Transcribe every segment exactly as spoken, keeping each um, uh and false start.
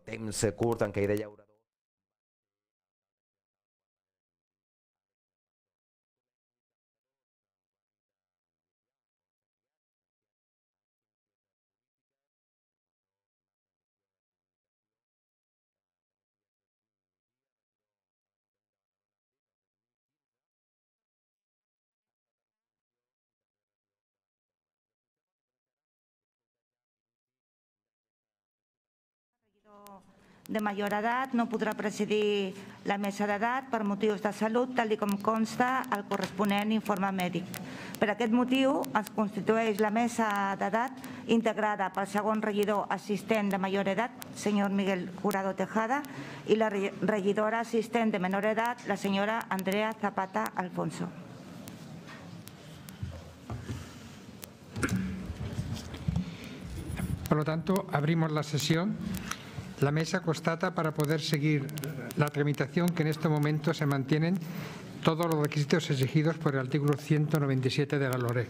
temps curt en què hi deia llaurador. De major edat no podrà presidir la mesa d'edat per motius de salut, tal com consta al corresponent informe mèdic. Per aquest motiu es constitueix la mesa d'edat integrada pel segon regidor assistent de major edat, senyor Miguel Jurado Tejada, i la regidora assistent de menor edat, la senyora Andrea Zapata Alfonso. Por lo tanto, abrimos la sesión. La mesa constata para poder seguir la tramitación que en este momento se mantienen todos los requisitos exigidos por el artículo ciento noventa y siete de la LOREC.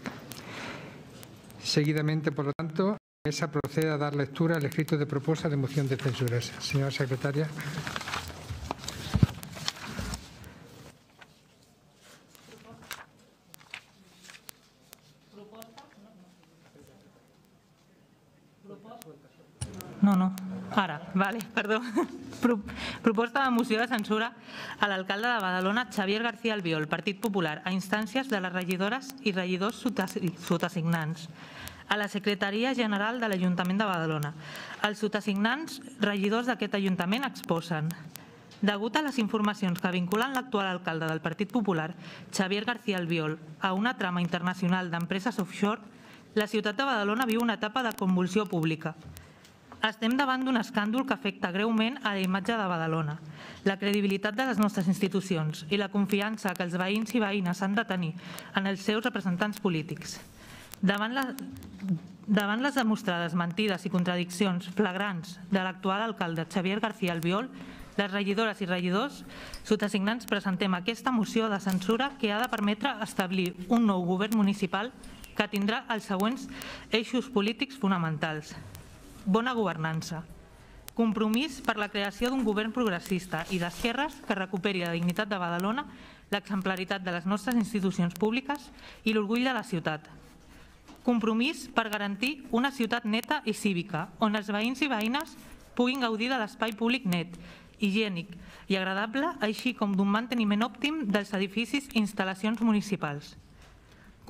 Seguidamente, por lo tanto, la mesa procede a dar lectura al escrito de propuesta de moción de censura. Señora secretaria. No, no. Ara, vale, perdó. Proposta de moció de censura a l'alcalde de Badalona, Xavier García Albiol, Partit Popular, a instàncies de les regidores i regidors sotassignants, a la Secretaria General de l'Ajuntament de Badalona. Els sotassignants regidors d'aquest Ajuntament exposen: degut a les informacions que vinculen l'actual alcalde del Partit Popular, Xavier García Albiol, a una trama internacional d'empreses offshore, la ciutat de Badalona viu una etapa de convulsió pública. Estem davant d'un escàndol que afecta greument a la imatge de Badalona, la credibilitat de les nostres institucions i la confiança que els veïns i veïnes han de tenir en els seus representants polítics. Davant, la, davant les demostrades mentides i contradiccions flagrants de l'actual alcalde Xavier García Albiol, les regidores i regidors sotassignants presentem aquesta moció de censura que ha de permetre establir un nou govern municipal que tindrà els següents eixos polítics fonamentals. Bona governança. Compromís per la creació d'un govern progressista i d'esquerres que recuperi la dignitat de Badalona, l'exemplaritat de les nostres institucions públiques i l'orgull de la ciutat. Compromís per garantir una ciutat neta i cívica, on els veïns i veïnes puguin gaudir de l'espai públic net, higiènic i agradable, així com d'un manteniment òptim dels edificis i instal·lacions municipals.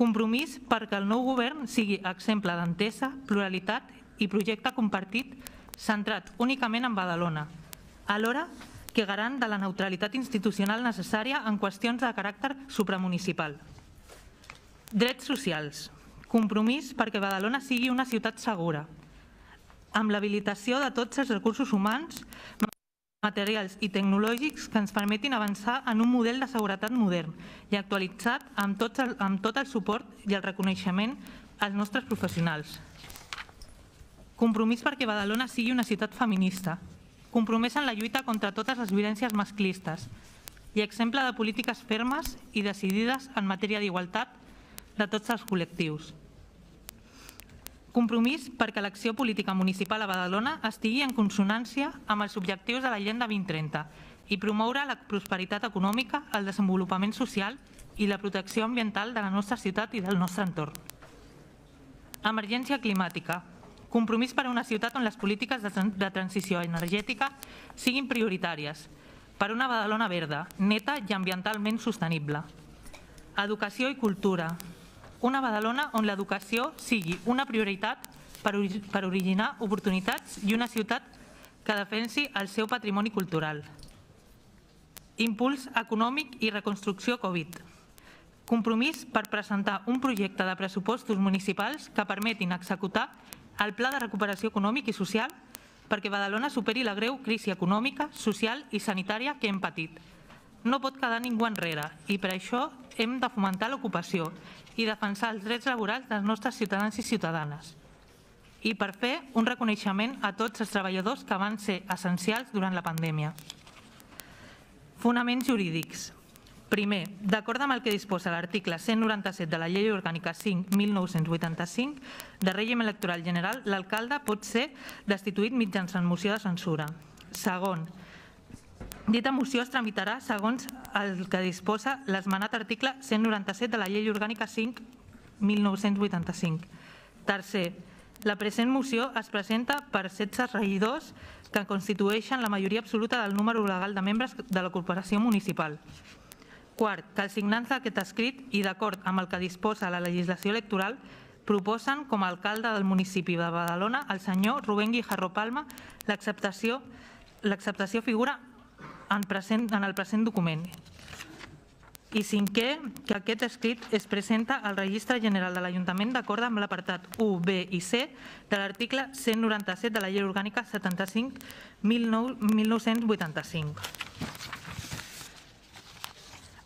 Compromís perquè el nou govern sigui exemple d'entesa, pluralitat i projecte compartit centrat únicament en Badalona, alhora que garant de la neutralitat institucional necessària en qüestions de caràcter supramunicipal. Drets socials. Compromís perquè Badalona sigui una ciutat segura, amb l'habilitació de tots els recursos humans, materials i tecnològics que ens permetin avançar en un model de seguretat modern i actualitzat amb tot el, amb tot el suport i el reconeixement als nostres professionals. Compromís perquè Badalona sigui una ciutat feminista, compromès en la lluita contra totes les violències masclistes i exemple de polítiques fermes i decidides en matèria d'igualtat de tots els col·lectius. Compromís perquè l'acció política municipal a Badalona estigui en consonància amb els objectius de l'Agenda vint trenta i promoure la prosperitat econòmica, el desenvolupament social i la protecció ambiental de la nostra ciutat i del nostre entorn. Emergència climàtica. Compromís per a una ciutat on les polítiques de transició energètica siguin prioritàries, per una Badalona verda, neta i ambientalment sostenible. Educació i cultura. Una Badalona on l'educació sigui una prioritat per originar oportunitats i una ciutat que defensi el seu patrimoni cultural. Impuls econòmic i reconstrucció Covid. Compromís per presentar un projecte de pressupostos municipals que permetin executar el Pla de Recuperació Econòmic i Social perquè Badalona superi la greu crisi econòmica, social i sanitària que hem patit. No pot quedar ningú enrere i per això hem de fomentar l'ocupació i defensar els drets laborals dels nostres ciutadans i ciutadanes. I per fer un reconeixement a tots els treballadors que van ser essencials durant la pandèmia. Fonaments jurídics. Primer, d'acord amb el que disposa l'article cent noranta-set de la Llei Orgànica cinc mil nou-cents vuitanta-cinc de règim electoral general, l'alcalde pot ser destituït mitjançant moció de censura. Segon, dita moció es tramitarà segons el que disposa l'esmenat article cent noranta-set de la Llei Orgànica cinc mil nou-cents vuitanta-cinc. Tercer, la present moció es presenta per setze regidors que constitueixen la majoria absoluta del número legal de membres de la corporació municipal. Quart, que els signants d'aquest escrit i d'acord amb el que disposa la legislació electoral proposen com a alcalde del municipi de Badalona el senyor Rubén Guijarro Palma. L'acceptació figura en, present, en el present document. I cinquè, que aquest escrit es presenta al Registre General de l'Ajuntament d'acord amb l'apartat u, be i ce de l'article cent noranta-set de la Llei Orgànica setanta-cinc mil nou-cents vuitanta-cinc.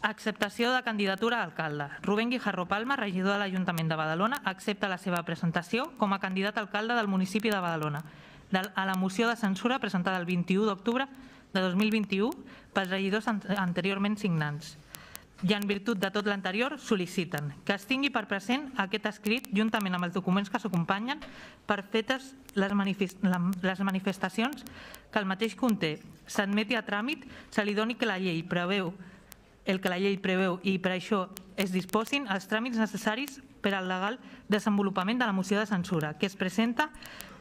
Acceptació de candidatura a alcalde. Rubén Guijarro Palma, regidor de l'Ajuntament de Badalona, accepta la seva presentació com a candidat a alcalde del municipi de Badalona a la moció de censura presentada el vint-i-u d'octubre de dos mil vint-i-u pels regidors anteriorment signants. I en virtut de tot l'anterior, sol·liciten que es tingui per present aquest escrit juntament amb els documents que s'acompanyen per fetes les manifestacions que el mateix conté, s'admeti a tràmit, se li doni que la llei preveu el que la llei preveu i per això es disposin els tràmits necessaris per al legal desenvolupament de la moció de censura, que es presenta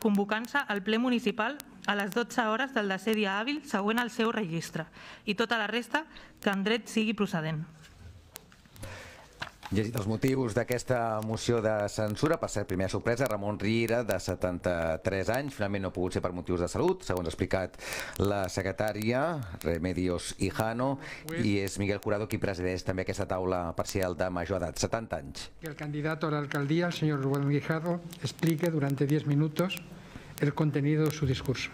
convocant-se al ple municipal a les dotze hores del desè dia hàbil següent al seu registre i tota la resta que en dret sigui procedent. Llegit els motius d'aquesta moció de censura, per ser primera sorpresa, Ramon Riera, de setanta-tres anys, finalment no ha pogut ser per motius de salut, segons ha explicat la secretària, Remedios Hijano, i és Miguel Jurado qui presideix també aquesta taula parcial de major edat, setenta anys. El candidato a la alcaldía, el señor Rubén Guijarro, explique durante diez minutos el contenido de su discurso.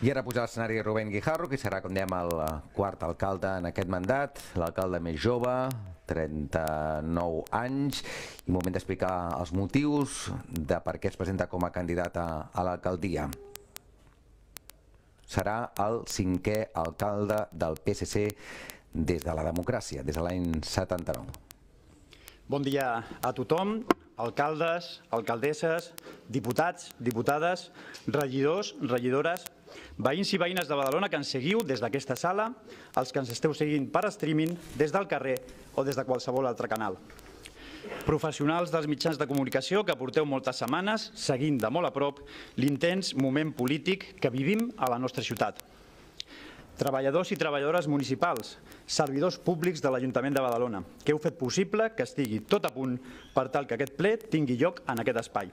I ara puja a l'escenari Rubén Guijarro, que serà, com dèiem, el quart alcalde en aquest mandat, l'alcalde més jove, trenta-nou anys, i moment d'explicar els motius de per què es presenta com a candidat a l'alcaldia. Serà el cinquè alcalde del P S C des de la democràcia, des de l'any setanta-nou. Bon dia a tothom, alcaldes, alcaldesses, diputats, diputades, regidors, regidores, veïns i veïnes de Badalona que ens seguiu des d'aquesta sala, els que ens esteu seguint per streaming, des del carrer o des de qualsevol altre canal. Professionals dels mitjans de comunicació que porteu moltes setmanes seguint de molt a prop l'intens moment polític que vivim a la nostra ciutat. Treballadors i treballadores municipals, servidors públics de l'Ajuntament de Badalona, que heu fet possible que estigui tot a punt per tal que aquest ple tingui lloc en aquest espai,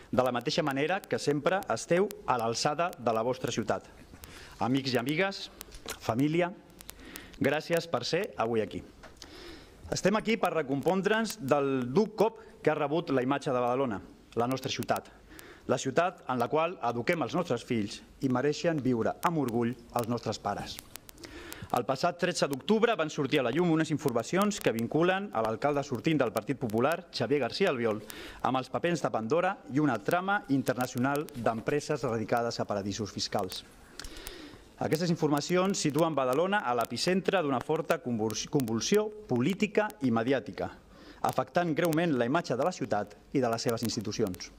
de la mateixa manera que sempre esteu a l'alçada de la vostra ciutat. Amics i amigues, família, gràcies per ser avui aquí. Estem aquí per recompondre'ns del dur cop que ha rebut la imatge de Badalona, la nostra ciutat, la ciutat en la qual eduquem els nostres fills i mereixen viure amb orgull els nostres pares. El passat tretze d'octubre van sortir a la llum unes informacions que vinculen a l'alcalde sortint del Partit Popular, Xavier García Albiol, amb els papers de Pandora i una trama internacional d'empreses radicades a paradisos fiscals. Aquestes informacions situen Badalona a l'epicentre d'una forta convulsió política i mediàtica, afectant greument la imatge de la ciutat i de les seves institucions.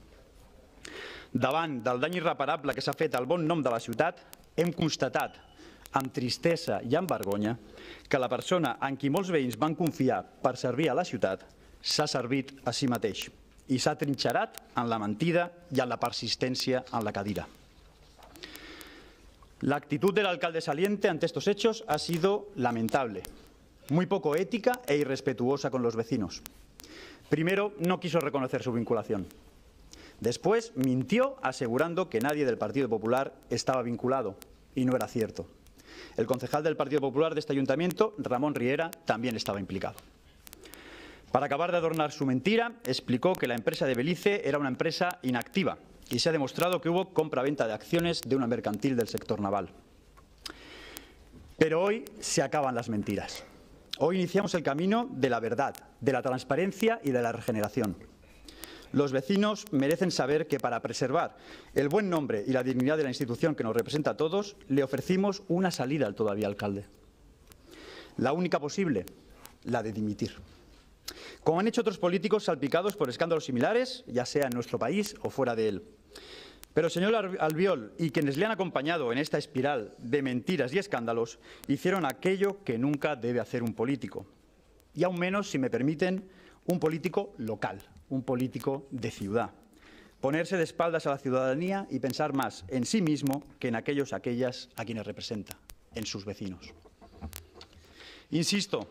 Davant del dany irreparable que s'ha fet al bon nom de la ciutat, hem constatat, amb tristesa i amb vergonya, que la persona en qui molts veïns van confiar per servir a la ciutat s'ha servit a si mateix i s'ha trinxerat en la mentida i en la persistència en la cadira. La actitud del alcalde saliente ante estos hechos ha sido lamentable, muy poco ética e irrespetuosa con los vecinos. Primero, no quiso reconocer su vinculación. Después, mintió asegurando que nadie del Partido Popular estaba vinculado, y no era cierto. El concejal del Partido Popular de este ayuntamiento, Ramón Riera, también estaba implicado. Para acabar de adornar su mentira, explicó que la empresa de Belice era una empresa inactiva y se ha demostrado que hubo compra-venta de acciones de una mercantil del sector naval. Pero hoy se acaban las mentiras. Hoy iniciamos el camino de la verdad, de la transparencia y de la regeneración. Los vecinos merecen saber que para preservar el buen nombre y la dignidad de la institución que nos representa a todos, le ofrecimos una salida al todavía alcalde. La única posible, la de dimitir. Como han hecho otros políticos salpicados por escándalos similares, ya sea en nuestro país o fuera de él. Pero el señor Albiol y quienes le han acompañado en esta espiral de mentiras y escándalos hicieron aquello que nunca debe hacer un político. Y aún menos, si me permiten, un político local, un político de ciudad. Ponerse de espaldas a la ciudadanía y pensar más en sí mismo que en aquellos aquellas a quienes representa, en sus vecinos. Insisto,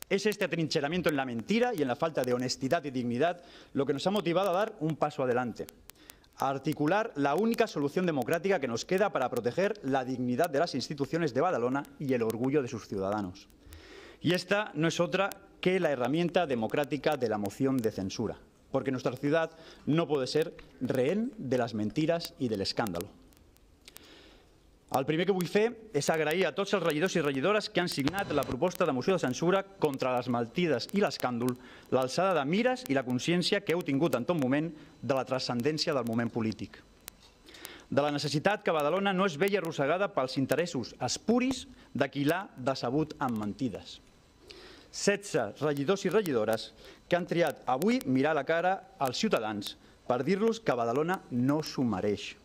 es este atrincheramiento en la mentira y en la falta de honestidad y dignidad lo que nos ha motivado a dar un paso adelante, a articular la única solución democrática que nos queda para proteger la dignidad de las instituciones de Badalona y el orgullo de sus ciudadanos. Y esta no es otra que la herramienta democrática de la moción de censura, porque nuestra ciudad no puede ser rehén de las mentiras i de l'escàndalo. El primer que vull fer és agrair a tots els regidors i regidores que han signat la proposta de moció de censura contra les mentides i l'escàndol, l'alçada de mires i la consciència que heu tingut en tot moment de la transcendència del moment polític. De la necessitat que Badalona no es veia arrossegada pels interessos espuris de qui l'ha decebut amb mentides. setze regidors i regidores que han triat avui mirar a la cara als ciutadans per dir-los que Badalona no s'ho mereix.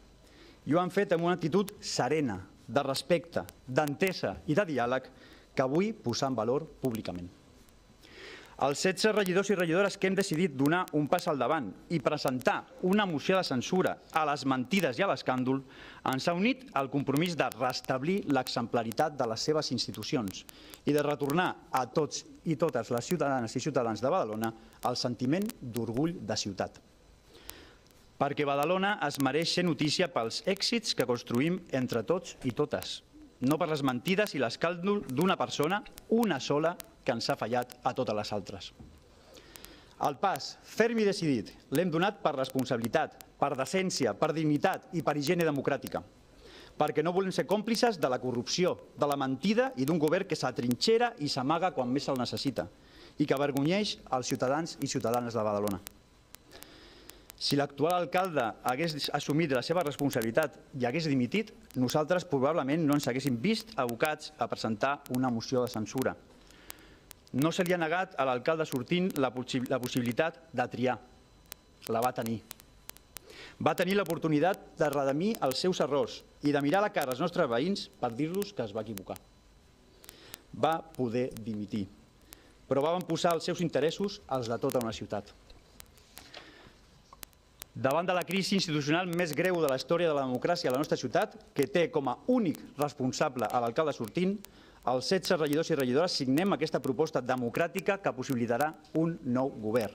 I ho han fet amb una actitud serena, de respecte, d'entesa i de diàleg que vull posar en valor públicament. Els setze regidors i regidores que hem decidit donar un pas al davant i presentar una moció de censura a les mentides i a l'escàndol ens ha unit al compromís de restablir l'exemplaritat de les seves institucions i de retornar a tots i totes les ciutadanes i ciutadans de Badalona el sentiment d'orgull de ciutat. Perquè Badalona es mereix ser notícia pels èxits que construïm entre tots i totes, no per les mentides i l'escàndol d'una persona, una sola, que ens ha fallat a totes les altres. El pas ferm i decidit l'hem donat per responsabilitat, per decència, per dignitat i per higiene democràtica, perquè no volem ser còmplices de la corrupció, de la mentida i d'un govern que s'atrinxera i s'amaga quan més se'l necessita i que avergonyeix els ciutadans i ciutadanes de Badalona. Si l'actual alcalde hagués assumit la seva responsabilitat i hagués dimitit, nosaltres probablement no ens haguéssim vist abocats a presentar una moció de censura. No se li ha negat a l'alcalde sortint la possibilitat de triar. La va tenir. Va tenir l'oportunitat de redimir els seus errors i de mirar a la cara als nostres veïns per dir-los que es va equivocar. Va poder dimitir, però van posar els seus interessos als de tota una ciutat. Davant de la crisi institucional més greu de la història de la democràcia a la nostra ciutat, que té com a únic responsable a l'alcalde sortint, els setze regidors i regidores signem aquesta proposta democràtica que possibilitarà un nou govern.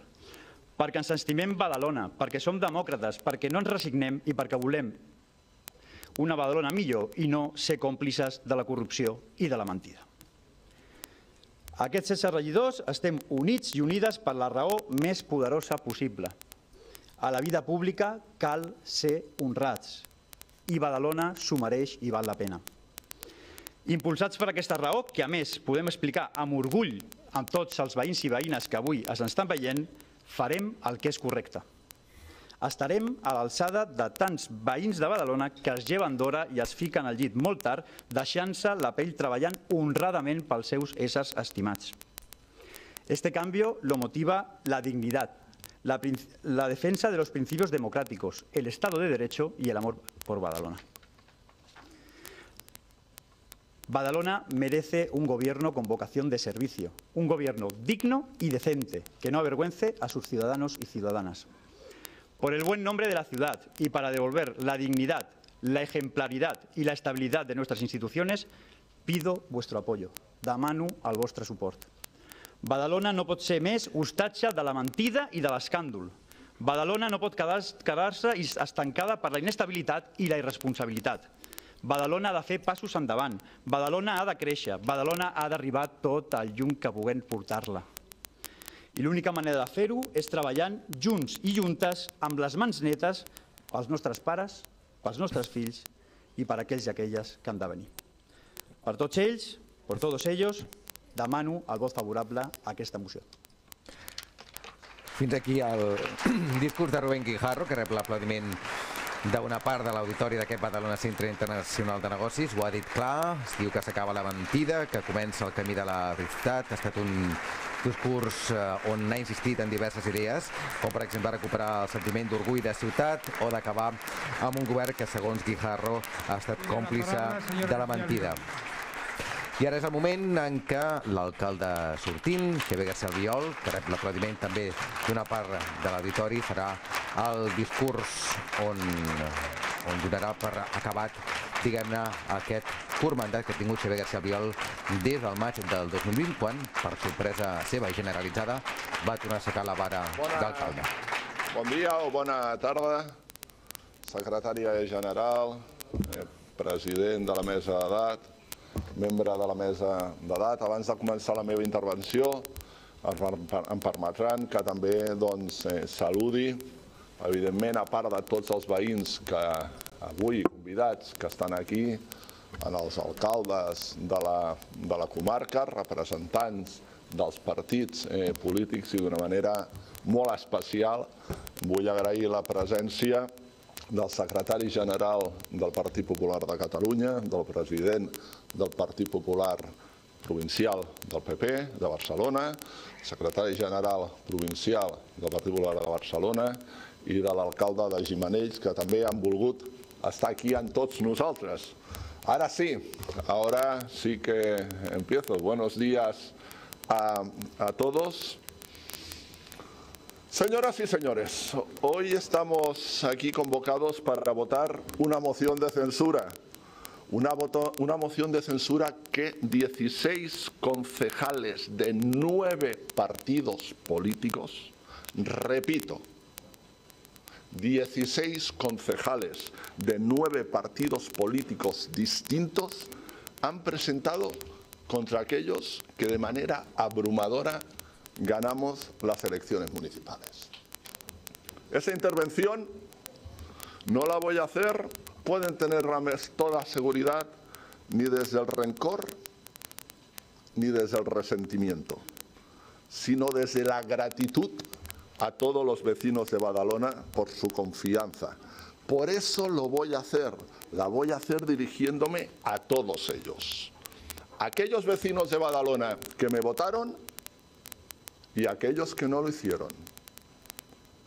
Perquè ens estimem Badalona, perquè som demòcrates, perquè no ens resignem i perquè volem una Badalona millor i no ser còmplices de la corrupció i de la mentida. Aquests setze regidors estem units i unides per la raó més poderosa possible. A la vida pública cal ser honrats i Badalona s'ho mereix i val la pena. Impulsats per aquesta raó, que a més podem explicar amb orgull amb tots els veïns i veïnes que avui ens estan veient, farem el que és correcte. Estarem a l'alçada de tants veïns de Badalona que es lleven d'hora i es fiquen al llit molt tard, deixant-se la pell treballant honradament pels seus éssers estimats. Este cambio lo motiva la dignidad, La, la defensa de los principios democráticos, el Estado de Derecho y el amor por Badalona. Badalona merece un gobierno con vocación de servicio, un gobierno digno y decente, que no avergüence a sus ciudadanos y ciudadanas. Por el buen nombre de la ciudad y para devolver la dignidad, la ejemplaridad y la estabilidad de nuestras instituciones, pido vuestro apoyo. Demano el vostre suport. Badalona no pot ser més hostatge de la mentida i de l'escàndol. Badalona no pot quedar-se estancada per la inestabilitat i la irresponsabilitat. Badalona ha de fer passos endavant. Badalona ha de créixer. Badalona ha d'arribar tot el llum que puguem portar-la. I l'única manera de fer-ho és treballant junts i juntes amb les mans netes pels nostres pares, pels nostres fills i per aquells i aquelles que han de venir. Per tots ells, per tots ells, demano el vot favorable a aquesta moció. Fins aquí el discurs de Rubén Guijarro, que rep l'aplaudiment d'una part de l'auditori d'aquest Badalona Centre Internacional de Negocis. Ho ha dit clar, es diu que s'acaba la mentida, que comença el camí de la veritat. Ha estat un discurs on ha insistit en diverses idees, com per exemple recuperar el sentiment d'orgull de ciutat o d'acabar amb un govern que, segons Guijarro, ha estat còmplice de la mentida. I ara és el moment en què l'alcalde sortint, Xavier García Albiol, que rep l'aplaudiment també d'una part de l'auditori, farà el discurs on, on donarà per acabat, diguem-ne, aquest curt mandat que ha tingut Xavier García Albiol des del maig del dos mil vint, quan, per sorpresa seva i generalitzada, va tornar a aixecar la vara d'alcalde. Bon dia o bona tarda, secretària general, president de la mesa d'edat, membre de la mesa d'edat. Abans de començar la meva intervenció, em permetran que també saludi, evidentment, a part de tots els veïns que avui convidats que estan aquí, els alcaldes de la comarca, representants dels partits polítics, i d'una manera molt especial vull agrair la presència del secretari general del Partit Popular de Catalunya, del president del Partit Popular provincial del P P de Barcelona, secretari general provincial del Partit Popular de Barcelona i de l'alcalde de Gimenells, que també han volgut estar aquí amb tots nosaltres. Ahora sí, ahora sí que empiezo. Buenos días a, a todos. Señoras y señores, hoy estamos aquí convocados para votar una moción de censura. Una, voto, una moción de censura que dieciséis concejales de nueve partidos políticos, repito, dieciséis concejales de nueve partidos políticos distintos han presentado contra aquellos que de manera abrumadora ganamos las elecciones municipales. Esa intervención no la voy a hacer, pueden tener toda seguridad, ni desde el rencor ni desde el resentimiento, sino desde la gratitud a todos los vecinos de Badalona por su confianza. Por eso lo voy a hacer, la voy a hacer dirigiéndome a todos ellos. Aquellos vecinos de Badalona que me votaron y aquellos que no lo hicieron.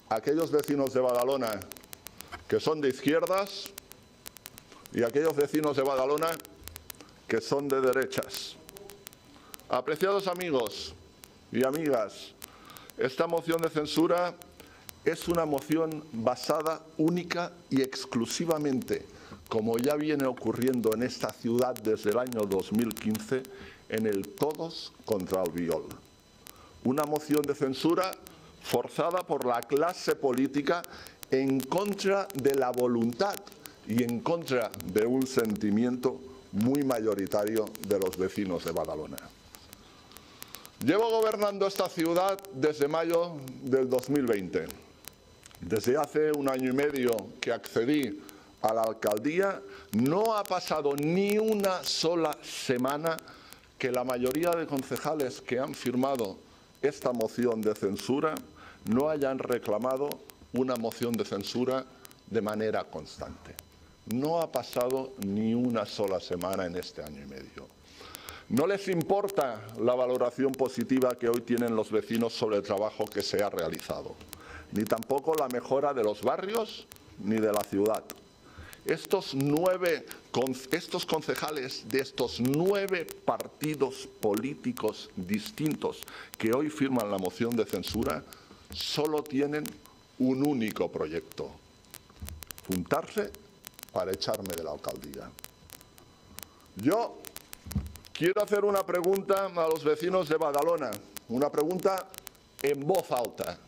Aquellos vecinos de Badalona que son de izquierdas y aquellos vecinos de Badalona que son de derechas. Apreciados amigos y amigas, esta moción de censura es una moción basada única y exclusivamente, como ya viene ocurriendo en esta ciudad desde el año dos mil quince, en el todos contra Albiol. Una moción de censura forzada por la clase política en contra de la voluntad y en contra de un sentimiento muy mayoritario de los vecinos de Badalona. Llevo gobernando esta ciudad desde mayo del dos mil veinte. Desde hace un año y medio que accedí a la alcaldía, no ha pasado ni una sola semana que la mayoría de concejales que han firmado esta moción de censura no hayan reclamado una moción de censura de manera constante. No ha pasado ni una sola semana en este año y medio. No les importa la valoración positiva que hoy tienen los vecinos sobre el trabajo que se ha realizado, ni tampoco la mejora de los barrios ni de la ciudad. Estos nueve, estos concejales de estos nueve partidos políticos distintos que hoy firman la moción de censura solo tienen un único proyecto: juntarse para echarme de la alcaldía. Yo quiero hacer una pregunta a los vecinos de Badalona, una pregunta en voz alta.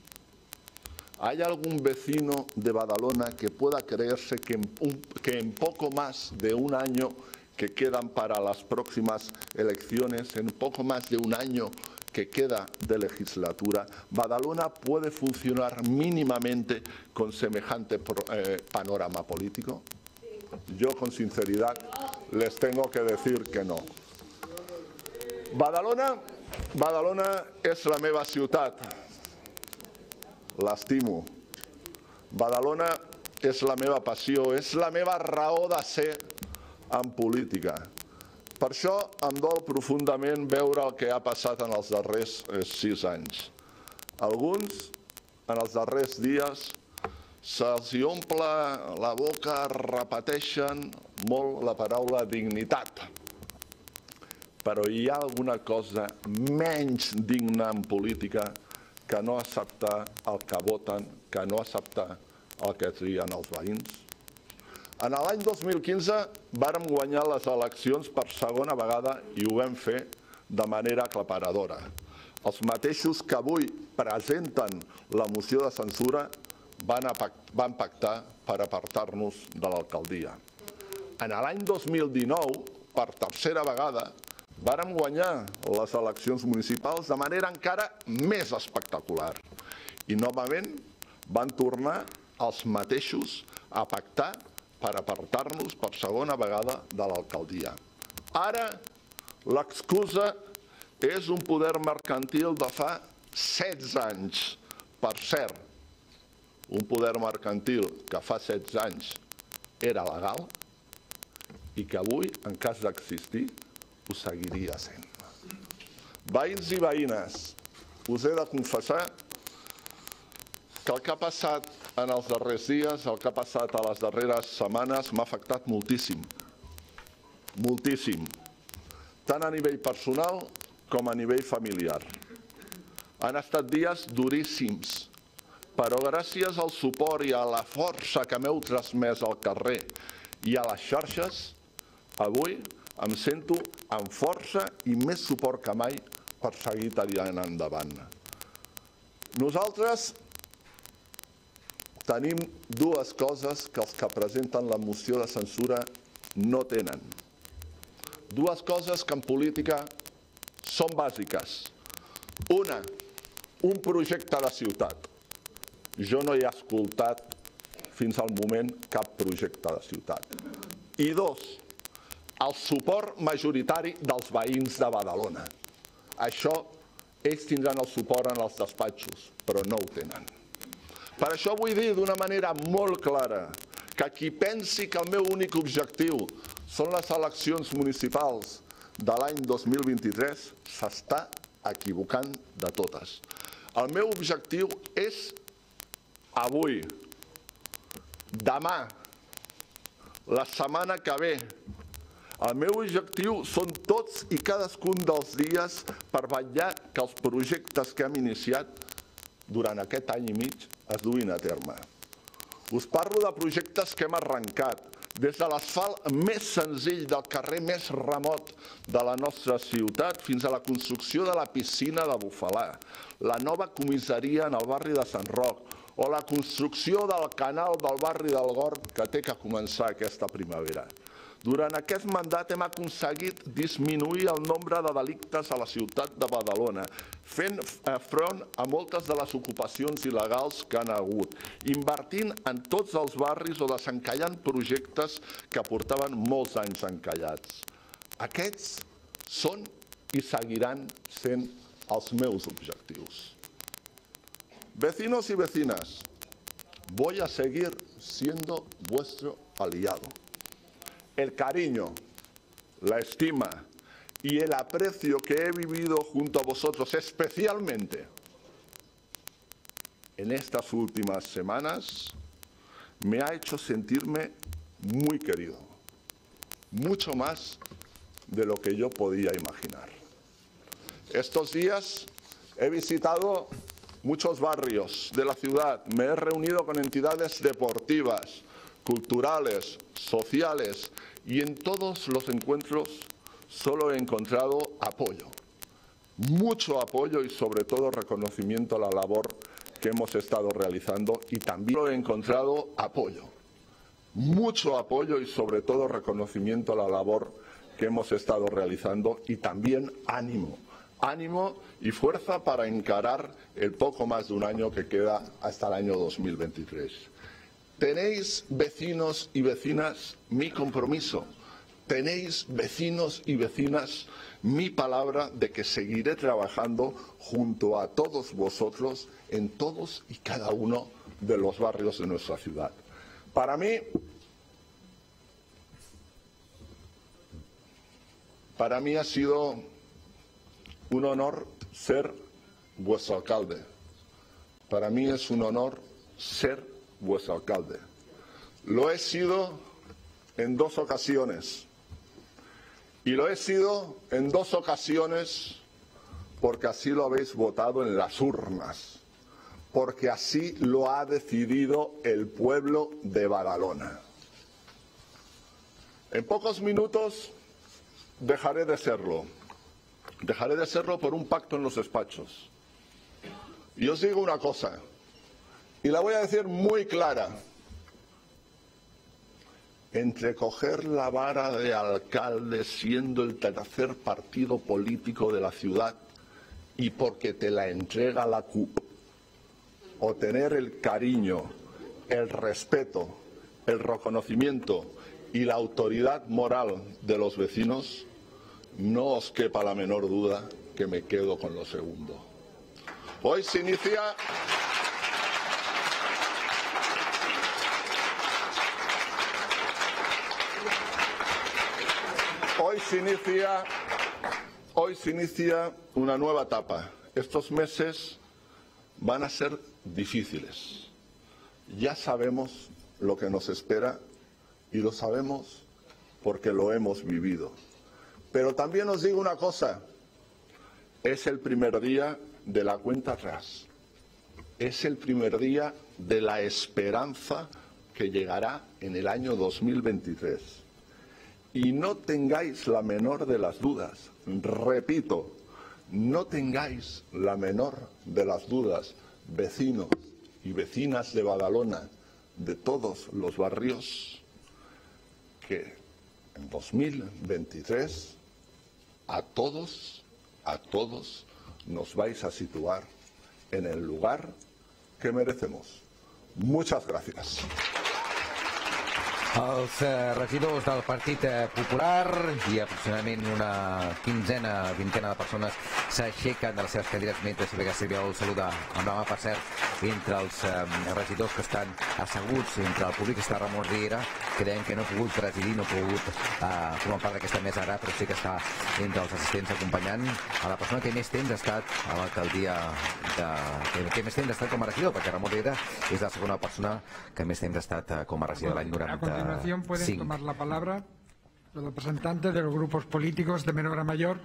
¿Hay algún vecino de Badalona que pueda creerse que en, un, que en poco más de un año que quedan para las próximas elecciones, en poco más de un año que queda de legislatura, Badalona puede funcionar mínimamente con semejante eh, panorama político? Yo, con sinceridad, les tengo que decir que no. Badalona, Badalona és la meva ciutat. L'estimo. Badalona és la meva passió, és la meva raó de ser en política. Per això em dol profundament veure el que ha passat en els darrers sis anys. Alguns, en els darrers dies, se'ls omple la boca, repeteixen molt la paraula dignitat. Però hi ha alguna cosa menys digna en política que no acceptar el que voten, que no acceptar el que trien els veïns. En l'any dos mil quinze vàrem guanyar les eleccions per segona vegada i ho vam fer de manera aclaparadora. Els mateixos que avui presenten la moció de censura van pactar per apartar-nos de l'alcaldia. En l'any dos mil dinou, per tercera vegada, vàrem guanyar les eleccions municipals de manera encara més espectacular. I novament van tornar els mateixos a pactar per apartar-nos per segona vegada de l'alcaldia. Ara l'excusa és un poder mercantil de fa setze anys. Per cert, un poder mercantil que fa setze anys era legal i que avui, en cas d'existir, ho seguiria sent. Veïns i veïnes, us he de confessar que el que ha passat en els darrers dies, el que ha passat a les darreres setmanes, m'ha afectat moltíssim. Moltíssim. Tant a nivell personal com a nivell familiar. Han estat dies duríssims, però gràcies al suport i a la força que m'heu transmès al carrer i a les xarxes, avui em sento amb força i més suport que mai per seguir tirant endavant. Nosaltres tenim dues coses que els que presenten la moció de censura no tenen. Dues coses que en política són bàsiques. Una, un projecte de ciutat. Jo no he escoltat fins al moment cap projecte de ciutat. I dos, el suport majoritari dels veïns de Badalona. Això, ells tindran el suport en els despatxos, però no ho tenen. Per això vull dir d'una manera molt clara que qui pensi que el meu únic objectiu són les eleccions municipals de l'any dos mil vint-i-tres s'està equivocant de totes. El meu objectiu és avui, demà, la setmana que ve. El meu objectiu són tots i cadascun dels dies per vetllar que els projectes que hem iniciat durant aquest any i mig es duin a terme. Us parlo de projectes que hem arrencat, des de l'asfalt més senzill del carrer més remot de la nostra ciutat fins a la construcció de la piscina de Bufalà, la nova comissaria en el barri de Sant Roc o la construcció del canal del barri del Gorg que té que començar aquesta primavera. Durant aquest mandat hem aconseguit disminuir el nombre de delictes a la ciutat de Badalona, fent front a moltes de les ocupacions il·legals que han hagut, invertint en tots els barris o desencallant projectes que portaven molts anys encallats. Aquests són i seguiran sent els meus objectius. Vecinos y vecinas, voy a seguir siendo vuestro aliado. El cariño, la estima y el aprecio que he vivido junto a vosotros, especialmente en estas últimas semanas, me ha hecho sentirme muy querido, mucho más de lo que yo podía imaginar. Estos días he visitado muchos barrios de la ciudad, me he reunido con entidades deportivas, culturales, sociales, y en todos los encuentros solo he encontrado apoyo, mucho apoyo y sobre todo reconocimiento a la labor que hemos estado realizando y también he encontrado apoyo, mucho apoyo y sobre todo reconocimiento a la labor que hemos estado realizando y también ánimo, ánimo y fuerza para encarar el poco más de un año que queda hasta el año dos mil veintitrés. Tenéis, vecinos y vecinas, mi compromiso. Tenéis, vecinos y vecinas, mi palabra de que seguiré trabajando junto a todos vosotros en todos y cada uno de los barrios de nuestra ciudad. Para mí, para mí ha sido un honor ser vuestro alcalde. Para mí es un honor ser vuestro alcalde. Lo he sido en dos ocasiones. Y lo he sido en dos ocasiones porque así lo habéis votado en las urnas, porque así lo ha decidido el pueblo de Badalona. En pocos minutos dejaré de serlo. Dejaré de serlo por un pacto en los despachos. Y os digo una cosa, y la voy a decir muy clara. Entre coger la vara de alcalde siendo el tercer partido político de la ciudad y porque te la entrega la C U P, o tener el cariño, el respeto, el reconocimiento y la autoridad moral de los vecinos, no os quepa la menor duda que me quedo con lo segundo. Hoy se inicia... Hoy se inicia, hoy se inicia una nueva etapa. Estos meses van a ser difíciles. Ya sabemos lo que nos espera y lo sabemos porque lo hemos vivido. Pero también os digo una cosa, es el primer día de la cuenta atrás. Es el primer día de la esperanza que llegará en el año dos mil veintitrés. Y no tengáis la menor de las dudas, repito, no tengáis la menor de las dudas, vecinos y vecinas de Badalona, de todos los barrios, que en dos mil veintitrés a todos, a todos nos vais a situar en el lugar que merecemos. Muchas gracias. Els eh, regidors del Partit eh, Popular i aproximadament una quinzena, vintena de persones s'aixequen de les seves cadires mentre Silvia Castelló el saluda amb la mà, per cert, entre els eh, regidors que estan asseguts, entre el públic està Ramon Riera, que deien que no ha pogut presidir, no ha pogut eh, formar part d'aquesta mesa ara, però sí que està entre els assistents acompanyant a la persona que més temps ha estat a l'alcaldia, de... que, que més temps ha estat com a regidor, perquè Ramon Riera és la segona persona que més temps ha estat eh, com a regidor de l'any noranta. A continuación pueden sí. tomar la palabra los representantes de los grupos políticos de menor a mayor,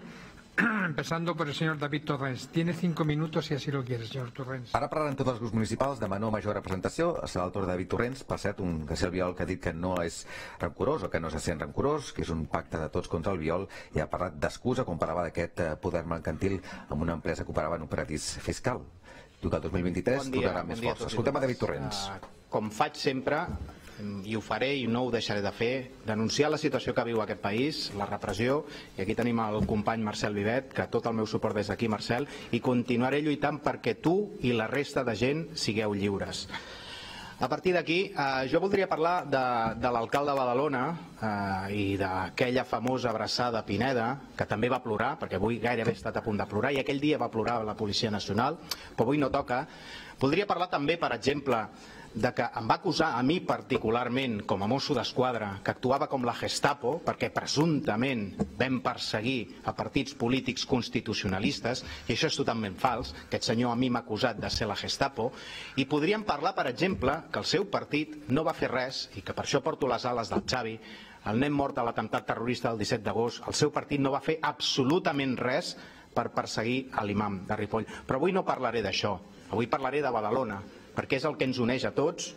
empezando por el señor David Torrens. Tiene cinco minutos si así lo quiere, señor Torrens. Ara parlaran tots els grups municipals de menor o major representació. Serà el torn de David Torrens, per cert, un García Albiol que ha dit que no és rancorós o que no se sent rancorós, que és un pacte de tots contra el Albiol, i ha parlat d'excusa quan parlava d'aquest poder mercantil amb una empresa que operava en un paradís fiscal. Tu que el dos mil vint-i-tres bon tornarà bon més força. Escoltem a David Torrens. Uh, com faig sempre, i ho faré i no ho deixaré de fer, denunciar la situació que viu aquest país, la repressió, i aquí tenim el company Marcel Vivet, que tot el meu suport des d'aquí, Marcel, i continuaré lluitant perquè tu i la resta de gent sigueu lliures. A partir d'aquí, eh, jo voldria parlar de, de l'alcalde de Badalona eh, i d'aquella famosa abraçada a Pineda, que també va plorar, perquè avui gairebé ha estat a punt de plorar, i aquell dia va plorar la Policia Nacional, però avui no toca. Voldria parlar també, per exemple, de que em va acusar a mi particularment com a mosso d'esquadra que actuava com la Gestapo perquè presumptament vam perseguir a partits polítics constitucionalistes, i això és totalment fals. Aquest senyor a mi m'ha acusat de ser la Gestapo, i podríem parlar, per exemple, que el seu partit no va fer res, i que per això porto les ales del Xavi, el nen mort a l'atemptat terrorista del disset d'agost, el seu partit no va fer absolutament res per perseguir l'imam de Ripoll. Però avui no parlaré d'això, avui parlaré de Badalona, perquè és el que ens uneix a tots,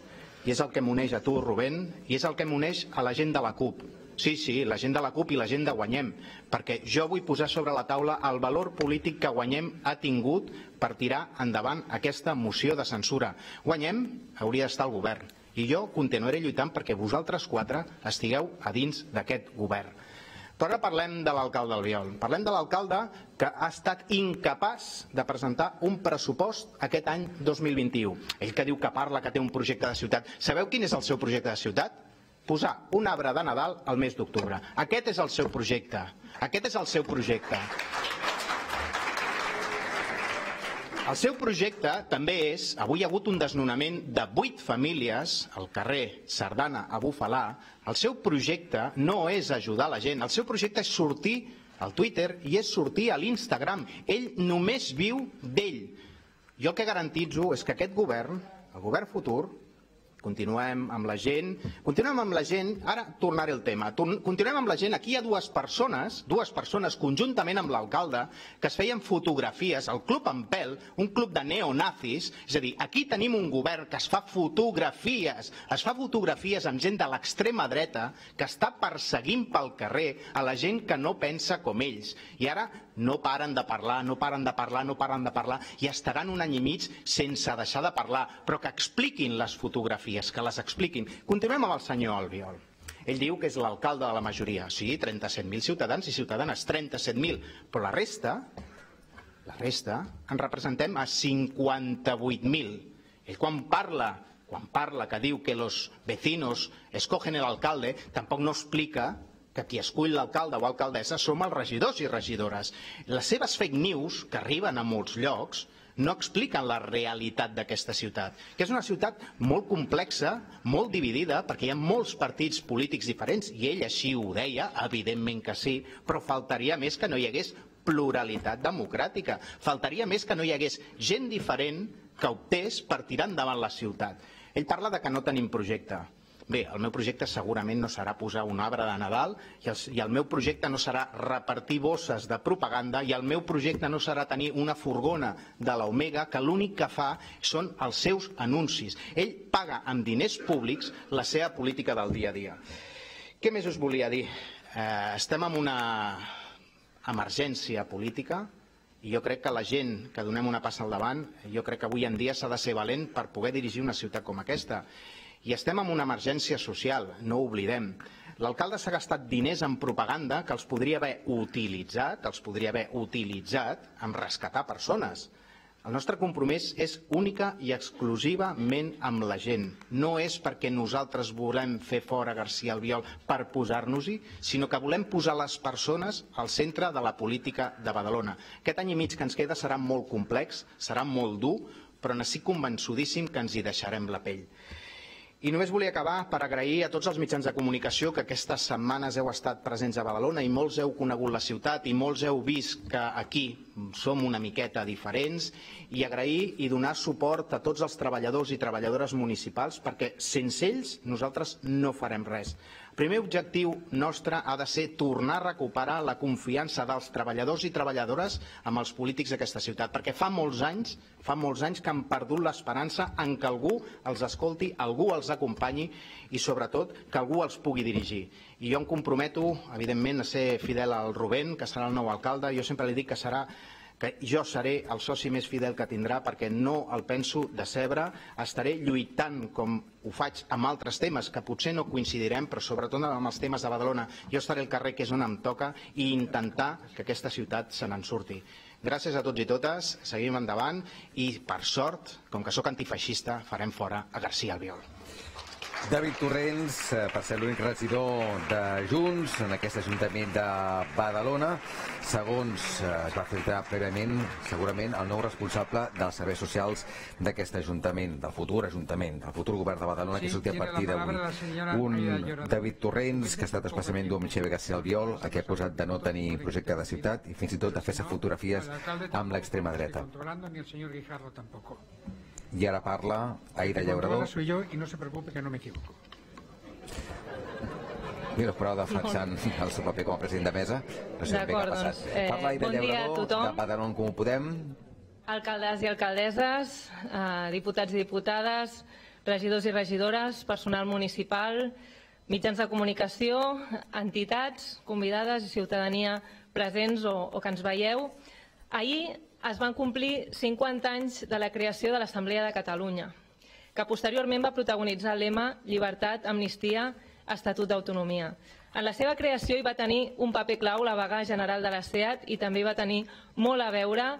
i és el que m'uneix a tu, Rubén, i és el que m'uneix a la gent de la CUP. Sí, sí, la gent de la CUP i la gent de Guanyem, perquè jo vull posar sobre la taula el valor polític que Guanyem ha tingut per tirar endavant aquesta moció de censura. Guanyem hauria d'estar al govern, i jo continuaré lluitant perquè vosaltres quatre estigueu a dins d'aquest govern. Però ara parlem de l'alcalde Albiol. Parlem de l'alcalde que ha estat incapaç de presentar un pressupost aquest any dos mil vint-i-u. Ell que diu que parla, que té un projecte de ciutat. Sabeu quin és el seu projecte de ciutat? Posar un arbre de Nadal al mes d'octubre. Aquest és el seu projecte. Aquest és el seu projecte. El seu projecte també és, avui hi ha hagut un desnonament de vuit famílies al carrer Sardana a Bufalà. El seu projecte no és ajudar la gent, el seu projecte és sortir al Twitter i és sortir a l'Instagram. Ell només viu d'ell. Jo el que garantitzo és que aquest govern, el govern futur, continuem amb la gent, continuem amb la gent, ara tornaré al tema, continuem amb la gent, aquí hi ha dues persones, dues persones conjuntament amb l'alcalde, que es feien fotografies, el Club Ampel, un club de neonazis, és a dir, aquí tenim un govern que es fa fotografies, es fa fotografies amb gent de l'extrema dreta, que està perseguint pel carrer a la gent que no pensa com ells, i ara no paren de parlar, no paren de parlar, no paren de parlar, i estaran un any i mig sense deixar de parlar, però que expliquin les fotografies, que les expliquin. Continuem amb el senyor Albiol. Ell diu que és l'alcalde de la majoria. Sí, trenta-set mil ciutadans i ciutadanes, trenta-set mil. Però la resta, la resta, en representem a cinquanta-vuit mil. Ell quan parla, quan parla que diu que los vecinos escogen el alcalde, tampoc no explica que qui escull l'alcalde o alcaldessa som els regidors i regidores. Les seves fake news, que arriben a molts llocs, no expliquen la realitat d'aquesta ciutat, que és una ciutat molt complexa, molt dividida, perquè hi ha molts partits polítics diferents, i ell així ho deia, evidentment que sí, però faltaria més que no hi hagués pluralitat democràtica, faltaria més que no hi hagués gent diferent que optés per tirar endavant la ciutat. Ell parla de que no tenim projecte. Bé, el meu projecte segurament no serà posar un arbre de Nadal i el, i el meu projecte no serà repartir bosses de propaganda i el meu projecte no serà tenir una furgona de l'Omega que l'únic que fa són els seus anuncis. Ell paga amb diners públics la seva política del dia a dia. Què més us volia dir? Eh, estem en una emergència política i jo crec que la gent que donem una passa al davant, jo crec que avui en dia s'ha de ser valent per poder dirigir una ciutat com aquesta. I estem en una emergència social, no ho oblidem. L'alcalde s'ha gastat diners en propaganda que els podria haver utilitzat, els podria haver utilitzat en rescatar persones. El nostre compromís és única i exclusivament amb la gent. No és perquè nosaltres volem fer fora García Albiol per posar-nos-hi, sinó que volem posar les persones al centre de la política de Badalona. Aquest any i mig que ens queda serà molt complex, serà molt dur, però n'estic convençudíssim que ens hi deixarem la pell. I només volia acabar per agrair a tots els mitjans de comunicació que aquestes setmanes heu estat presents a Badalona i molts heu conegut la ciutat i molts heu vist que aquí som una miqueta diferents, i agrair i donar suport a tots els treballadors i treballadores municipals perquè sense ells nosaltres no farem res. El primer objectiu nostre ha de ser tornar a recuperar la confiança dels treballadors i treballadores amb els polítics d'aquesta ciutat, perquè fa molts anys, fa molts anys que han perdut l'esperança en que algú els escolti, algú els acompanyi i sobretot que algú els pugui dirigir. I jo em comprometo, evidentment, a ser fidel al Rubén, que serà el nou alcalde. Jo sempre li dic que serà que jo seré el soci més fidel que tindrà perquè no el penso decebre, estaré lluitant com ho faig amb altres temes que potser no coincidirem, però sobretot amb els temes de Badalona. Jo estaré al carrer, que és on em toca, i intentar que aquesta ciutat se n'en surti. Gràcies a tots i totes, seguim endavant i, per sort, com que sóc antifeixista, farem fora a García Albiol. David Torrents, per ser l'únic regidor de Junts en aquest Ajuntament de Badalona, segons es va filtrar prèviament, segurament el nou responsable dels serveis socials d'aquest Ajuntament, del futur Ajuntament, del futur govern de Badalona, que sortia a partir d'avui. Un David Torrents que ha estat especialment dur amb Xavier García Albiol, a què ha posat de no tenir projecte de ciutat i fins i tot de fer-se fotografies amb l'extrema dreta. I ara parla Aïda Llaurador. Soy yo y no se preocupe que no me equivoco. Mira, però defensant el seu paper com a president de mesa. No sé ben què ha passat. Parla Aïda Llaurador, de Badalona en Comú Podem. Alcaldes i alcaldesses, diputats i diputades, regidors i regidores, personal municipal, mitjans de comunicació, entitats, convidades i ciutadania presents o, o que ens veieu. Ahir es van complir cinquanta anys de la creació de l'Assemblea de Catalunya, que posteriorment va protagonitzar el lema Llibertat, Amnistia, Estatut d'Autonomia. En la seva creació hi va tenir un paper clau la vaga general de la SEAT i també va tenir molt a veure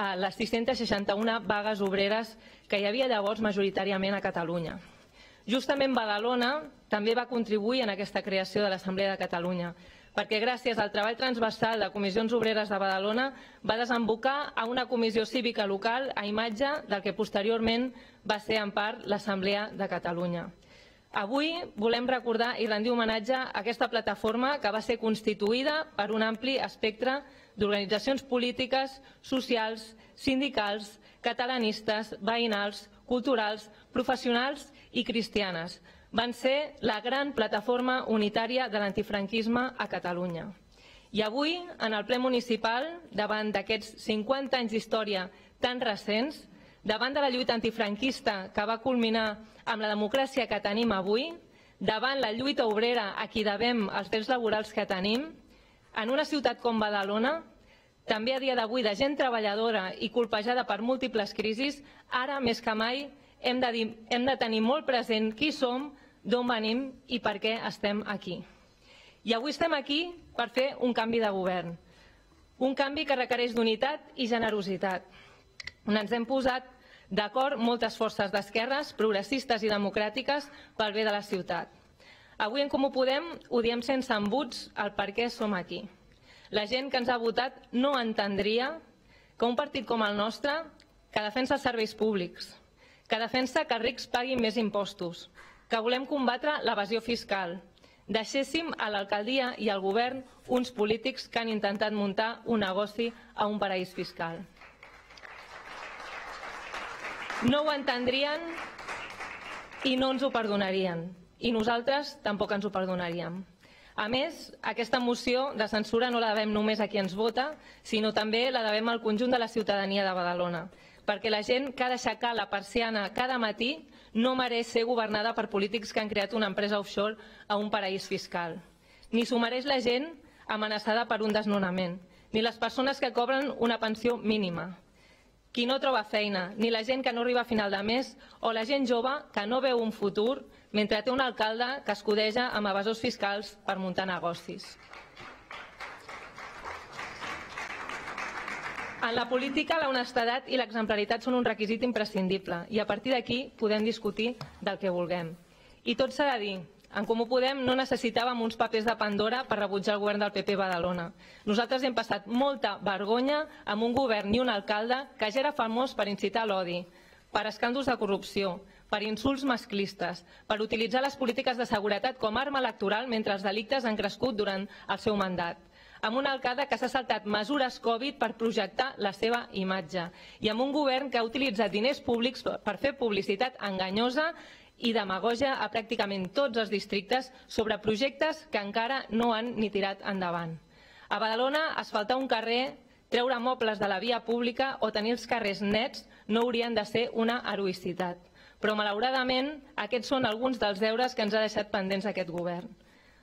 a les sis-centes seixanta-una vagues obreres que hi havia llavors majoritàriament a Catalunya. Justament Badalona també va contribuir en aquesta creació de l'Assemblea de Catalunya, perquè gràcies al treball transversal de Comissions Obreres de Badalona va desembocar a una comissió cívica local a imatge del que posteriorment va ser en part l'Assemblea de Catalunya. Avui volem recordar i rendir homenatge a aquesta plataforma que va ser constituïda per un ampli espectre d'organitzacions polítiques, socials, sindicals, catalanistes, veïnals, culturals, professionals i cristianes. Van ser la gran plataforma unitària de l'antifranquisme a Catalunya. I avui, en el ple municipal, davant d'aquests cinquanta anys d'història tan recents, davant de la lluita antifranquista que va culminar amb la democràcia que tenim avui, davant la lluita obrera a qui devem els drets laborals que tenim, en una ciutat com Badalona, també a dia d'avui de gent treballadora i colpejada per múltiples crisis, ara més que mai hem de, dir, hem de tenir molt present qui som, d'on venim i per què estem aquí. I avui estem aquí per fer un canvi de govern, un canvi que requereix d'unitat i generositat, on ens hem posat d'acord moltes forces d'esquerres, progressistes i democràtiques pel bé de la ciutat. Avui en Comú Podem ho diem sense embuts el per què som aquí. La gent que ens ha votat no entendria que un partit com el nostre, que defensa els serveis públics, que defensa que els rics paguin més impostos, que volem combatre l'evasió fiscal, deixéssim a l'alcaldia i al govern uns polítics que han intentat muntar un negoci a un paraís fiscal. No ho entendrien i no ens ho perdonarien. I nosaltres tampoc ens ho perdonaríem. A més, aquesta moció de censura no la devem només a qui ens vota, sinó també la devem al conjunt de la ciutadania de Badalona, perquè la gent que ha d'aixecar la persiana cada matí no mereix ser governada per polítics que han creat una empresa offshore a un paraís fiscal. Ni s'ho mereix la gent amenaçada per un desnonament, ni les persones que cobren una pensió mínima, qui no troba feina, ni la gent que no arriba a final de mes o la gent jove que no veu un futur mentre té un alcalde que escudeja amb evasors fiscals per muntar negocis. En la política, la honestedat i l'exemplaritat són un requisit imprescindible i a partir d'aquí podem discutir del que vulguem. I tot s'ha de dir, en Comú Podem no necessitàvem uns papers de Pandora per rebutjar el govern del P P Badalona. Nosaltres hem passat molta vergonya amb un govern i un alcalde que ja era famós per incitar l'odi, per escàndols de corrupció, per insults masclistes, per utilitzar les polítiques de seguretat com a arma electoral mentre els delictes han crescut durant el seu mandat, amb un alcalde que s'ha saltat mesures Covid per projectar la seva imatge i amb un govern que ha utilitzat diners públics per fer publicitat enganyosa i demagogia a pràcticament tots els districtes sobre projectes que encara no han ni tirat endavant. A Badalona, asfaltar un carrer, treure mobles de la via pública o tenir els carrers nets no haurien de ser una heroïcitat. Però, malauradament, aquests són alguns dels deures que ens ha deixat pendents aquest govern.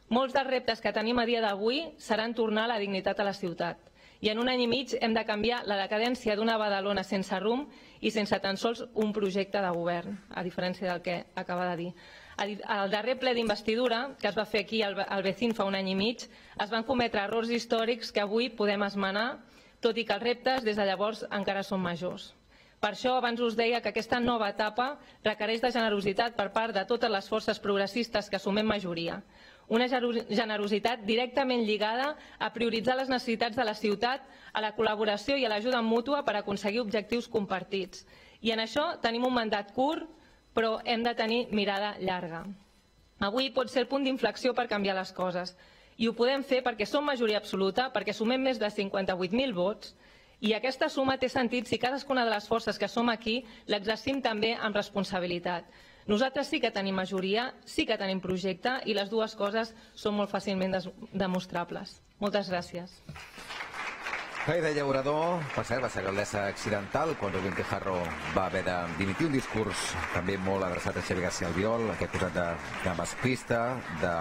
Molts dels reptes que tenim a dia d'avui seran tornar la dignitat a la ciutat. I en un any i mig hem de canviar la decadència d'una Badalona sense rumb i sense tan sols un projecte de govern, a diferència del que acaba de dir. Al darrer ple d'investidura, que es va fer aquí al Vecín fa un any i mig, es van cometre errors històrics que avui podem esmenar, tot i que els reptes des de llavors encara són majors. Per això abans us deia que aquesta nova etapa requereix de generositat per part de totes les forces progressistes que sumem majoria. Una generositat directament lligada a prioritzar les necessitats de la ciutat, a la col·laboració i a l'ajuda mútua per aconseguir objectius compartits. I en això tenim un mandat curt, però hem de tenir mirada llarga. Avui pot ser el punt d'inflexió per canviar les coses. I ho podem fer perquè som majoria absoluta, perquè sumem més de cinquanta-vuit mil vots, i aquesta suma té sentit si cadascuna de les forces que som aquí l'exercim també amb responsabilitat. Nosaltres sí que tenim majoria, sí que tenim projecte i les dues coses són molt fàcilment demostrables. Moltes gràcies. Aida Llaurador, per cert, va ser alcaldessa accidental quan Rubén Guijarro va haver de dimitir, un discurs també molt adreçat a Xavier García Albiol, aquest posat de, de masclista, de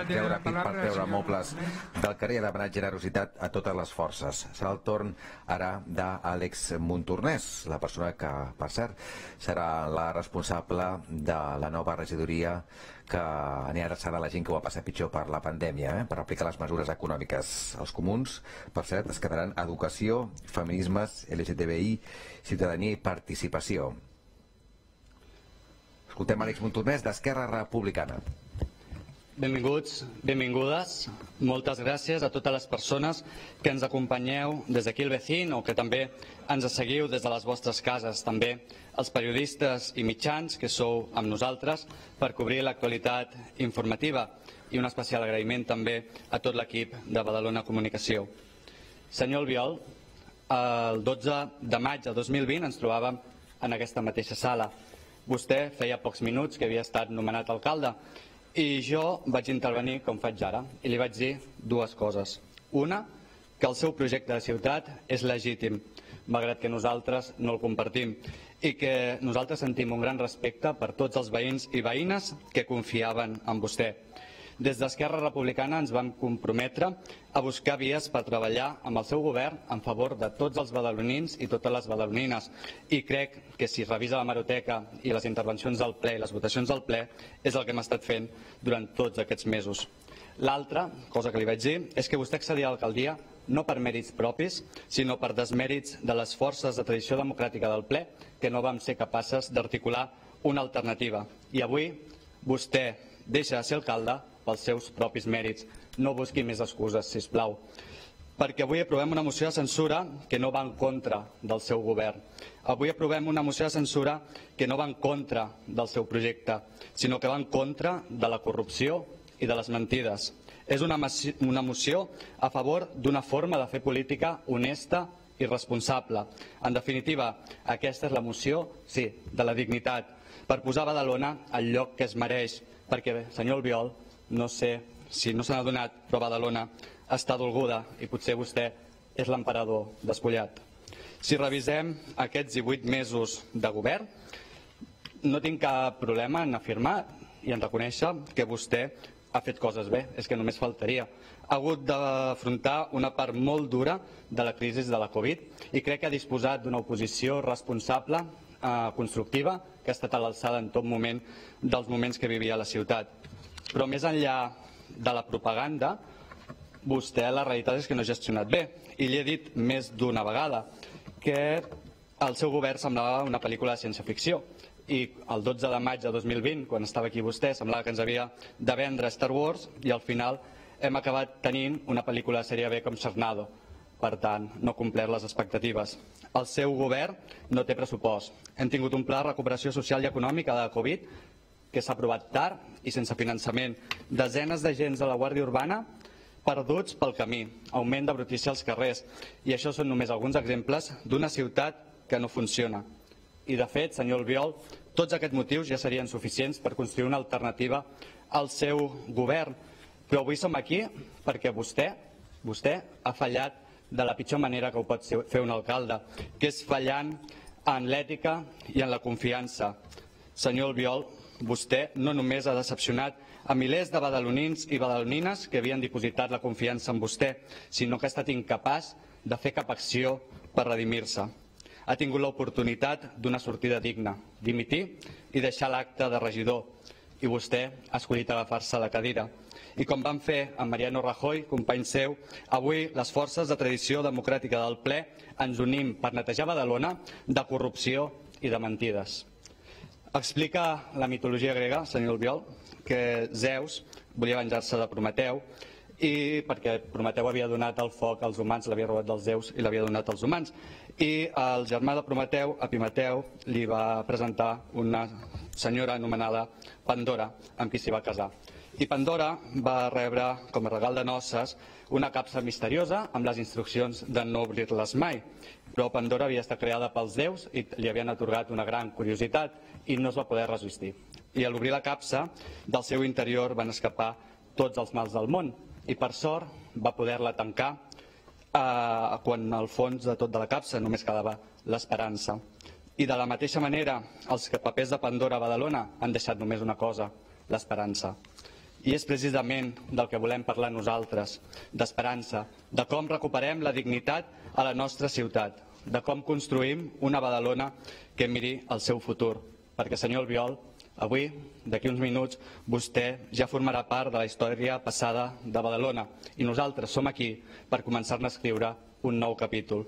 treure pit per treure mobles del carrer, de demanar generositat a totes les forces. Serà el torn ara d'Àlex Montornès, la persona que, per cert, serà la responsable de la nova regidoria que anirà adreçada a la gent que ho va passar pitjor per la pandèmia, eh? per aplicar les mesures econòmiques. Els comuns, per cert, es quedaran educació, feminismes, L G T B I, ciutadania i participació. Escoltem Àlex Montornès, d'Esquerra Republicana. Benvinguts, benvingudes. Moltes gràcies a totes les persones que ens acompanyeu des d'aquí al Vecín o que també ens seguiu des de les vostres cases. També els periodistes i mitjans que sou amb nosaltres per cobrir l'actualitat informativa. I un especial agraïment també a tot l'equip de Badalona Comunicació. Senyor Albiol, el dotze de maig de dos mil vint ens trobàvem en aquesta mateixa sala. Vostè feia pocs minuts que havia estat nomenat alcalde i jo vaig intervenir com faig ara i li vaig dir dues coses. Una, que el seu projecte de ciutat és legítim, malgrat que nosaltres no el compartim, i que nosaltres sentim un gran respecte per tots els veïns i veïnes que confiaven en vostè. Des d'Esquerra Republicana ens vam comprometre a buscar vies per treballar amb el seu govern en favor de tots els badalonins i totes les badalonines. I crec que si revisa l'hemeroteca i les intervencions del ple i les votacions del ple és el que hem estat fent durant tots aquests mesos. L'altra cosa que li vaig dir és que vostè accedia a l'alcaldia no per mèrits propis, sinó per desmèrits de les forces de tradició democràtica del ple que no vam ser capaces d'articular una alternativa. I avui vostè deixa de ser alcalde pels seus propis mèrits. No busqui més excuses, sisplau. Perquè avui aprovem una moció de censura que no va en contra del seu govern. Avui aprovem una moció de censura que no va en contra del seu projecte, sinó que va en contra de la corrupció i de les mentides. És una, una moció a favor d'una forma de fer política honesta i responsable. En definitiva, aquesta és la moció, sí, de la dignitat, per posar Badalona al lloc que es mereix, perquè, senyor Albiol, no sé si no se n'ha adonat, però Badalona està dolguda i potser vostè és l'emperador despullat. Si revisem aquests divuit mesos de govern, no tinc cap problema en afirmar i en reconèixer que vostè ha fet coses bé, és que només faltaria. Ha hagut d'afrontar una part molt dura de la crisi de la Covid i crec que ha disposat d'una oposició responsable, constructiva, que ha estat a l'alçada en tot moment dels moments que vivia la ciutat. Però més enllà de la propaganda, vostè la realitat és que no ha gestionat bé. I li he dit més d'una vegada que el seu govern semblava una pel·lícula de ciència-ficció. I el dotze de maig de dos mil vint, quan estava aquí vostè, semblava que ens havia de vendre Star Wars i al final hem acabat tenint una pel·lícula de sèrie B com Sharknado. Per tant, no ha complert les expectatives. El seu govern no té pressupost. Hem tingut un pla de recuperació social i econòmica de la Covid que s'ha aprovat tard i sense finançament. Desenes d'agents de la Guàrdia Urbana perduts pel camí, augment de brutícia als carrers. I això són només alguns exemples d'una ciutat que no funciona. I de fet, senyor Albiol, tots aquests motius ja serien suficients per construir una alternativa al seu govern. Però avui som aquí perquè vostè, vostè ha fallat de la pitjor manera que ho pot fer un alcalde, que és fallant en l'ètica i en la confiança. Senyor Albiol, vostè no només ha decepcionat a milers de badalonins i badalonines que havien dipositat la confiança en vostè, sinó que ha estat incapaç de fer cap acció per redimir-se. Ha tingut l'oportunitat d'una sortida digna, dimitir i deixar l'acte de regidor, i vostè ha escollit agafar-se a la cadira. I com van fer amb Mariano Rajoy, company seu, avui les forces de tradició democràtica del ple ens unim per netejar Badalona de corrupció i de mentides. Explica la mitologia grega, senyor Albiol, que Zeus volia venjar-se de Prometeu i perquè Prometeu havia donat el foc als humans, l'havia robat dels déus i l'havia donat als humans. I el germà de Prometeu, Epimeteu, li va presentar una senyora anomenada Pandora, amb qui s'hi va casar. I Pandora va rebre com a regal de noces una capsa misteriosa amb les instruccions de no obrir-les mai. Però Pandora havia estat creada pels déus i li havien atorgat una gran curiositat i no es va poder resistir. I a l'obrir la capsa, del seu interior van escapar tots els mals del món i per sort va poder-la tancar eh, quan al fons de tot de la capsa només quedava l'esperança. I de la mateixa manera, els papers de Pandora a Badalona han deixat només una cosa, l'esperança. I és precisament del que volem parlar nosaltres, d'esperança, de com recuperem la dignitat a la nostra ciutat, de com construïm una Badalona que miri el seu futur. Perquè, senyor Albiol, avui, d'aquí uns minuts, vostè ja formarà part de la història passada de Badalona i nosaltres som aquí per començar-ne a escriure un nou capítol.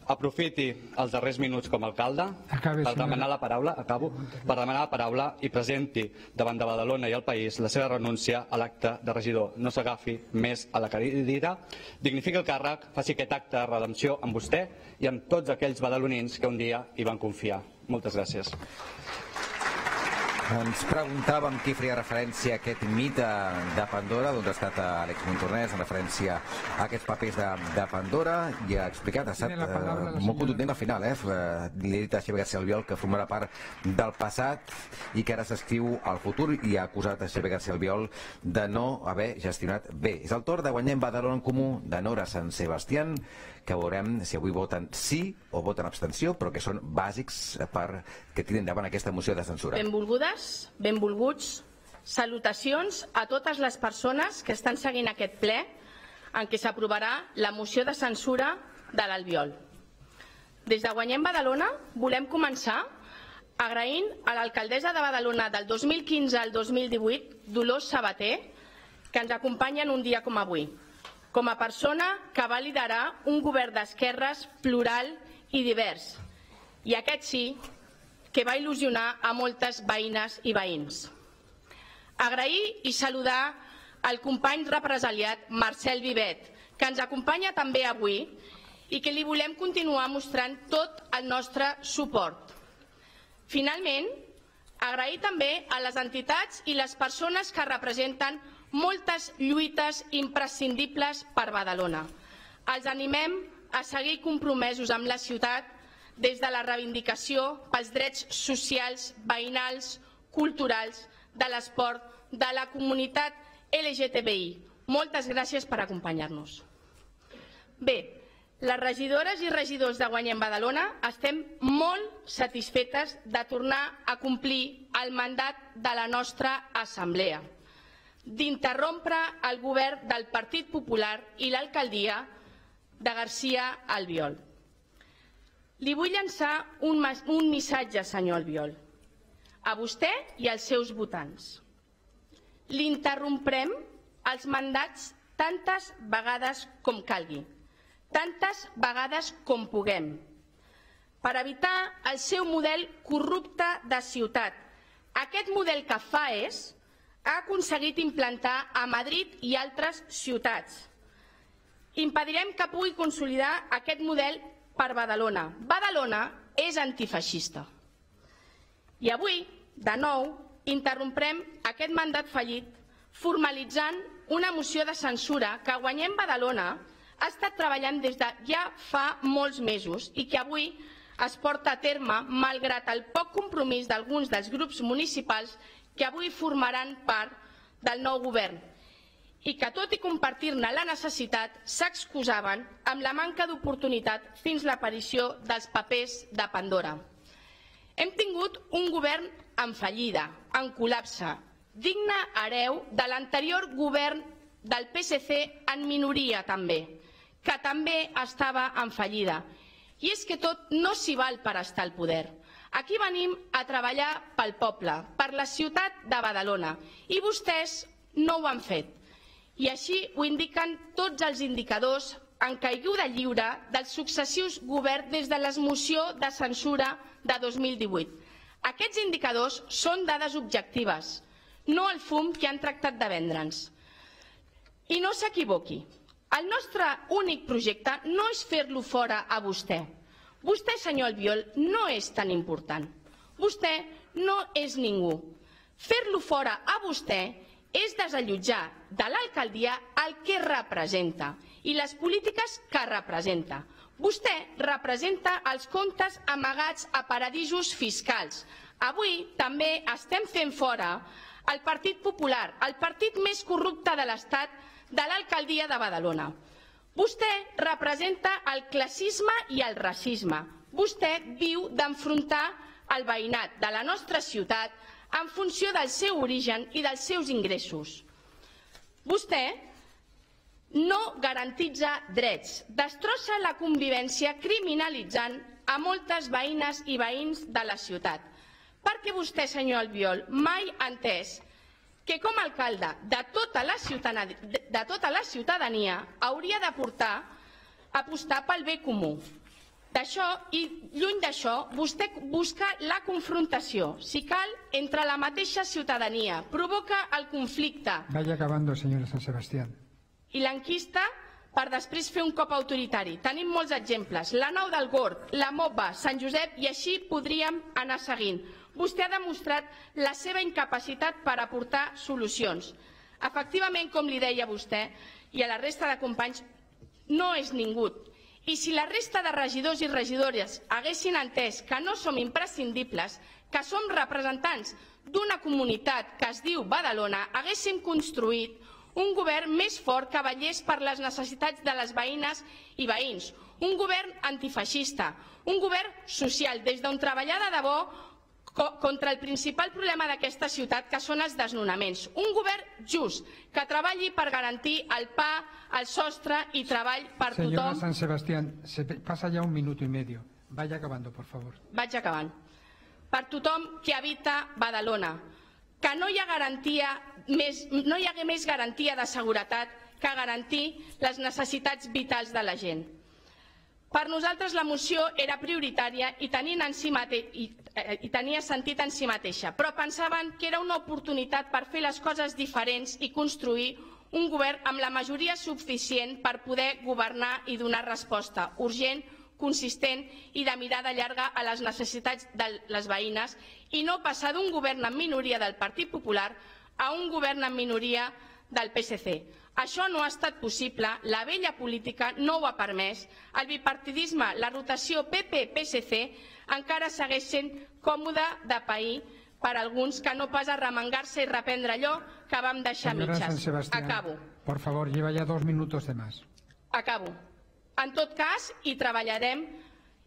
Aprofiti els darrers minuts com a alcalde per demanar la paraula, acabo, per demanar la paraula i presenti davant de Badalona i el país la seva renúncia a l'acte de regidor. No s'agafi més a la cadira, dignifiqui el càrrec, faci aquest acte de redempció amb vostè i amb tots aquells badalonins que un dia hi van confiar. Moltes gràcies. Ens preguntàvem qui faria referència a aquest mite de Pandora, doncs ha estat Àlex Montornès en referència a aquests papers de, de Pandora i ha explicat, ha estat eh, molt contundent al final, eh? Li ha dit a Xavier García Albiol que formarà part del passat i que ara s'escriu al futur i ha acusat a Xavier García Albiol de no haver gestionat bé. És el torn de Guanyem Badalona en Comú de Nora Sant Sebastián, que veurem si avui voten sí o voten abstenció, però que són bàsics per que tiren endavant aquesta moció de censura. Benvolgudes, benvolguts, salutacions a totes les persones que estan seguint aquest ple en què s'aprovarà la moció de censura de l'Albiol. Des de Guanyem Badalona volem començar agraint a l'alcaldessa de Badalona del dos mil quinze al dos mil divuit, Dolors Sabater, que ens acompanya en un dia com avui, com a persona que va liderar un govern d'esquerres plural i divers, i aquest sí que va il·lusionar a moltes veïnes i veïns. Agrair i saludar el company represaliat Marcel Vivet, que ens acompanya també avui i que li volem continuar mostrant tot el nostre suport. Finalment, agrair també a les entitats i les persones que representen moltes lluites imprescindibles per Badalona. Els animem a seguir compromesos amb la ciutat des de la reivindicació pels drets socials, veïnals, culturals, de l'esport, de la comunitat L G T B I. Moltes gràcies per acompanyar-nos. Bé, les regidores i regidors de Guanyem Badalona estem molt satisfetes de tornar a complir el mandat de la nostra assemblea, d'interrompre el govern del Partit Popular i l'alcaldia de García Albiol. Li vull llançar un, un missatge, senyor Albiol, a vostè i als seus votants. L'interromprem els mandats tantes vegades com calgui, tantes vegades com puguem, per evitar el seu model corrupte de ciutat. Aquest model que fa és ha aconseguit implantar a Madrid i altres ciutats. Impedirem que pugui consolidar aquest model per Badalona. Badalona és antifeixista. I avui, de nou, interromprem aquest mandat fallit formalitzant una moció de censura que Guanyem Badalona ha estat treballant des de ja fa molts mesos i que avui es porta a terme malgrat el poc compromís d'alguns dels grups municipals que avui formaran part del nou govern i que, tot i compartir-ne la necessitat, s'excusaven amb la manca d'oportunitat fins l'aparició dels papers de Pandora. Hem tingut un govern en fallida, en col·lapse, digne hereu de l'anterior govern del P S C en minoria també, que també estava en fallida. I és que tot no s'hi val per estar al poder. Aquí venim a treballar pel poble, per la ciutat de Badalona, i vostès no ho han fet. I així ho indiquen tots els indicadors en caiguda lliure dels successius governs des de l'esmoció de censura de dos mil divuit. Aquests indicadors són dades objectives, no el fum que han tractat de vendre'ns. I no s'equivoqui, el nostre únic projecte no és fer-lo fora a vostè. Vostè, senyor Albiol, no és tan important. Vostè no és ningú. Fer-lo fora a vostè és desallotjar de l'alcaldia el que representa i les polítiques que representa. Vostè representa els comptes amagats a paradisos fiscals. Avui també estem fent fora el Partit Popular, el partit més corrupte de l'Estat, de l'alcaldia de Badalona. Vostè representa el classisme i el racisme. Vostè viu d'enfrontar el veïnat de la nostra ciutat en funció del seu origen i dels seus ingressos. Vostè no garantitza drets, destrossa la convivència criminalitzant a moltes veïnes i veïns de la ciutat. Perquè vostè, senyor Albiol, mai ha entès que com a alcalde de tota la ciutadania, de tota la ciutadania hauria de portar, apostar pel bé comú. D'això, i lluny d'això, vostè busca la confrontació, si cal, entre la mateixa ciutadania, provoca el conflicte. Vaya acabando, señora San Sebastián. I l'enquista per després fer un cop autoritari. Tenim molts exemples. La Nou del Gorg, la Mopa, Sant Josep, i així podríem anar seguint. Vostè ha demostrat la seva incapacitat per aportar solucions. Efectivament, com li deia vostè, i a la resta de companys, no és ningú. I si la resta de regidors i regidores haguessin entès que no som imprescindibles, que som representants d'una comunitat que es diu Badalona, haguéssim construït un govern més fort que vetllés per les necessitats de les veïnes i veïns, un govern antifeixista, un govern social, des d'on treballar de debò contra el principal problema d'aquesta ciutat, que són els desnonaments. Un govern just, que treballi per garantir el pa, el sostre i treball per tothom. Señora San Sebastián, se pasa ya un minuto y medio. Vaya acabando, por favor. Vaig acabant. Per tothom que habita Badalona, que no hi ha garantia més, no hi hagué més garantia de seguretat que garantir les necessitats vitals de la gent. Per nosaltres la moció era prioritària i, en si mate... I, i tenia sentit en si mateixa, però pensaven que era una oportunitat per fer les coses diferents i construir un govern amb la majoria suficient per poder governar i donar resposta urgent, consistent i de mirada llarga a les necessitats de les veïnes, i no passar d'un govern en minoria del Partit Popular a un govern en minoria del P S C. Això no ha estat possible, la vella política no ho ha permès, el bipartidisme, la rotació P P P S C encara segueix sent còmode de pair per alguns, que no pas arremangar-se i reprendre allò que vam deixar mitges. Acabo. Por favor, lleva ya dos minutos de más. Acabo. En tot cas, hi treballarem,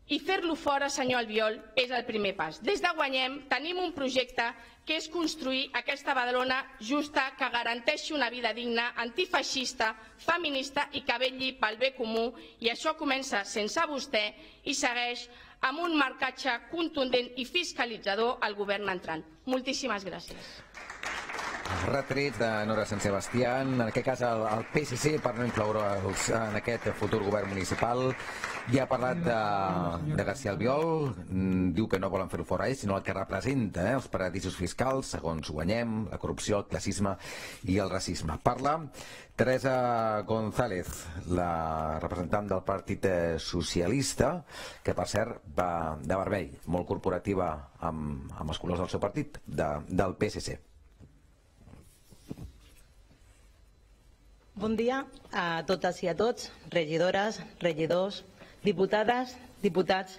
i fer-lo fora, senyor Albiol, és el primer pas. Des de Guanyem tenim un projecte que és construir aquesta Badalona justa, que garanteixi una vida digna, antifeixista, feminista i que vetlli pel bé comú, i això comença sense vostè i segueix amb un marcatge contundent i fiscalitzador al govern entrant. Moltíssimes gràcies. Retrets de Nora Sant Sebastián, en aquest cas el, el P S C, per no incloure'ls en aquest futur govern municipal. Ja ha parlat de, de García Albiol, diu que no volen fer-ho fora ells, sinó el que representa eh, els paradisos fiscals, segons Guanyem, la corrupció, el classisme i el racisme. Parla Teresa González, la representant del Partit Socialista, que per cert va de vermell, molt corporativa amb, amb els colors del seu partit, de, del P S C. Bon dia a totes i a tots, regidores, regidors, diputades, diputats,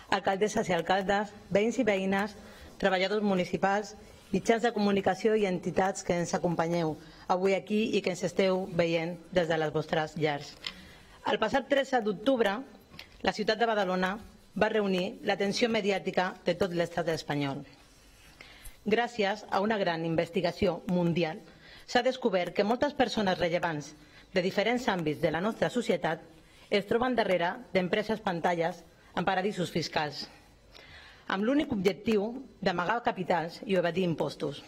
alcaldesses i alcaldes, veïns i veïnes, treballadors municipals, mitjans de comunicació i entitats que ens acompanyeu avui aquí i que ens esteu veient des de les vostres llars. El passat tretze d'octubre, la ciutat de Badalona va reunir l'atenció mediàtica de tot l'estat espanyol. Gràcies a una gran investigació mundial, s'ha descobert que moltes persones rellevants de diferents àmbits de la nostra societat es troben darrere d'empreses pantalles en paradisos fiscals, amb l'únic objectiu d'amagar capitals i evadir impostos.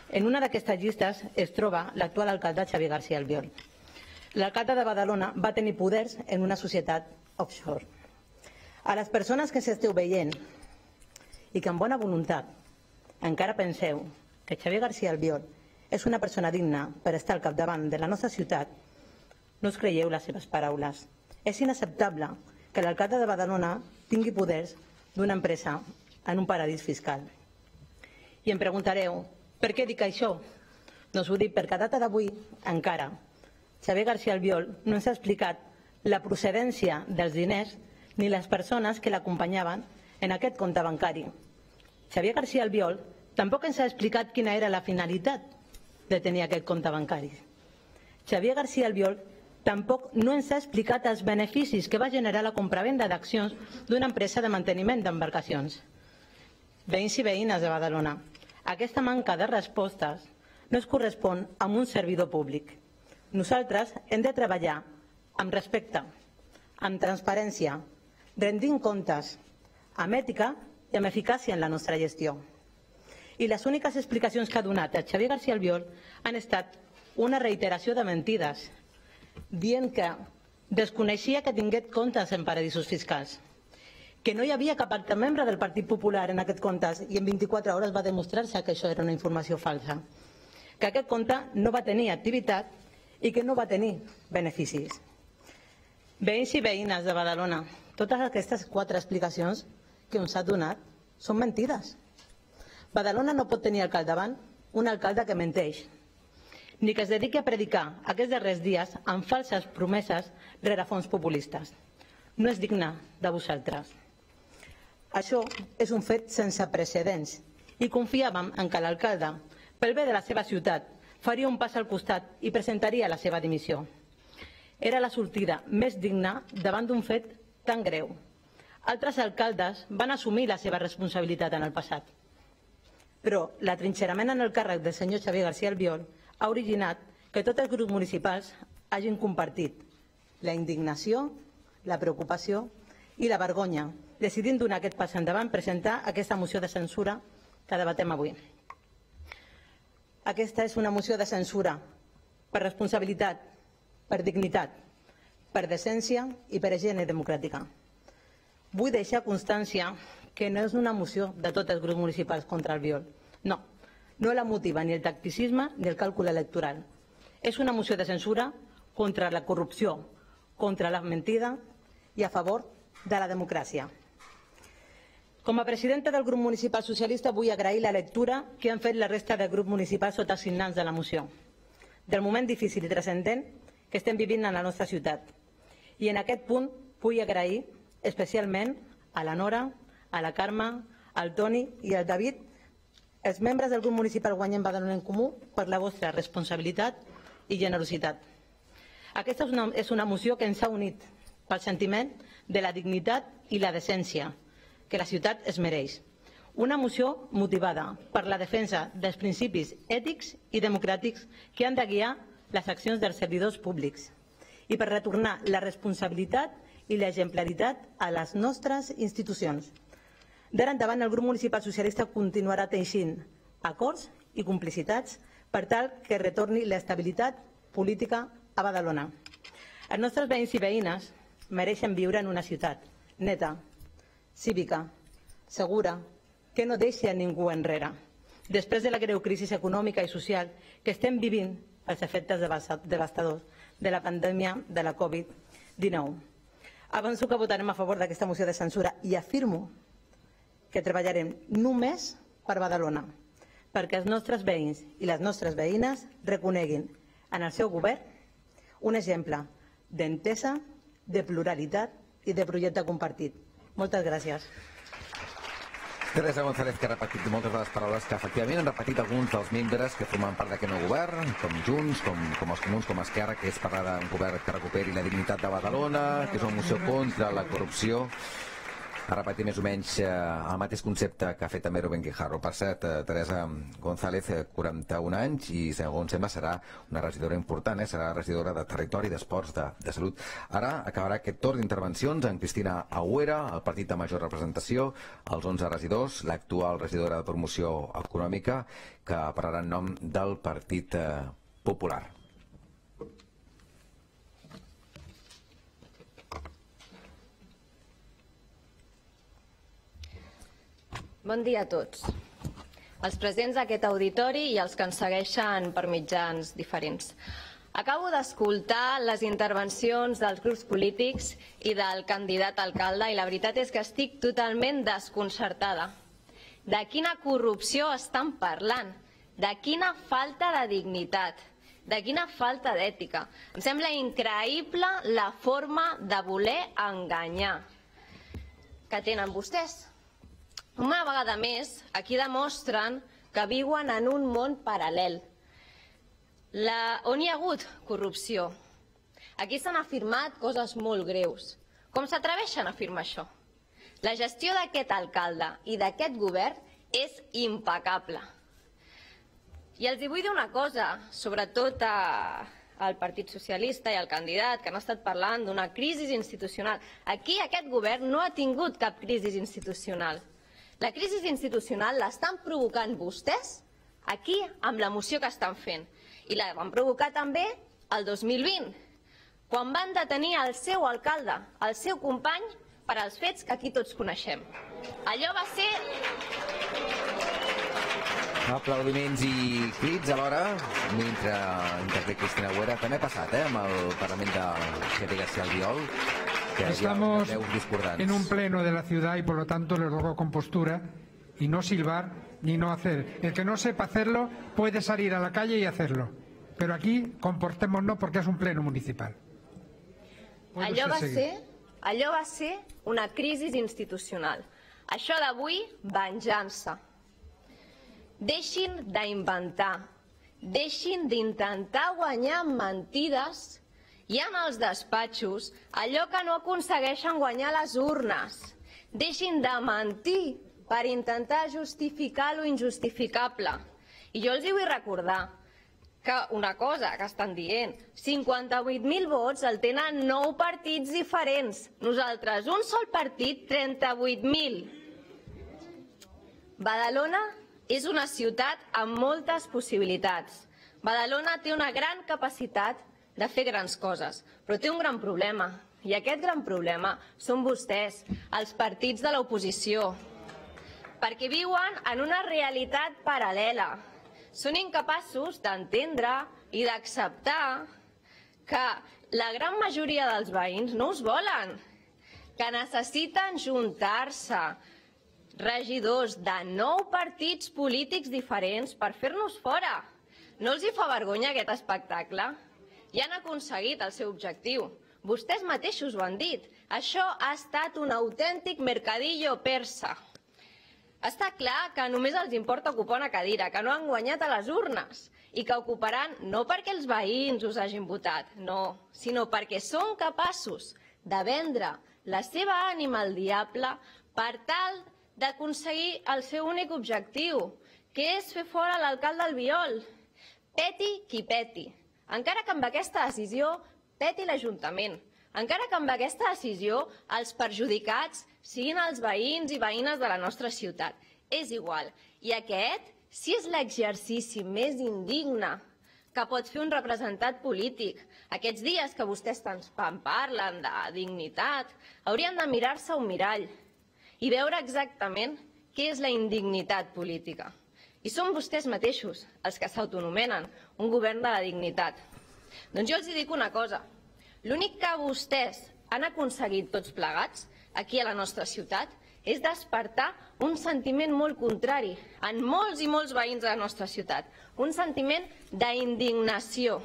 En una d'aquestes llistes es troba l'actual alcalde Xavier García Albiol. L'alcalde de Badalona va tenir poders en una societat offshore. A les persones que s'esteu veient i que amb bona voluntat encara penseu que Xavier García Albiol és una persona digna per estar al capdavant de la nostra ciutat, no us creieu les seves paraules. És inacceptable que l'alcalde de Badalona tingui poders d'una empresa en un paradís fiscal. I em preguntareu, per què dic això? Doncs ho dic perquè a data d'avui, encara, Xavier García Albiol no ens ha explicat la procedència dels diners ni les persones que l'acompanyaven en aquest compte bancari. Xavier García Albiol tampoc ens ha explicat quina era la finalitat de tenir aquest compte bancari. Xavier García Albiol tampoc no ens ha explicat els beneficis que va generar la compravenda d'accions d'una empresa de manteniment d'embarcacions. Veïns i veïnes de Badalona, aquesta manca de respostes no es correspon amb un servidor públic. Nosaltres hem de treballar amb respecte, amb transparència, rendint comptes, amb ètica i amb eficàcia en la nostra gestió. I les úniques explicacions que ha donat el Xavier García Albiol han estat una reiteració de mentides, dient que desconeixia que tingués comptes en paradisos fiscals. que no hi havia cap altre membre del Partit Popular en aquest compte i en vint-i-quatre hores va demostrar-se que això era una informació falsa, que aquest compte no va tenir activitat i que no va tenir beneficis. Veïns i veïnes de Badalona, totes aquestes quatre explicacions que ens ha donat són mentides. Badalona no pot tenir al capdavant un alcalde que menteix, ni que es dediqui a predicar aquests darrers dies amb falses promeses rere fons populistes. No és digne de vosaltres. Això és un fet sense precedents i confiàvem en que l'alcalde, pel bé de la seva ciutat, faria un pas al costat i presentaria la seva dimissió. Era la sortida més digna davant d'un fet tan greu. Altres alcaldes van assumir la seva responsabilitat en el passat. Però l'atrinxerament en el càrrec del senyor Xavier García Albiol ha originat que tots els grups municipals hagin compartit la indignació, la preocupació i la vergonya, decidint donar aquest pas endavant, presentar aquesta moció de censura que debatem avui. Aquesta és una moció de censura per responsabilitat, per dignitat, per decència i per higiene democràtica. Vull deixar constància que no és una moció de tots els grups municipals contra Albiol. No, no la motiva ni el tacticisme ni el càlcul electoral. És una moció de censura contra la corrupció, contra la mentida i a favor de la democràcia. Com a presidenta del grup municipal socialista vull agrair la lectura que han fet la resta del grup municipal sota signants de la moció, del moment difícil i transcendent que estem vivint en la nostra ciutat. I en aquest punt vull agrair especialment a la Nora, a la Carme, al Toni i al David, els membres del grup municipal Guanyem Badalona en Comú, per la vostra responsabilitat i generositat. Aquesta és una, és una moció que ens ha unit pel sentiment de la dignitat i la decència que la ciutat es mereix. Una moció motivada per la defensa dels principis ètics i democràtics que han de guiar les accions dels servidors públics i per retornar la responsabilitat i l'exemplaritat a les nostres institucions. D'ara endavant, el grup municipal socialista continuarà teixint acords i complicitats per tal que retorni l'estabilitat política a Badalona. Els nostres veïns i veïnes mereixen viure en una ciutat neta, cívica, segura, que no deixi a ningú enrere. Després de la greu crisi econòmica i social que estem vivint els efectes devastadors de la pandèmia de la Covid dinou. Avanço que votarem a favor d'aquesta moció de censura i afirmo que treballarem només per Badalona, perquè els nostres veïns i les nostres veïnes reconeguin en el seu govern un exemple d'entesa, de pluralitat i de projecte compartit. Moltes gràcies. Teresa González, que ha repetit moltes de les paraules que efectivament han repetit alguns dels membres que formen part d'aquest nou govern, com Junts, com, com els Comuns, com Esquerra, que és parlar d'un govern que recuperi la dignitat de Badalona, que és una moció contra la corrupció. Ha repetit més o menys eh, el mateix concepte que ha fet també Rubén Guijarro. Per cert, eh, Teresa González, eh, quaranta-un anys, i segons sembla serà una regidora important, eh? Serà regidora de Territori, d'Esports, de, de Salut. Ara acabarà aquest torn d'intervencions en Cristina Agüera, el partit de major representació, els onze regidors, l'actual regidora de Promoció Econòmica, que parlarà en nom del Partit eh, Popular. Bon dia a tots, els presents d'aquest auditori i els que ens segueixen per mitjans diferents. Acabo d'escoltar les intervencions dels grups polítics i del candidat a alcalde i la veritat és que estic totalment desconcertada. De quina corrupció estan parlant? De quina falta de dignitat? De quina falta d'ètica? Em sembla increïble la forma de voler enganyar que tenen vostès. Una vegada més, aquí demostren que viuen en un món paral·lel, la, on hi ha hagut corrupció. Aquí s'han afirmat coses molt greus. Com s'atreveixen a afirmar això? La gestió d'aquest alcalde i d'aquest govern és impecable. I els hi vull dir una cosa, sobretot a, al Partit Socialista i al candidat, que han estat parlant d'una crisi institucional. Aquí aquest govern no ha tingut cap crisi institucional. La crisi institucional l'estan provocant vostès aquí amb la moció que estan fent. I la van provocar també el dos mil vint, quan van detenir el seu alcalde, el seu company, per als fets que aquí tots coneixem. Allò va ser... Aplaudiments i crits alhora mentre intervé Cristina Agüera. També ha passat eh, amb el Parlament de Xavier García Albiol, que estamos hi ha veus discordants. En un pleno de la ciudad y por lo tanto le ruego compostura y no silbar ni no hacer. El que no sepa hacerlo puede salir a la calle y hacerlo, pero aquí comportémonos porque es un pleno municipal. Allò va ser, allò va ser una crisi institucional. Això d'avui, venjança. Deixin d'inventar, deixin d'intentar guanyar amb mentides i en els despatxos allò que no aconsegueixen guanyar les urnes. Deixin de mentir per intentar justificar lo injustificable. I jo els hi vull recordar que una cosa que estan dient, cinquanta-vuit mil vots el tenen nou partits diferents. Nosaltres, un sol partit, trenta-vuit mil. Badalona és una ciutat amb moltes possibilitats. Badalona té una gran capacitat de fer grans coses, però té un gran problema. I aquest gran problema són vostès, els partits de l'oposició, perquè viuen en una realitat paral·lela. Són incapaços d'entendre i d'acceptar que la gran majoria dels veïns no us volen, que necessiten juntar-se, regidors de nou partits polítics diferents per fer-nos fora. No els hi fa vergonya aquest espectacle? Ja han aconseguit el seu objectiu. Vostès mateixos ho han dit. Això ha estat un autèntic mercadillo persa. Està clar que només els importa ocupar una cadira, que no han guanyat a les urnes i que ocuparan no perquè els veïns us hagin votat, no, sinó perquè són capaços de vendre la seva ànima al diable per tal d'aconseguir el seu únic objectiu, que és fer fora l'alcalde Albiol. Peti qui peti. Encara que amb aquesta decisió peti l'Ajuntament. Encara que amb aquesta decisió els perjudicats siguin els veïns i veïnes de la nostra ciutat. És igual. I aquest, si és l'exercici més indigne que pot fer un representant polític, aquests dies que vostès tant parlen de dignitat, haurien de mirar-se un mirall i veure exactament què és la indignitat política. I són vostès mateixos els que s'autonomenen un govern de la dignitat. Doncs jo els dic una cosa. L'únic que vostès han aconseguit tots plegats aquí a la nostra ciutat és despertar un sentiment molt contrari en molts i molts veïns de la nostra ciutat. Un sentiment d'indignació.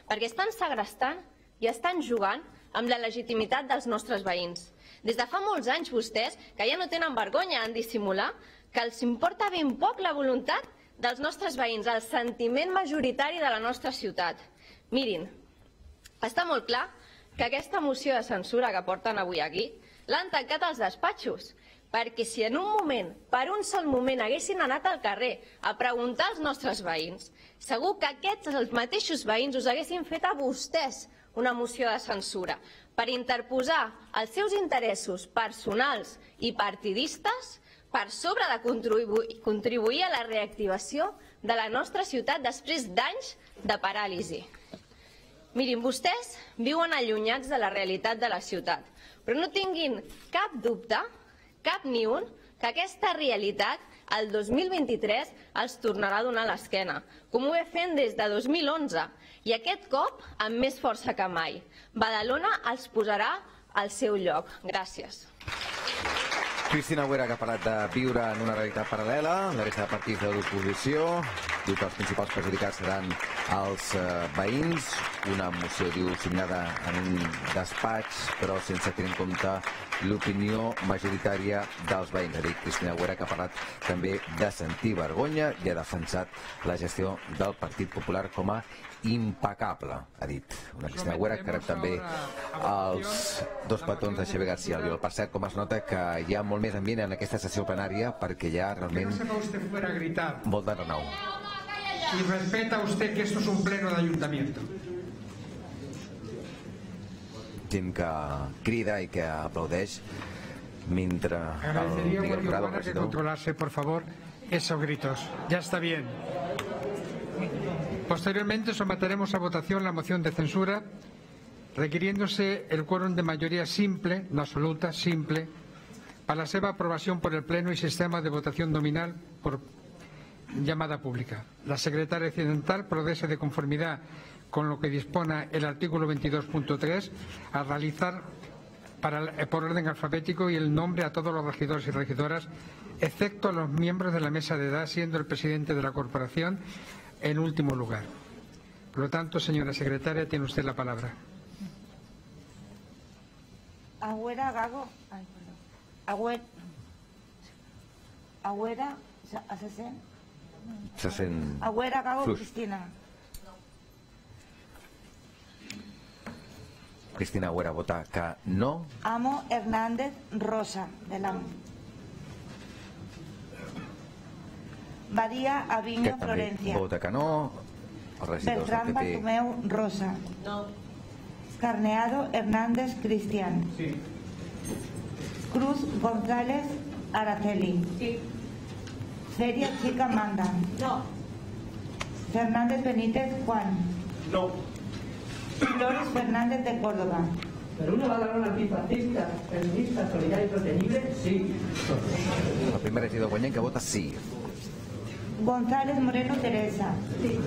Perquè estan segrestant i estan jugant amb la legitimitat dels nostres veïns. Des de fa molts anys vostès, que ja no tenen vergonya en dissimular, que els importa ben poc la voluntat dels nostres veïns, el sentiment majoritari de la nostra ciutat. Mirin, està molt clar que aquesta moció de censura que porten avui aquí l'han tancat als despatxos, perquè si en un moment, per un sol moment, haguessin anat al carrer a preguntar als nostres veïns, segur que aquests, els mateixos veïns, us haguessin fet a vostès una moció de censura per interposar els seus interessos personals i partidistes per sobre de contribuir, contribuir a la reactivació de la nostra ciutat després d'anys de paràlisi. Mirin, vostès viuen allunyats de la realitat de la ciutat, però no tinguin cap dubte, cap ni un, que aquesta realitat el dos mil vint-i-tres els tornarà a donar l'esquena, com ho ve fent des de dos mil onze, i aquest cop amb més força que mai. Badalona els posarà al seu lloc. Gràcies. Cristina Agüera, que ha parlat de viure en una realitat paral·lela, la resta de partits de l'oposició, diu que els principals perjudicats seran els eh, veïns, una moció, diu, signada en un despatx, però sense tenir en compte l'opinió majoritària dels veïns. Ha dit Cristina Agüera, que ha parlat també de sentir vergonya i ha defensat la gestió del Partit Popular com a impecable, ha dit. Una Cristina Agüera que rep també els dos petons de Xavier García Albiol. Per cert, com es nota que hi ha molt més ambient en aquesta sessió plenària perquè hi ha realment molt de renou. Y respeta usted que esto es un pleno de ayuntamiento. Gent que crida i que aplaudeix mentre el Miguel Jurado, el regidor... que controlarse, por favor, esos gritos. Ya está bien. Posteriormente someteremos a votación la moción de censura requiriéndose el quórum de mayoría simple, no absoluta, simple, para la seva aprobación por el Pleno y sistema de votación nominal por llamada pública. La secretaria accidental procede de conformidad con lo que dispone el artículo veintidós punto tres a realizar para, por orden alfabético y el nombre a todos los regidores y regidoras, excepto a los miembros de la mesa de edad, siendo el presidente de la corporación en último lugar. Por lo tanto, señora secretaria, tiene usted la palabra. Agüera Gago. Ay, perdón. Agüera. Agüera. ¿Se sent? Se sent... Agüera Gago fluix. Cristina. Cristina Agüera vota que no. Amo Hernández Rosa, de l'Amo. Badia Aviño Que també Florencia. vota que no. Els regidors del Beltrán P P. Bartomeu Rosa. No. Carneado Hernández Cristian. Sí. Cruz González Araceli. Sí. Feria Chica Manda. No. Fernández Benítez Juan. No. Flores Fernández de Córdoba. Pero una Badalona antifascista, feminista, solidaria y sostenible, sí. El primer regidor guanyent que vota sí. González Moreno Teresa. Sí.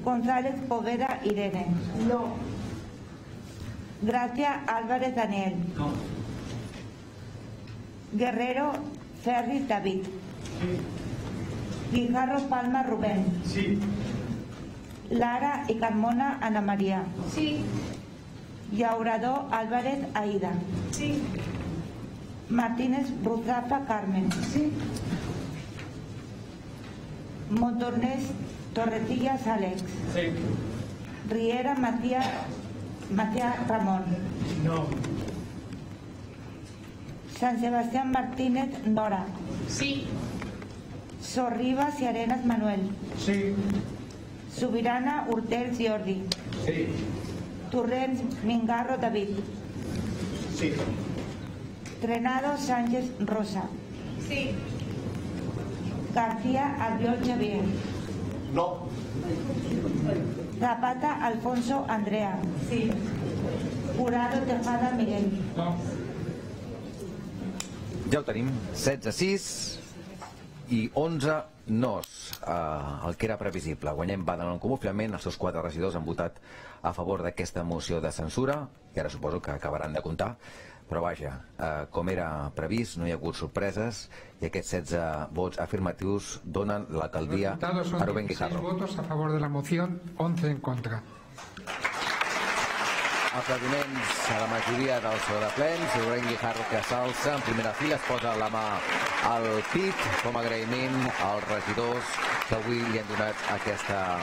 González Poveda Irene. No. Gracia Álvarez Daniel. No. Guerrero Ferris David. Sí. Guijarro Palma Rubén. Sí. Lara y Carmona Ana María. Sí. Llaurador Álvarez Aida. Sí. Martínez Ruzafa Carmen. Sí. Montornés Torrecillas Alex. Sí. Riera Matías Matías Ramón. No. San Sebastián Martínez Nora. Sí. Sorribas y Arenas Manuel. Sí. Subirana Urtels Jordi. Sí. Torrents Mingarro David. Sí. Trenado Sánchez Rosa. Sí. García Albiol Xavier. No. Zapata Alfonso Andrea. Sí. Jurado Tejada Miguel. No. Ja ho tenim. setze sis i onze nos. Uh, el que era previsible. Guanyem Badalona en Comú. Finalment, els seus quatre regidors han votat a favor d'aquesta moció de censura, i ara suposo que acabaran de comptar. Però vaja, eh, com era previst, no hi ha hagut sorpreses i aquests setze vots afirmatius donen l'alcaldia a Rubén Guijarro. seis votos a favor de la moción, once en contra. Aplaudiments a la majoria del saló de plens. Rubén Guijarro, que s'alça en primera fila, es posa la mà al pit com a agraïment als regidors que avui li han donat aquesta,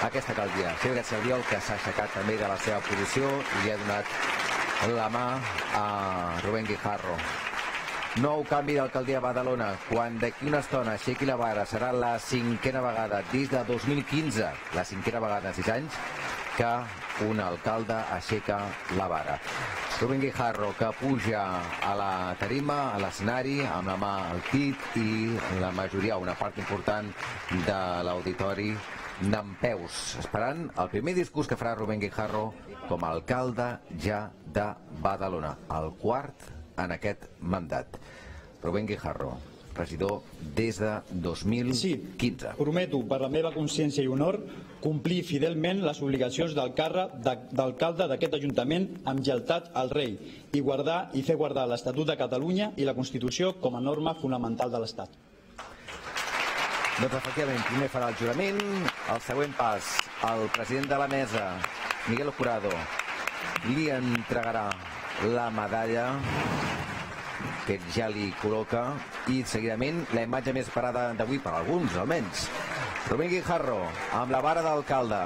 aquesta alcaldia. Xavier García Albiol, que s'ha aixecat també de la seva posició i li ha donat la mà a Rubén Guijarro. Nou canvi d'alcaldia a Badalona. Quan d'aquí una estona aixequi la vara, serà la cinquena vegada des de dos mil quinze, la cinquena vegada en sis anys, que un alcalde aixeca la vara. Rubén Guijarro, que puja a la tarima, a l'escenari, amb la mà al pit, i la majoria, una part important de l'auditori, dempeus, esperant el primer discurs que farà Rubén Guijarro com a alcalde ja de Badalona, el quart en aquest mandat. Rubén Guijarro, regidor des de dos mil quinze. Sí, prometo, per la meva consciència i honor, complir fidelment les obligacions del càrrec d'alcalde d'aquest Ajuntament amb lleialtat al rei i guardar i fer guardar l'Estatut de Catalunya i la Constitució com a norma fonamental de l'Estat. Doncs efectivament, primer farà el jurament, el següent pas, el president de la mesa, Miguel Jurado, li entregarà la medalla que ja li col·loca i seguidament la imatge més esperada d'avui per alguns, almenys. Rubén Guijarro, amb la vara d'alcalde,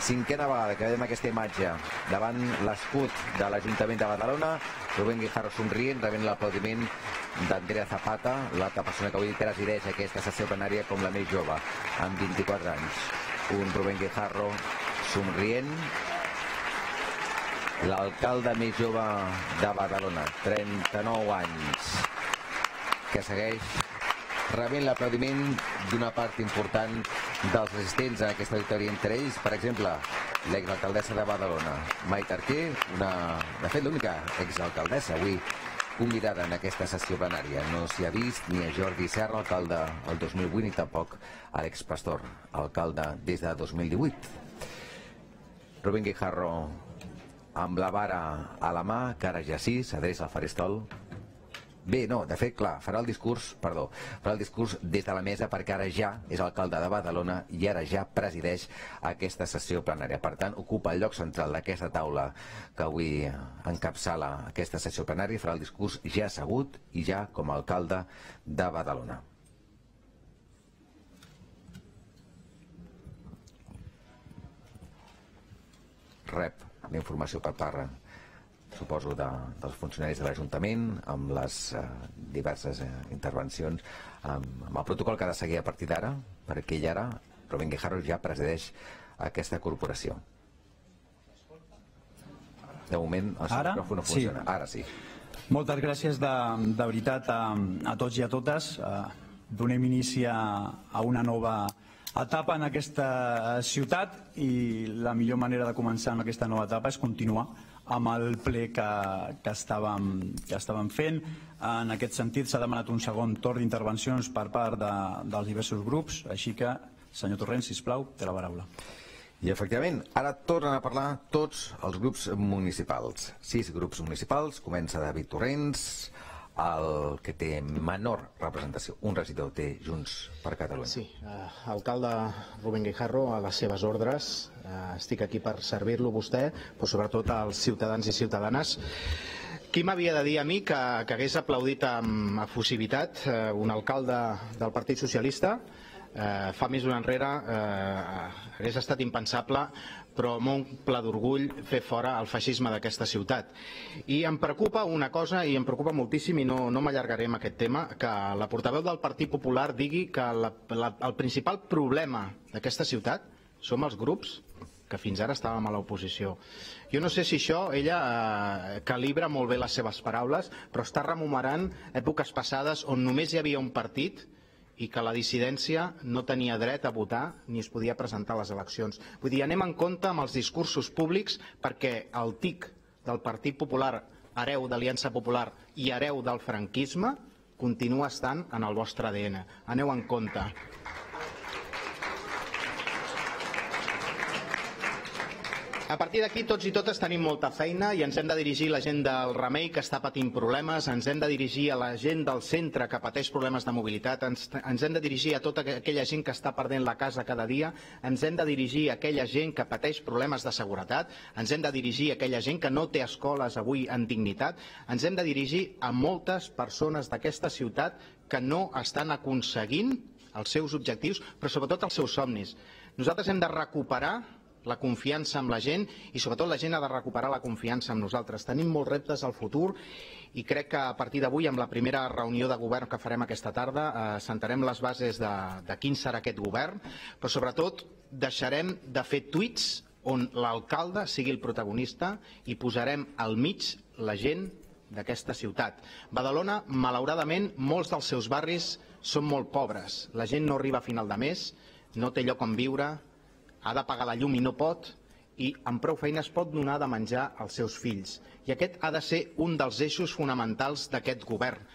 cinquena vegada que veiem aquesta imatge davant l'escut de l'Ajuntament de Badalona. Rubén Guijarro somrient, rebent l'aplaudiment d'Andrea Zapata, l'altra persona que avui presideix aquesta sessió plenària com la més jove, amb vint-i-quatre anys. Un Rubén Guijarro somrient, l'alcalde més jove de Badalona, trenta-nou anys, que segueix rebent l'aplaudiment d'una part important dels assistents a aquesta victòria, entre ells, per exemple, l'exalcaldessa de Badalona, Maite Arquer, una, de fet, l'única exalcaldessa avui convidada en aquesta sessió plenària. No s'hi ha vist ni a Jordi Serra, alcalde el dos mil vuit, ni tampoc a l'expastor, alcalde des de dos mil divuit. Rubén Guijarro, amb la vara a la mà, que ara ja sí, s'adreça al faristol. Bé, no, de fet, clar, farà el discurs, perdó, farà el discurs des de la mesa perquè ara ja és alcalde de Badalona i ara ja presideix aquesta sessió plenària. Per tant, ocupa el lloc central d'aquesta taula que avui encapçala aquesta sessió plenària i farà el discurs ja assegut i ja com a alcalde de Badalona. Rep la informació per part, suposo, de, dels funcionaris de l'Ajuntament, amb les eh, diverses eh, intervencions, amb, amb el protocol que ha de seguir a partir d'ara, perquè ell ara, Rubén Guijarro, ja presideix aquesta corporació. De moment, el seu micròfon no funciona. Sí. Ara sí. Moltes gràcies de, de veritat a, a tots i a totes. Eh, donem inici a, a una nova etapa en aquesta ciutat i la millor manera de començar en aquesta nova etapa és continuar amb el ple que, que, estàvem, que estàvem fent. En aquest sentit s'ha demanat un segon torn d'intervencions per part de, dels diversos grups, així que, senyor Torrent, sisplau, té la paraula. I efectivament, ara tornen a parlar tots els grups municipals. Sis grups municipals, comença David Torrents, el que té menor representació, un regidor té Junts per Catalunya. Sí, eh, alcalde Rubén Guijarro, a les seves ordres, eh, estic aquí per servir-lo vostè, però sobretot als ciutadans i ciutadanes. Qui m'havia de dir a mi que, que hagués aplaudit amb efusivitat eh, un alcalde del Partit Socialista? Eh, fa més d'un enrere eh, hagués estat impensable, però m'omple d'orgull fer fora el feixisme d'aquesta ciutat. I em preocupa una cosa, i em preocupa moltíssim, i no, no m'allargaré amb aquest tema, que la portaveu del Partit Popular digui que la, la, el principal problema d'aquesta ciutat som els grups que fins ara estàvem a l'oposició. Jo no sé si això ella eh, calibra molt bé les seves paraules, però està rememorant èpoques passades on només hi havia un partit i que la dissidència no tenia dret a votar ni es podia presentar a les eleccions. Vull dir, anem en compte amb els discursos públics perquè el tic del Partit Popular, hereu d'Aliança Popular i hereu del franquisme, continua estant en el vostre A D N. Aneu en compte. A partir d'aquí tots i totes tenim molta feina i ens hem de dirigir a la gent del Remei que està patint problemes, ens hem de dirigir a la gent del centre que pateix problemes de mobilitat, ens, ens hem de dirigir a tota aquella gent que està perdent la casa cada dia, ens hem de dirigir a aquella gent que pateix problemes de seguretat, ens hem de dirigir a aquella gent que no té escoles avui en dignitat, ens hem de dirigir a moltes persones d'aquesta ciutat que no estan aconseguint els seus objectius, però sobretot els seus somnis. Nosaltres hem de recuperar la confiança amb la gent i sobretot la gent ha de recuperar la confiança amb nosaltres. Tenim molts reptes al futur i crec que a partir d'avui, amb la primera reunió de govern que farem aquesta tarda, eh, sentarem les bases de, de quin serà aquest govern, però sobretot deixarem de fer tuits on l'alcalde sigui el protagonista i posarem al mig la gent d'aquesta ciutat. Badalona, malauradament, molts dels seus barris són molt pobres. La gent no arriba a final de mes, no té lloc on viure, ha de pagar la llum i no pot, i amb prou feines pot donar de menjar als seus fills. I aquest ha de ser un dels eixos fonamentals d'aquest govern.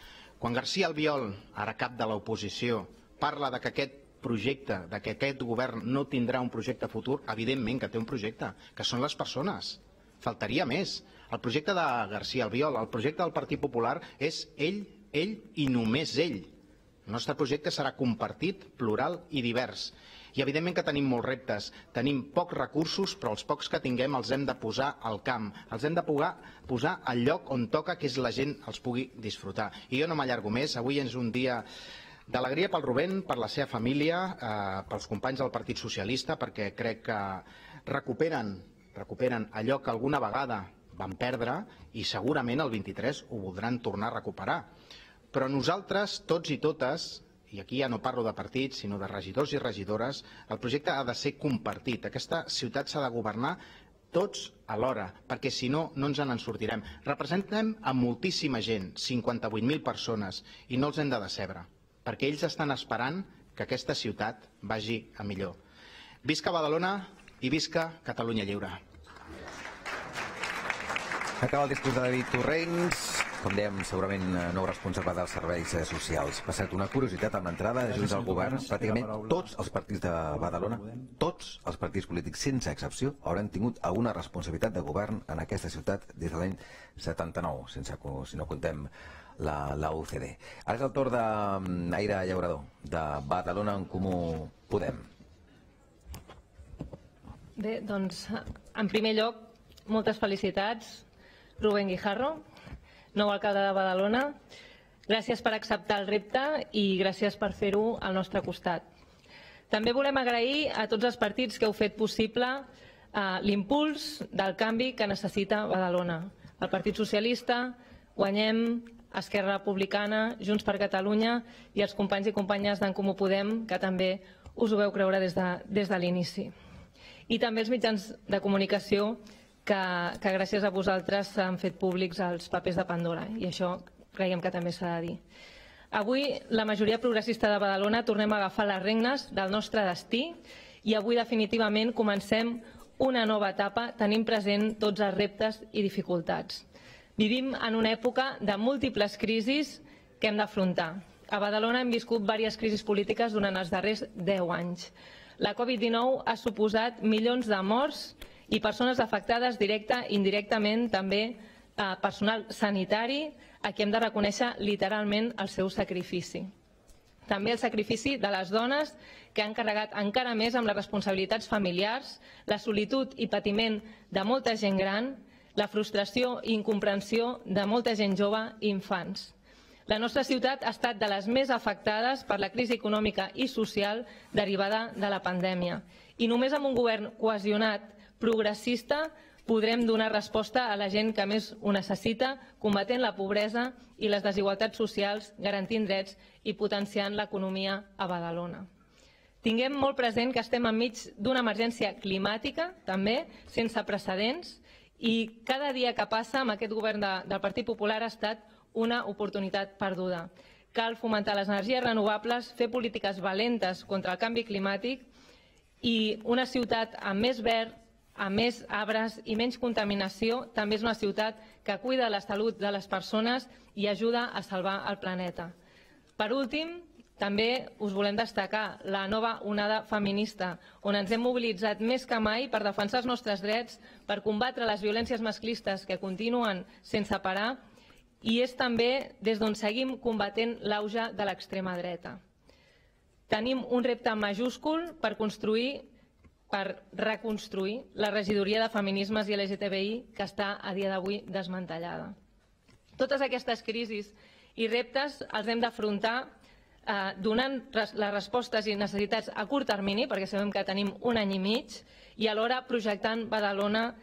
Quan García Albiol, ara cap de l'oposició, parla de que aquest projecte, de que aquest govern no tindrà un projecte futur, evidentment que té un projecte, que són les persones. Faltaria més. El projecte de García Albiol, el projecte del Partit Popular és ell, ell i només ell. El nostre projecte serà compartit, plural i divers. I evidentment que tenim molts reptes, tenim pocs recursos, però els pocs que tinguem els hem de posar al camp, els hem de posar al lloc on toca, que és la gent els pugui disfrutar. I jo no m'allargo més, avui és un dia d'alegria pel Rubén, per la seva família, eh, pels companys del Partit Socialista, perquè crec que recuperen, recuperen allò que alguna vegada van perdre i segurament el vint-i-tres ho voldran tornar a recuperar. Però nosaltres, tots i totes, i aquí ja no parlo de partits, sinó de regidors i regidores, el projecte ha de ser compartit. Aquesta ciutat s'ha de governar tots alhora, perquè si no, no ens en sortirem. Representem a moltíssima gent, cinquanta-vuit mil persones, i no els hem de decebre, perquè ells estan esperant que aquesta ciutat vagi a millor. Visca Badalona i visca Catalunya Lliure. Acaba el discurs de David Torrents, com dèiem, segurament nou responsable dels serveis socials. Per cert, una curiositat amb l'entrada de Junts al govern, pràcticament tots els partits de Badalona, tots els partits polítics, sense excepció, hauran tingut alguna responsabilitat de govern en aquesta ciutat des de l'any setanta-nou, sense, si no contem la, la U C D. Ara és el torn d'Aire Llaurador, de Badalona en Comú Podem. Bé, doncs, en primer lloc, moltes felicitats, Rubén Guijarro, nou alcalde de Badalona. Gràcies per acceptar el repte i gràcies per fer-ho al nostre costat. També volem agrair a tots els partits que heu fet possible eh, l'impuls del canvi que necessita Badalona. El Partit Socialista, Guanyem, Esquerra Republicana, Junts per Catalunya i els companys i companyes d'en Comú Podem, que també us ho veu creure des de, des de l'inici. I també els mitjans de comunicació que, que gràcies a vosaltres s'han fet públics els papers de Pandora, i això creiem que també s'ha de dir. Avui la majoria progressista de Badalona tornem a agafar les regnes del nostre destí i avui definitivament comencem una nova etapa tenint present tots els reptes i dificultats. Vivim en una època de múltiples crisis que hem d'afrontar. A Badalona hem viscut diverses crisis polítiques durant els darrers deu anys. La Covid dinou ha suposat milions de morts i persones afectades directa i indirectament, també personal sanitari, a qui hem de reconèixer literalment el seu sacrifici. També el sacrifici de les dones que han carregat encara més amb les responsabilitats familiars, la solitud i patiment de molta gent gran, la frustració i incomprensió de molta gent jove i infants. La nostra ciutat ha estat de les més afectades per la crisi econòmica i social derivada de la pandèmia. I només amb un govern cohesionat, progressista, podrem donar resposta a la gent que més ho necessita, combatent la pobresa i les desigualtats socials, garantint drets i potenciant l'economia a Badalona. Tinguem molt present que estem enmig d'una emergència climàtica, també, sense precedents, i cada dia que passa amb aquest govern de, del Partit Popular ha estat una oportunitat perduda. Cal fomentar les energies renovables, fer polítiques valentes contra el canvi climàtic i una ciutat amb més verd, amb més arbres i menys contaminació també és una ciutat que cuida la salut de les persones i ajuda a salvar el planeta. Per últim, també us volem destacar la nova onada feminista, on ens hem mobilitzat més que mai per defensar els nostres drets, per combatre les violències masclistes que continuen sense parar, i és també des d'on seguim combatent l'auge de l'extrema dreta. Tenim un repte majúscul per construir, per reconstruir la regidoria de feminismes i L G T B I que està a dia d'avui desmantellada. Totes aquestes crisis i reptes els hem d'afrontar eh, donant les respostes i necessitats a curt termini, perquè sabem que tenim un any i mig, i alhora projectant Badalona,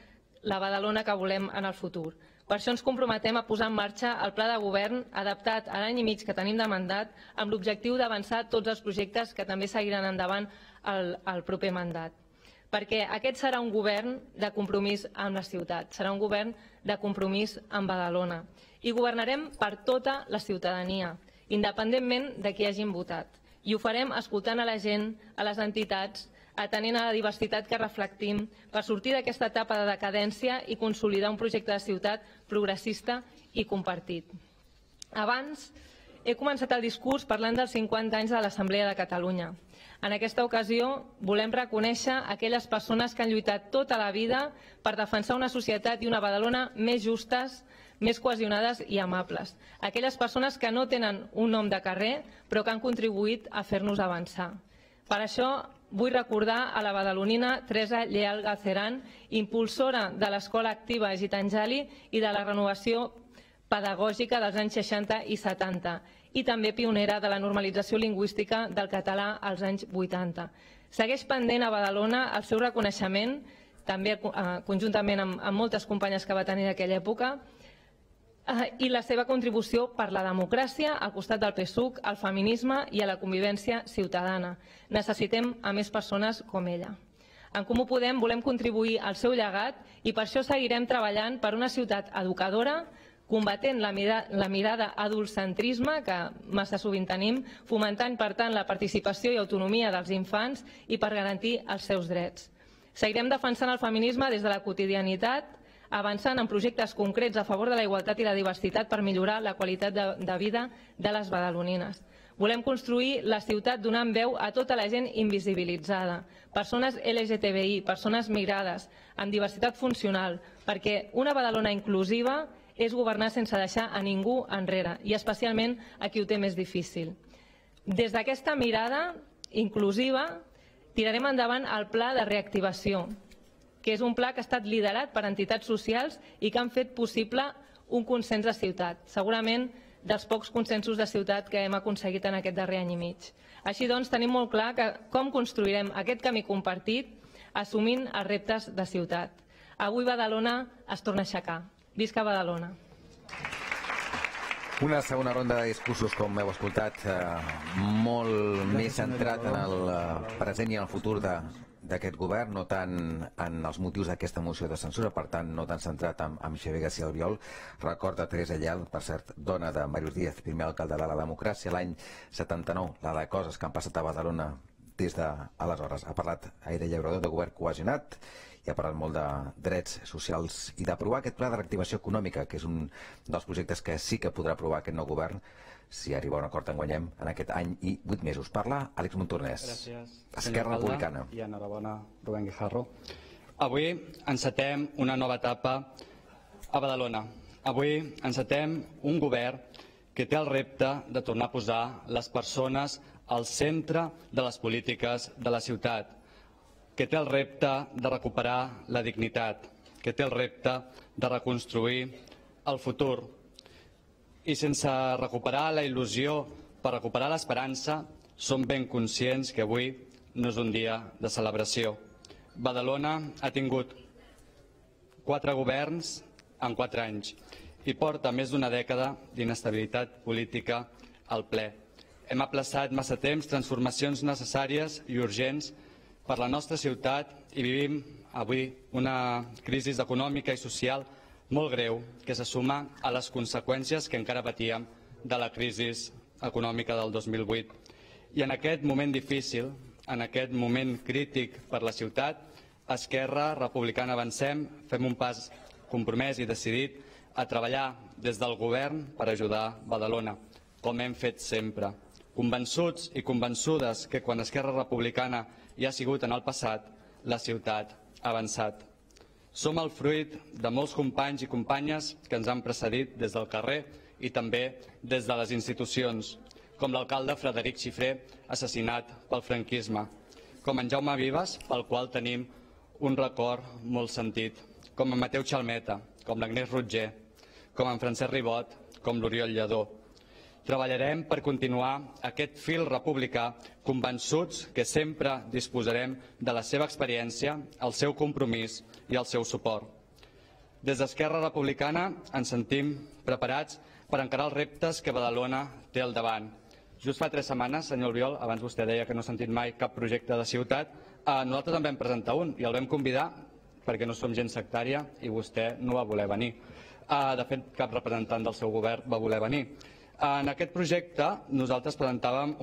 la Badalona que volem en el futur. Per això ens comprometem a posar en marxa el pla de govern adaptat a l'any i mig que tenim de mandat amb l'objectiu d'avançar tots els projectes que també seguiran endavant el, el proper mandat. Perquè aquest serà un govern de compromís amb la ciutat, serà un govern de compromís amb Badalona. I governarem per tota la ciutadania, independentment de qui hagin votat. I ho farem escoltant a la gent, a les entitats, atenent a la diversitat que reflectim per sortir d'aquesta etapa de decadència i consolidar un projecte de ciutat progressista i compartit. Abans he començat el discurs parlant dels cinquanta anys de l'Assemblea de Catalunya. En aquesta ocasió volem reconèixer aquelles persones que han lluitat tota la vida per defensar una societat i una Badalona més justes, més cohesionades i amables. Aquelles persones que no tenen un nom de carrer però que han contribuït a fer-nos avançar. Per això vull recordar a la badalonina Teresa Lleal Galceran, impulsora de l'Escola Activa Gitanjali i de la renovació pedagògica dels anys seixanta i setanta, i també pionera de la normalització lingüística del català als anys vuitanta. Segueix pendent a Badalona el seu reconeixement, també conjuntament amb moltes companyes que va tenir en aquella època, i la seva contribució per la democràcia al costat del P S U C, al feminisme i a la convivència ciutadana. Necessitem a més persones com ella. En Comú Podem volem contribuir al seu llegat i per això seguirem treballant per una ciutat educadora, combatent la mirada adultcentrisme que massa sovint tenim, fomentant, per tant, la participació i autonomia dels infants i per garantir els seus drets. Seguirem defensant el feminisme des de la quotidianitat, avançant en projectes concrets a favor de la igualtat i la diversitat per millorar la qualitat de vida de les badalonines. Volem construir la ciutat donant veu a tota la gent invisibilitzada, persones L G T B I, persones migrades, amb diversitat funcional, perquè una Badalona inclusiva és governar sense deixar a ningú enrere, i especialment a qui ho té més difícil. Des d'aquesta mirada inclusiva tirarem endavant el pla de reactivació, que és un pla que ha estat liderat per entitats socials i que han fet possible un consens de ciutat, segurament dels pocs consensos de ciutat que hem aconseguit en aquest darrer any i mig. Així doncs, tenim molt clar que com construirem aquest camí compartit assumint els reptes de ciutat. Avui Badalona es torna a aixecar. Visca Badalona. Una segona ronda de discursos, com heu escoltat, molt més centrat en el present i en el futur d'aquest govern, no tant en els motius d'aquesta moció de censura, per tant, no tan centrat en Xavier García Albiol. Recorda Teresa Lleal, per cert, dona de Màrius Díaz, primer alcalde de la democràcia, l'any setanta-nou, la de coses que han passat a Badalona des d'aleshores. Ha parlat Aire Llaurador de govern cohesionat i ha parlat molt de drets socials i d'aprovar aquest pla de reactivació econòmica, que és un dels projectes que sí que podrà aprovar aquest nou govern si arriba a un acord en guanyem en aquest any i vuit mesos. Parla Àlex Montornès, Esquerra Republicana. I enhorabona, Rubén Guijarro. Avui encetem una nova etapa a Badalona. Avui encetem un govern que té el repte de tornar a posar les persones al centre de les polítiques de la ciutat, que té el repte de recuperar la dignitat, que té el repte de reconstruir el futur. I sense recuperar la il·lusió, per recuperar l'esperança, som ben conscients que avui no és un dia de celebració. Badalona ha tingut quatre governs en quatre anys i porta més d'una dècada d'inestabilitat política al ple. Hem aplaçat massa temps transformacions necessàries i urgents per la nostra ciutat i vivim avui una crisi econòmica i social molt greu que se suma a les conseqüències que encara patíem de la crisi econòmica del dos mil vuit. I en aquest moment difícil, en aquest moment crític per la ciutat, Esquerra Republicana Avancem fem un pas compromès i decidit a treballar des del govern per ajudar Badalona, com hem fet sempre. Convençuts i convençudes que quan Esquerra Republicana hi ha sigut en el passat, la ciutat ha avançat. Som el fruit de molts companys i companyes que ens han precedit des del carrer i també des de les institucions, com l'alcalde Frederic Xifré, assassinat pel franquisme, com en Jaume Vives, pel qual tenim un record molt sentit, com en Mateu Xalmeta, com l'Agnès Rotger, com en Francesc Ribot, com l'Oriol Lledó. Treballarem per continuar aquest fil republicà, convençuts que sempre disposarem de la seva experiència, el seu compromís i el seu suport. Des d'Esquerra Republicana ens sentim preparats per encarar els reptes que Badalona té al davant. Just fa tres setmanes, senyor Albiol, abans vostè deia que no ha sentit mai cap projecte de ciutat, nosaltres en vam presentar un i el vam convidar perquè no som gent sectària i vostè no va voler venir. De fet, cap representant del seu govern va voler venir. En aquest projecte nosaltres presentàvem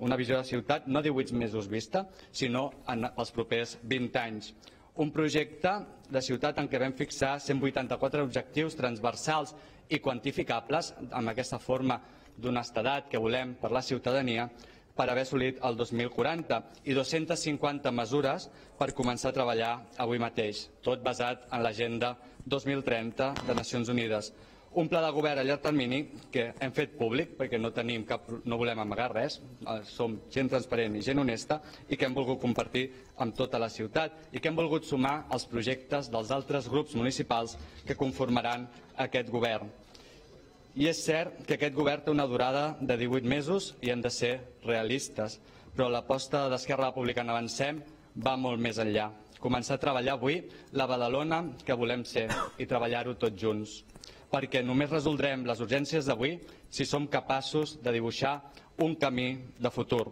una visió de ciutat no divuit mesos vista, sinó en els propers vint anys. Un projecte de ciutat en què vam fixar cent vuitanta-quatre objectius transversals i quantificables amb aquesta forma d'honestedat que volem per la ciutadania per haver assolit el dos mil quaranta i dues-centes cinquanta mesures per començar a treballar avui mateix, tot basat en l'Agenda dos mil trenta de Nacions Unides. Un pla de govern a llarg termini que hem fet públic perquè no tenim cap, no volem amagar res, som gent transparent i gent honesta i que hem volgut compartir amb tota la ciutat i que hem volgut sumar als projectes dels altres grups municipals que conformaran aquest govern. I és cert que aquest govern té una durada de divuit mesos i hem de ser realistes, però l'aposta d'Esquerra Republicana Avancem va molt més enllà. Començar a treballar avui la Badalona que volem ser i treballar-ho tots junts, perquè només resoldrem les urgències d'avui si som capaços de dibuixar un camí de futur.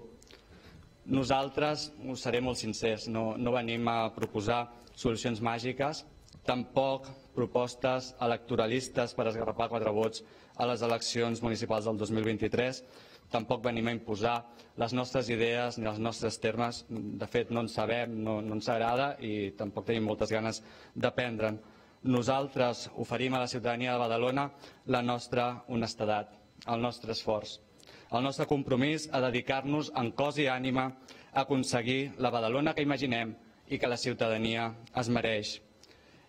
Nosaltres, us seré molt sincers, no, no venim a proposar solucions màgiques, tampoc propostes electoralistes per esgarrapar quatre vots a les eleccions municipals del dos mil vint-i-tres. Tampoc venim a imposar les nostres idees ni els nostres termes. De fet, no en sabem, no, no ens agrada i tampoc tenim moltes ganes d'aprendre'n. Nosaltres oferim a la ciutadania de Badalona la nostra honestedat, el nostre esforç, el nostre compromís a dedicar-nos en cos i ànima a aconseguir la Badalona que imaginem i que la ciutadania es mereix.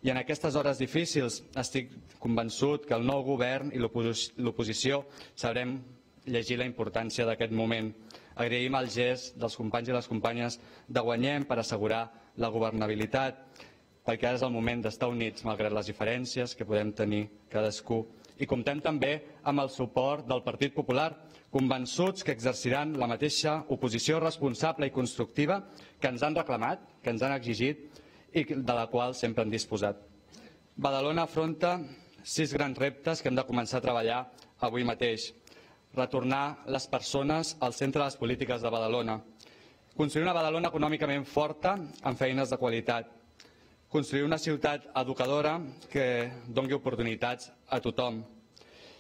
I en aquestes hores difícils estic convençut que el nou govern i l'oposició sabrem llegir la importància d'aquest moment. Agraïm el gest dels companys i les companyes de Guanyem per assegurar la governabilitat, perquè ara és el moment d'estar units malgrat les diferències que podem tenir cadascú. I comptem també amb el suport del Partit Popular, convençuts que exerciran la mateixa oposició responsable i constructiva que ens han reclamat, que ens han exigit i de la qual sempre han disposat. Badalona afronta sis grans reptes que hem de començar a treballar avui mateix. Retornar les persones al centre de les polítiques de Badalona. Construir una Badalona econòmicament forta amb feines de qualitat. Construir una ciutat educadora que doni oportunitats a tothom.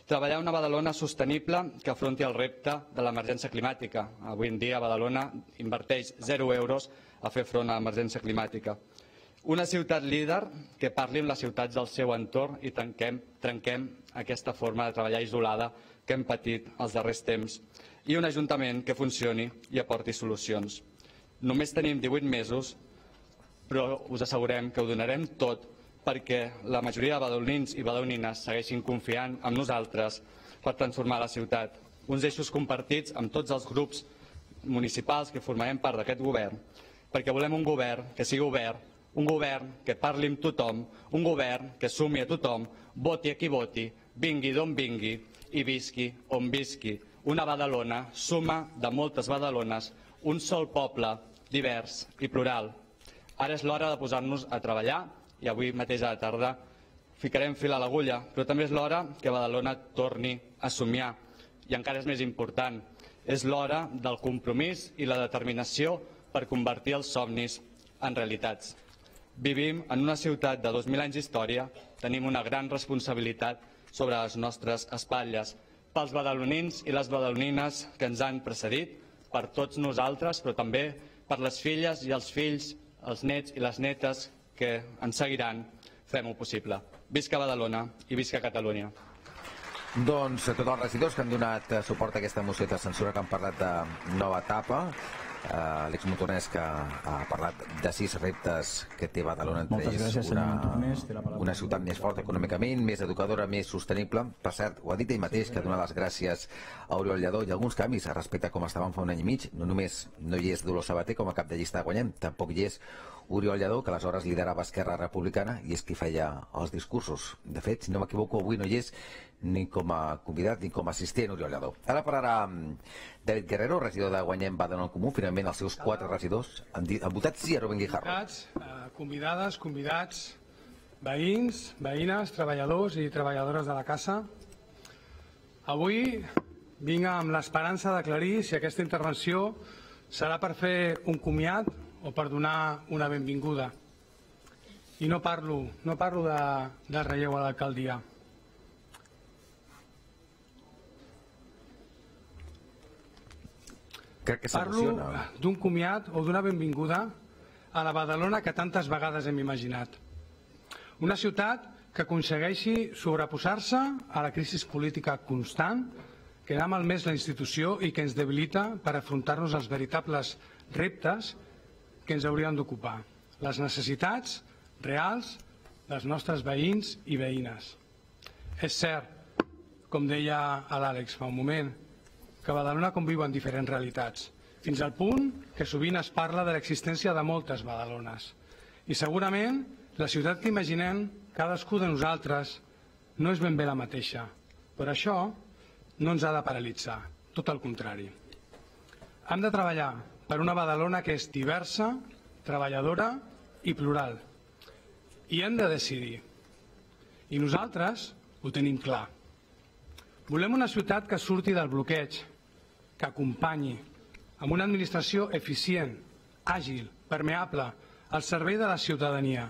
Treballar una Badalona sostenible que afronti el repte de l'emergència climàtica. Avui en dia Badalona inverteix zero euros a fer front a l'emergència climàtica. Una ciutat líder que parli amb les ciutats del seu entorn i trenquem, trenquem aquesta forma de treballar isolada que hem patit els darrers temps. I un ajuntament que funcioni i aporti solucions. Només tenim divuit mesos, però us assegurem que ho donarem tot perquè la majoria de badalonins i badalonines segueixin confiant en nosaltres per transformar la ciutat. Uns eixos compartits amb tots els grups municipals que formarem part d'aquest govern, perquè volem un govern que sigui obert, un govern que parli amb tothom, un govern que sumi a tothom, voti a qui voti, vingui d'on vingui i visqui on visqui. Una Badalona suma de moltes Badalones, un sol poble divers i plural. Ara és l'hora de posar-nos a treballar i avui mateix a la tarda ficarem fil a l'agulla, però també és l'hora que Badalona torni a somiar. I encara és més important, és l'hora del compromís i la determinació per convertir els somnis en realitats. Vivim en una ciutat de dos mil anys d'història, tenim una gran responsabilitat sobre les nostres espatlles, pels badalonins i les badalonines que ens han precedit, per tots nosaltres, però també per les filles i els fills, els nets i les netes que ens seguiran, fem-ho possible. Visca Badalona i visca Catalunya. Doncs tots els regidors que han donat suport a aquesta moció de censura, que han parlat de nova etapa, Uh, Àlex Montornès, que ha parlat de sis reptes que té Badalona, entre ells una, una ciutat més forta econòmicament, més educadora, més sostenible. Per cert, ho ha dit ell mateix, que dona les gràcies a Oriol Lladó i alguns canvis respecte a com estaven fa un any i mig. No només no hi és Dolors Sabater com a cap de llista de Guanyem, tampoc hi és Oriol Lladó, que aleshores liderava Esquerra Republicana i és qui feia els discursos. De fet, si no m'equivoco, avui no hi és ni com a convidat ni com a assistent Oriol Lladó. Ara parlarà David Guerrero, regidor de Guanyem Badalona en Comú. Finalment els seus quatre regidors han, dit, han votat sí a Rubén Guijarro. Convidades, convidats, veïns, veïnes, treballadors i treballadores de la casa. Avui vinc amb l'esperança d'aclarir si aquesta intervenció serà per fer un comiat o per donar una benvinguda. I no parlo, no parlo de, de relleu a l'alcaldia. Parlo d'un comiat o d'una benvinguda a la Badalona que tantes vegades hem imaginat. Una ciutat que aconsegueixi sobreposar-se a la crisi política constant que ha malmès la institució i que ens debilita per afrontar-nos als veritables reptes que ens haurien d'ocupar, les necessitats reals dels nostres veïns i veïnes. És cert, com deia l'Àlex fa un moment, que a Badalona conviuen diferents realitats, fins al punt que sovint es parla de l'existència de moltes Badalones. I segurament la ciutat que imaginem cadascú de nosaltres no és ben bé la mateixa, però això no ens ha de paralitzar, tot el contrari. Hem de treballar per una Badalona que és diversa, treballadora i plural. I hem de decidir. I nosaltres ho tenim clar. Volem una ciutat que surti del bloqueig, que acompanyi, amb una administració eficient, àgil, permeable, al servei de la ciutadania,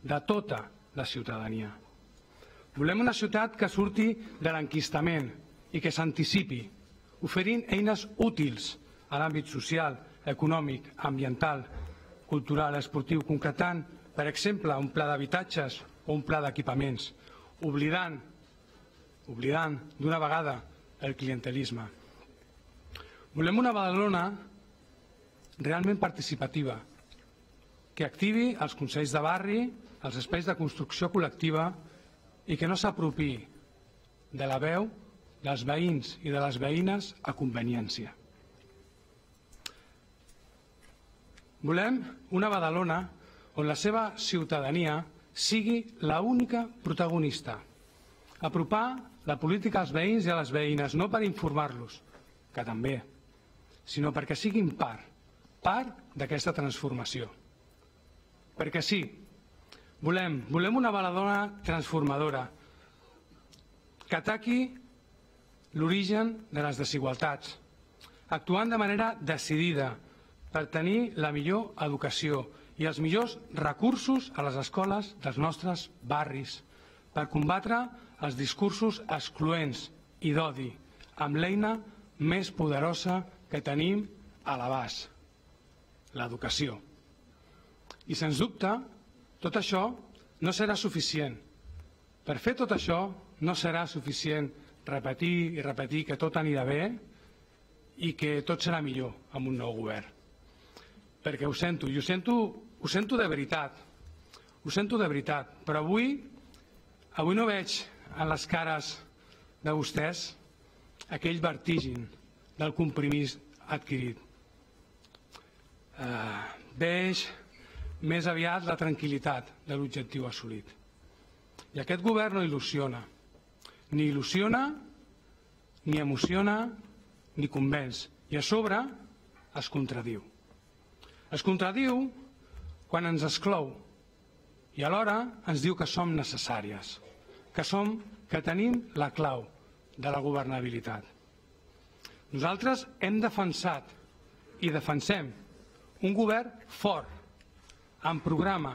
de tota la ciutadania. Volem una ciutat que surti de l'enquistament i que s'anticipi, oferint eines útils a l'àmbit social, econòmic, ambiental, cultural, esportiu, concretant, per exemple, un pla d'habitatges o un pla d'equipaments, oblidant, oblidant d'una vegada el clientelisme. Volem una Badalona realment participativa, que activi els consells de barri, els espais de construcció col·lectiva i que no s'apropiï de la veu dels veïns i de les veïnes a conveniència. Volem una Badalona on la seva ciutadania sigui l'única protagonista. Apropar la política als veïns i a les veïnes, no per informar-los, que també, sinó perquè siguin part, part d'aquesta transformació. Perquè sí, volem, volem una Badalona transformadora que ataqui l'origen de les desigualtats, actuant de manera decidida per tenir la millor educació i els millors recursos a les escoles dels nostres barris, per combatre els discursos excloents i d'odi, amb l'eina més poderosa que tenim a l'abast, l'educació. I, sens dubte, tot això no serà suficient. Per fer tot això no serà suficient repetir i repetir que tot anirà bé i que tot serà millor amb un nou govern. Perquè ho sento, i ho sento, ho sento de veritat, ho sento de veritat, però avui, avui no veig en les cares de vostès aquell vertigen del compromís adquirit. Eh, veig més aviat la tranquil·litat de l'objectiu assolit. I aquest govern no il·lusiona. Ni il·lusiona, ni emociona, ni convenç. I a sobre es contradiu. Es contradiu quan ens exclou i alhora ens diu que som necessàries, que som, que tenim la clau de la governabilitat. Nosaltres hem defensat i defensem un govern fort, amb programa,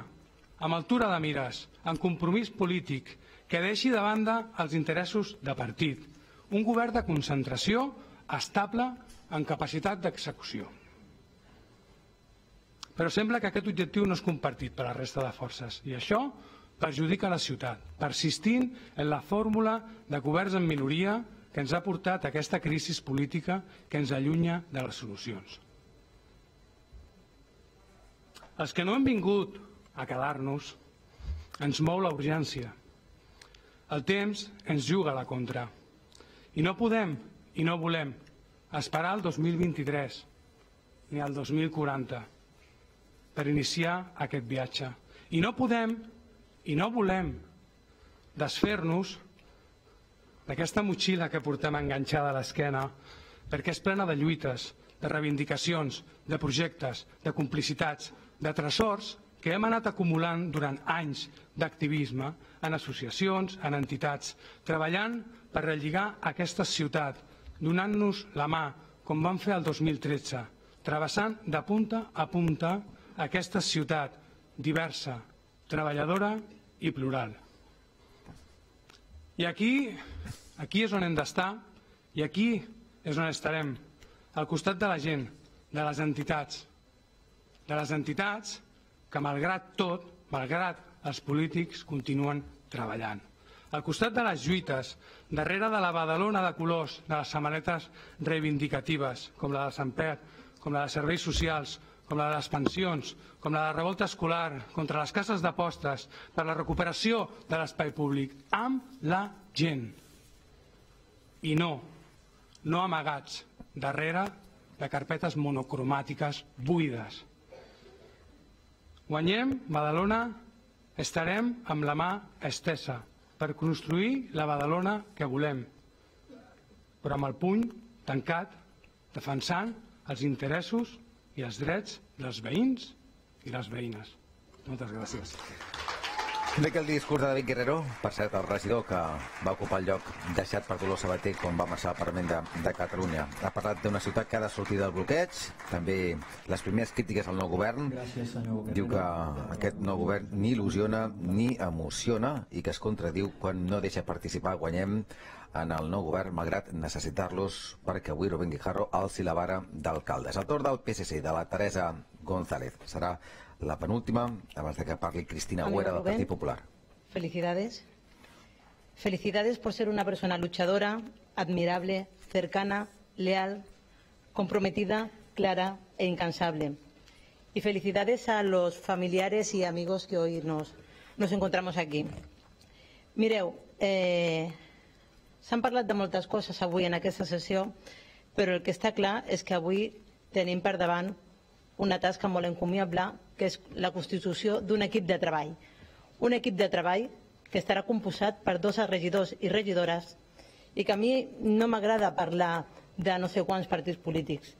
amb altura de mires, amb compromís polític, que deixi de banda els interessos de partit. Un govern de concentració estable en capacitat d'execució. Però sembla que aquest objectiu no és compartit per la resta de forces i això perjudica la ciutat, persistint en la fórmula de governs en minoria que ens ha portat a aquesta crisi política que ens allunya de les solucions. Els que no hem vingut a quedar-nos ens mou la urgència. El temps ens juga a la contra. I no podem i no volem esperar el dos mil vint-i-tres ni el dos mil quaranta per iniciar aquest viatge. I no podem i no volem desfer-nos d'aquesta motxilla que portem enganxada a l'esquena perquè és plena de lluites, de reivindicacions, de projectes, de complicitats, de tresors que hem anat acumulant durant anys d'activisme en associacions, en entitats, treballant per relligar aquesta ciutat, donant-nos la mà, com vam fer el dos mil tretze, travessant de punta a punta aquesta ciutat diversa, treballadora i plural. I aquí, aquí és on hem d'estar i aquí és on estarem, al costat de la gent, de les entitats, de les entitats que, malgrat tot, malgrat els polítics, continuen treballant. Al costat de les lluites, darrere de la Badalona de colors, de les samarretes reivindicatives, com la de Sant Pere, com la de serveis socials, com la de les pensions, com la de la revolta escolar, contra les cases d'apostes, per la recuperació de l'espai públic, amb la gent. I no, no amagats darrere de carpetes monocromàtiques buides. Guanyem Badalona, estarem amb la mà estesa per construir la Badalona que volem, però amb el puny tancat, defensant els interessos i els drets dels veïns i les veïnes. Moltes gràcies. Bé que el discurs de David Guerrero, per cert, el regidor que va ocupar el lloc deixat per Dolors Sabater quan va marxar al Parlament de, de Catalunya. Ha parlat d'una ciutat que ha de sortir del bloqueig, també les primeres crítiques al nou govern. Gràcies, senyor Guerrero. Diu que aquest nou govern ni il·lusiona ni emociona i que es contradiu quan no deixa participar Guanyem en el nou govern, malgrat necessitar-los perquè avui Rubén Guijarro alci la vara d'alcaldes. El torn del P S C, de la Teresa González. Serà la penúltima, abans de que parli Cristina Agüera del Partit Popular. Felicidades. Felicidades por ser una persona luchadora, admirable, cercana, leal, comprometida, clara e incansable. Y felicidades a los familiares y amigos que hoy nos, nos encontramos aquí. Mireu, eh, s'han parlat de moltes coses avui en aquesta sessió, però el que està clar és que avui tenim per davant una tasca molt encomiable, que és la constitució d'un equip de treball. Un equip de treball que estarà composat per dos regidors i regidores i que a mi no m'agrada parlar de no sé quants partits polítics.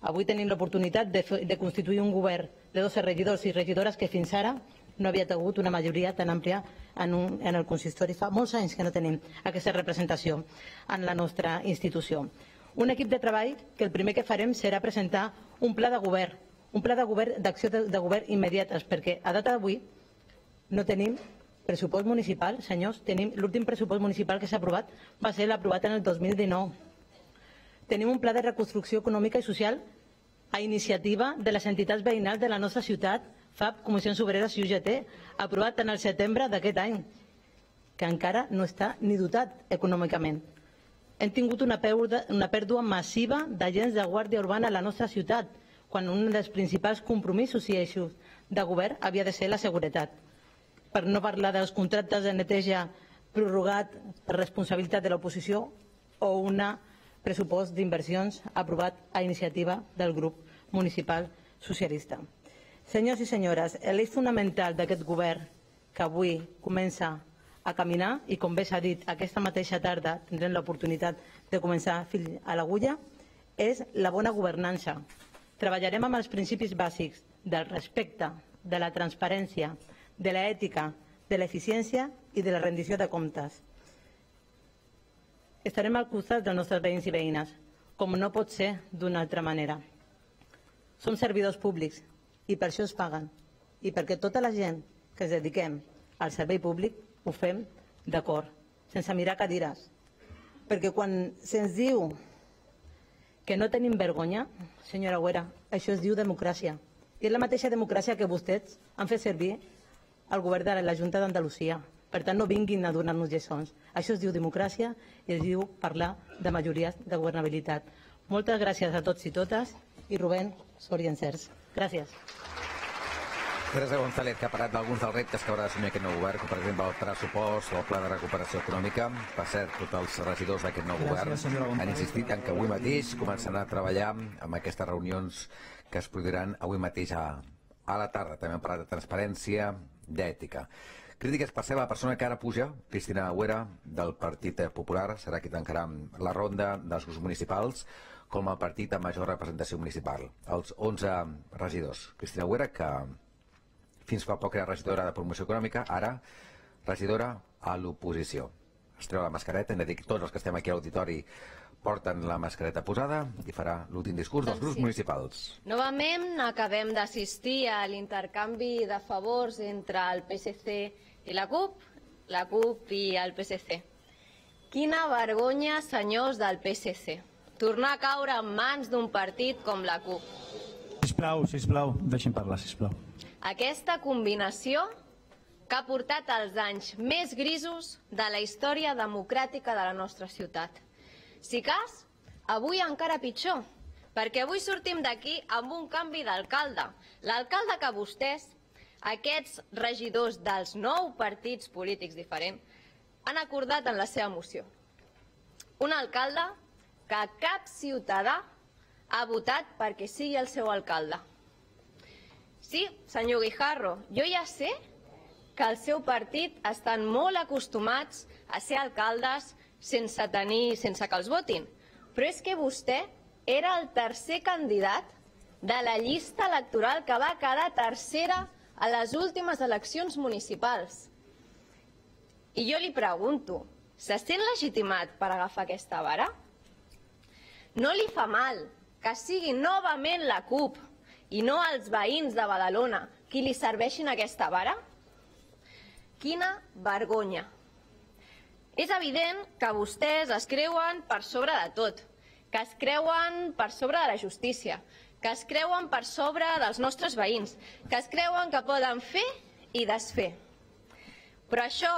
Avui tenim l'oportunitat de, de constituir un govern de dos regidors i regidores que fins ara no havia hagut una majoria tan àmplia en, un, en el consistori. Fa molts anys que no tenim aquesta representació en la nostra institució. Un equip de treball que el primer que farem serà presentar un pla de govern, un pla de govern d'acció de, de govern immediates, perquè a data d'avui no tenim pressupost municipal, senyors. Tenim l'últim pressupost municipal que s'ha aprovat, va ser l'aprovat en el dos mil dinou. Tenim un pla de reconstrucció econòmica i social a iniciativa de les entitats veïnals de la nostra ciutat, F A P, Comissions Obreres i U G T, aprovat en el setembre d'aquest any, que encara no està ni dotat econòmicament. Hem tingut una pèrdua, una pèrdua massiva d'agents de guàrdia urbana a la nostra ciutat, quan un dels principals compromisos i eixos de govern havia de ser la seguretat. Per no parlar dels contractes de neteja prorrogat per responsabilitat de l'oposició o un pressupost d'inversions aprovat a iniciativa del grup municipal socialista. Senyors i senyores, l'eix fonamental d'aquest govern que avui comença a caminar i, com bé s'ha dit, aquesta mateixa tarda tindrem l'oportunitat de començar fil a l'agulla, és la bona governança. Treballarem amb els principis bàsics del respecte, de la transparència, de l'ètica, de l'eficiència i de la rendició de comptes. Estarem al costat dels nostres veïns i veïnes, com no pot ser d'una altra manera. Som servidors públics i per això es paguen. I perquè tota la gent que ens dediquem al servei públic ho fem d'acord, sense mirar cadires. Perquè quan se'ns diu que no tenim vergonya, senyora Agüera, això es diu democràcia. I és la mateixa democràcia que vostès han fet servir al govern de la Junta d'Andalusia. Per tant, no vinguin a donar-nos lliçons. Això es diu democràcia i es diu parlar de majories de governabilitat. Moltes gràcies a tots i totes i Rubén, sort i encerts. Gràcies. Teresa González, que ha parlat d'alguns dels reptes que haurà d'assumir aquest nou govern, com per exemple el pressupost o el pla de recuperació econòmica. Per cert, tots els regidors d'aquest nou govern han insistit en que avui mateix començaran a treballar amb aquestes reunions que es produiran avui mateix a, a la tarda. També han parlat de transparència, d'ètica. Crítiques per ser la persona que ara puja, Cristina Agüera, del Partit Popular, serà qui tancarà la ronda dels grups municipals com el partit amb major representació municipal. Els onze regidors. Cristina Agüera, que fins fa poc era regidora de promoció econòmica, ara regidora a l'oposició. Es treu la mascareta, hem de dir que tots els que estem aquí a l'auditori porten la mascareta posada i farà l'últim discurs dels grups municipals. Novament acabem d'assistir a l'intercanvi de favors entre el P S C i la CUP, la CUP i el P S C. Quina vergonya, senyors del P S C, tornar a caure en mans d'un partit com la CUP. Sisplau, sisplau, deixi'm parlar, sisplau. Aquesta combinació que ha portat els anys més grisos de la història democràtica de la nostra ciutat. Si cas, avui encara pitjor, perquè avui sortim d'aquí amb un canvi d'alcalde. L'alcalde que vostès, aquests regidors dels nou partits polítics diferents, han acordat en la seva moció. Un alcalde que cap ciutadà ha votat perquè sigui el seu alcalde. Sí, senyor Guijarro, jo ja sé que el seu partit estan molt acostumats a ser alcaldes sense tenir, sense que els votin. Però és que vostè era el tercer candidat de la llista electoral que va quedar tercera a les últimes eleccions municipals. I jo li pregunto, se sent legitimat per agafar aquesta vara? No li fa mal que sigui novament la CUP i no els veïns de Badalona qui li serveixin aquesta vara? Quina vergonya! És evident que vostès es creuen per sobre de tot, que es creuen per sobre de la justícia, que es creuen per sobre dels nostres veïns, que es creuen que poden fer i desfer. Però això,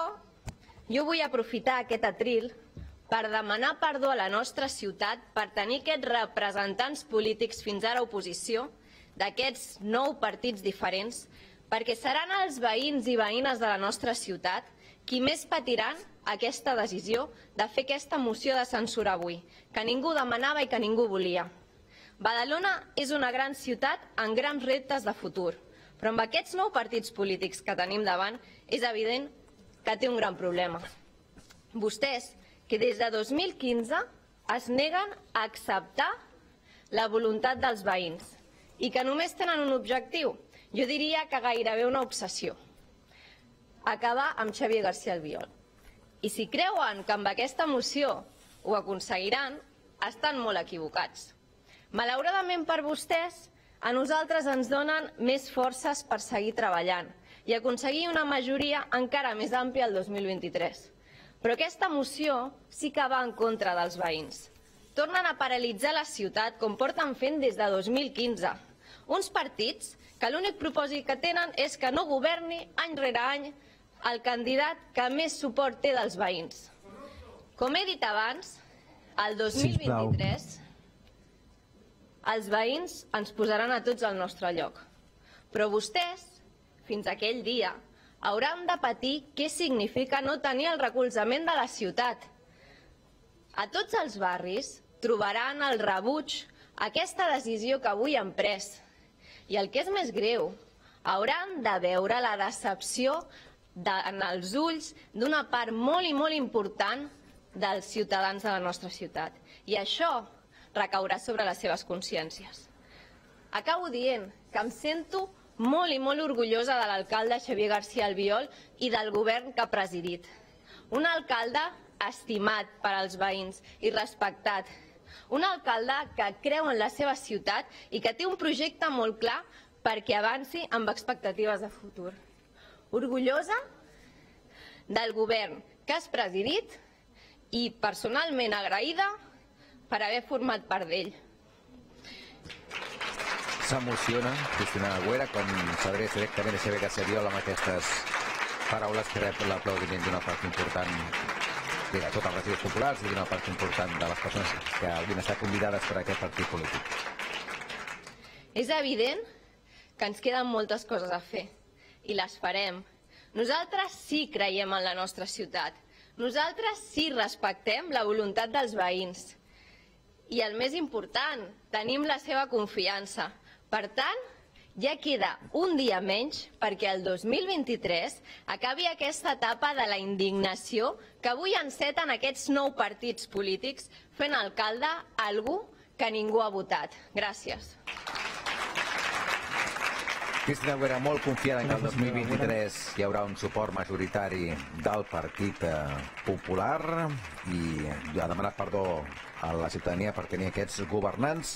jo vull aprofitar aquest atril per demanar perdó a la nostra ciutat per tenir aquests representants polítics, fins ara oposició, d'aquests nou partits diferents, perquè seran els veïns i veïnes de la nostra ciutat qui més patiran aquesta decisió de fer aquesta moció de censura avui, que ningú demanava i que ningú volia. Badalona és una gran ciutat amb grans reptes de futur, però amb aquests nou partits polítics que tenim davant és evident que té un gran problema. Vostès, que des de dos mil quinze es neguen a acceptar la voluntat dels veïns i que només tenen un objectiu, jo diria que gairebé una obsessió: acabar amb Xavier García Albiol. I si creuen que amb aquesta moció ho aconseguiran, estan molt equivocats. Malauradament per vostès, a nosaltres ens donen més forces per seguir treballant i aconseguir una majoria encara més àmplia el dos mil vint-i-tres. Però aquesta moció sí que va en contra dels veïns. Tornen a paralitzar la ciutat com porten fent des de dos mil quinze. Uns partits que l'únic propòsit que tenen és que no governi any rere any el candidat que més suport té dels veïns. Com he dit abans, el dos mil vint-i-tres els veïns ens posaran a tots al nostre lloc. Però vostès, fins aquell dia, hauran de patir què significa no tenir el recolzament de la ciutat. A tots els barris trobaran el rebuig a aquesta decisió que avui han pres. I el que és més greu, hauran de veure la decepció en els ulls d'una part molt i molt important dels ciutadans de la nostra ciutat. I això recaurà sobre les seves consciències. Acabo dient que em sento molt i molt orgullosa de l'alcalde Xavier García Albiol i del govern que ha presidit. Un alcalde estimat per als veïns i respectat. Un alcalde que creu en la seva ciutat i que té un projecte molt clar perquè avanci amb expectatives de futur. Orgullosa del govern que has presidit i personalment agraïda per haver format part d'ell. S'emociona Cristina Agüera quan s'adreça directament a Xavier García Albiol amb aquestes paraules que rep l'aplaudiment d'una part important de tots els regidors populars i d'una part important de les persones que haurien estat convidades per a aquest partit polític. És evident que ens queden moltes coses a fer i les farem. Nosaltres sí creiem en la nostra ciutat. Nosaltres sí respectem la voluntat dels veïns. I el més important, tenim la seva confiança. Per tant, ja queda un dia menys perquè el dos mil vint-i-tres acabi aquesta etapa de la indignació que avui enceten aquests nou partits polítics fent alcalde algú que ningú ha votat. Gràcies. Cristina Agüera, molt confiada que el dos mil vint-i-tres hi haurà un suport majoritari del Partit Popular i ha demanat perdó a la ciutadania per tenir aquests governants.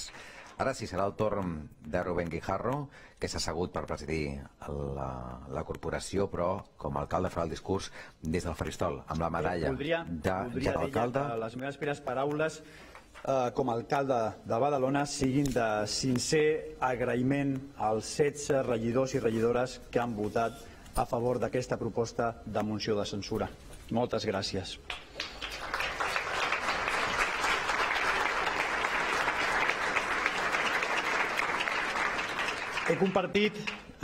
Ara sí, serà el torn de Rubén Guijarro, que s'ha assegut per presidir la, la corporació, però com a alcalde farà el discurs des del faristol, amb la medalla voldria, de, voldria de l'alcalde. dir que les meves primeres paraules eh, com a alcalde de Badalona siguin de sincer agraïment als setze regidors i regidores que han votat a favor d'aquesta proposta de moció de censura. Moltes gràcies. He compartit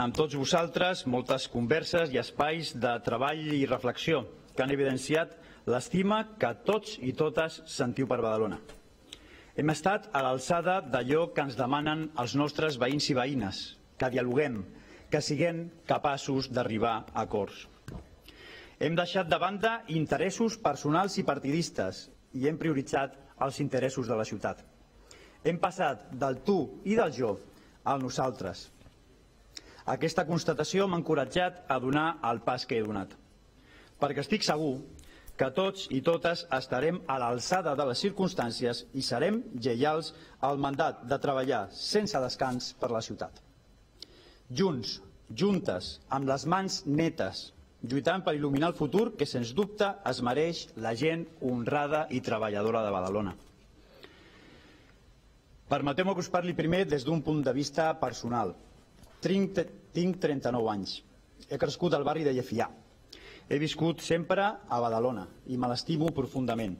amb tots vosaltres moltes converses i espais de treball i reflexió que han evidenciat l'estima que tots i totes sentiu per Badalona. Hem estat a l'alçada d'allò que ens demanen els nostres veïns i veïnes, que dialoguem, que siguem capaços d'arribar a acords. Hem deixat de banda interessos personals i partidistes i hem prioritzat els interessos de la ciutat. Hem passat del tu i del jo al nosaltres. Aquesta constatació m'ha encoratjat a donar el pas que he donat. perquè estic segur que tots i totes estarem a l'alçada de les circumstàncies i serem lleials al mandat de treballar sense descans per la ciutat. Junts, juntes, amb les mans netes, lluitant per il·luminar el futur que, sens dubte, es mereix la gent honrada i treballadora de Badalona. Permeteu-me que us parli primer des d'un punt de vista personal. Tinc trenta-nou anys. He crescut al barri de Llefià. He viscut sempre a Badalona i me l'estimo profundament.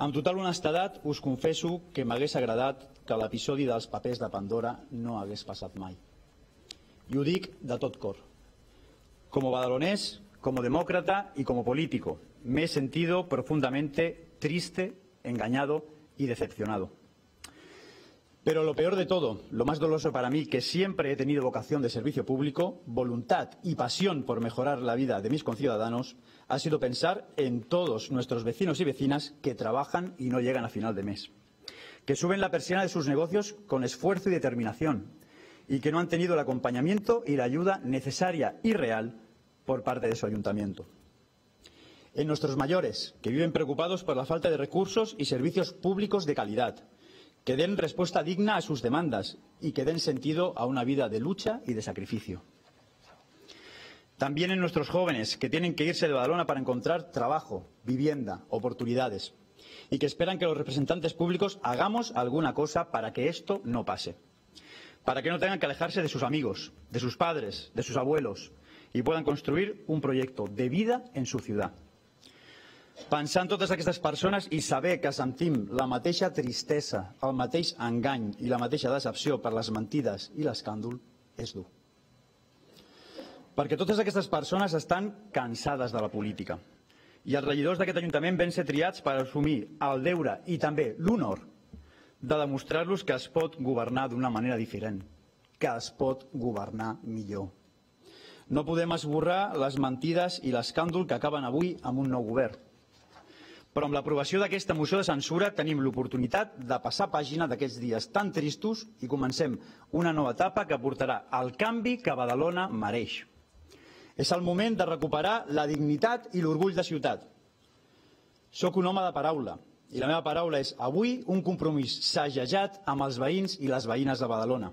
Amb total honestedat us confesso que m'hagués agradat que l'episodi dels papers de Pandora no hagués passat mai. I ho dic de tot cor. Como badalonés, como demócrata y como político, me he sentido profundamente triste, engañado y decepcionado. Pero lo peor de todo, lo más doloroso para mí, que siempre he tenido vocación de servicio público, voluntad y pasión por mejorar la vida de mis conciudadanos, ha sido pensar en todos nuestros vecinos y vecinas que trabajan y no llegan a final de mes, que suben la persiana de sus negocios con esfuerzo y determinación y que no han tenido el acompañamiento y la ayuda necesaria y real por parte de su ayuntamiento. En nuestros mayores, que viven preocupados por la falta de recursos y servicios públicos de calidad, que den respuesta digna a sus demandas y que den sentido a una vida de lucha y de sacrificio. También en nuestros jóvenes, que tienen que irse de Badalona para encontrar trabajo, vivienda, oportunidades, y que esperan que los representantes públicos hagamos alguna cosa para que esto no pase, para que no tengan que alejarse de sus amigos, de sus padres, de sus abuelos, y puedan construir un proyecto de vida en su ciudad. Pensar en totes aquestes persones i saber que sentim la mateixa tristesa, el mateix engany i la mateixa decepció per les mentides i l'escàndol és dur. Perquè totes aquestes persones estan cansades de la política i els regidors d'aquest Ajuntament van ser triats per assumir el deure i també l'honor de demostrar-los que es pot governar d'una manera diferent, que es pot governar millor. No podem esborrar les mentides i l'escàndol que acaben avui amb un nou govern. Però amb l'aprovació d'aquesta moció de censura tenim l'oportunitat de passar pàgina d'aquests dies tan tristos i comencem una nova etapa que portarà el canvi que Badalona mereix. És el moment de recuperar la dignitat i l'orgull de ciutat. Soc un home de paraula i la meva paraula és avui un compromís sagejat amb els veïns i les veïnes de Badalona.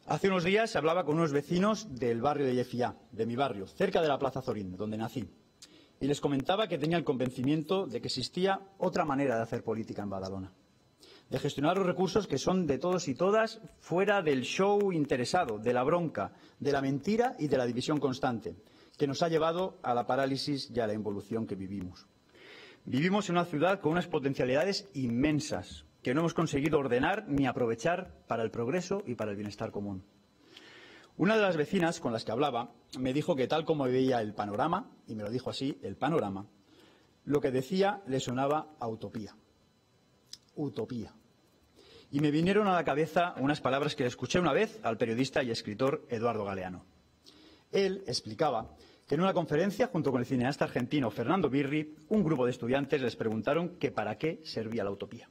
Hace unos días hablaba con unos vecinos del barrio de Llefià, de mi barrio, cerca de la Plaza Zorín, donde nací. Y les comentaba que tenía el convencimiento de que existía otra manera de hacer política en Badalona, de gestionar los recursos que son de todos y todas fuera del show interesado, de la bronca, de la mentira y de la división constante, que nos ha llevado a la parálisis y a la involución que vivimos. Vivimos en una ciudad con unas potencialidades inmensas que no hemos conseguido ordenar ni aprovechar para el progreso y para el bienestar común. Una de las vecinas con las que hablaba me dijo que tal como veía el panorama, y me lo dijo así, el panorama, lo que decía le sonaba a utopía. Utopía. Y me vinieron a la cabeza unas palabras que escuché una vez al periodista y escritor Eduardo Galeano. Él explicaba que en una conferencia junto con el cineasta argentino Fernando Birri, un grupo de estudiantes les preguntaron que para qué servía la utopía.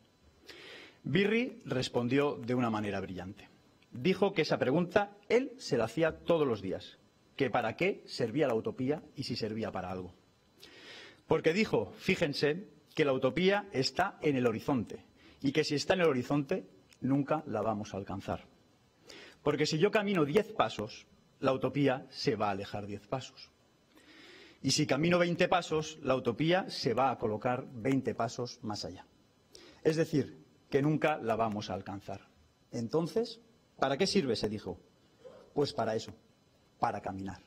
Birri respondió de una manera brillante. Dijo que esa pregunta él se la hacía todos los días, que para qué servía la utopía y si servía para algo. Porque dijo, fíjense, que la utopía está en el horizonte y que si está en el horizonte nunca la vamos a alcanzar. Porque si yo camino diez pasos, la utopía se va a alejar diez pasos. Y si camino veinte pasos, la utopía se va a colocar veinte pasos más allá. Es decir, que nunca la vamos a alcanzar. Entonces, ¿para qué sirve? Se dijo. Pues para eso, para caminar.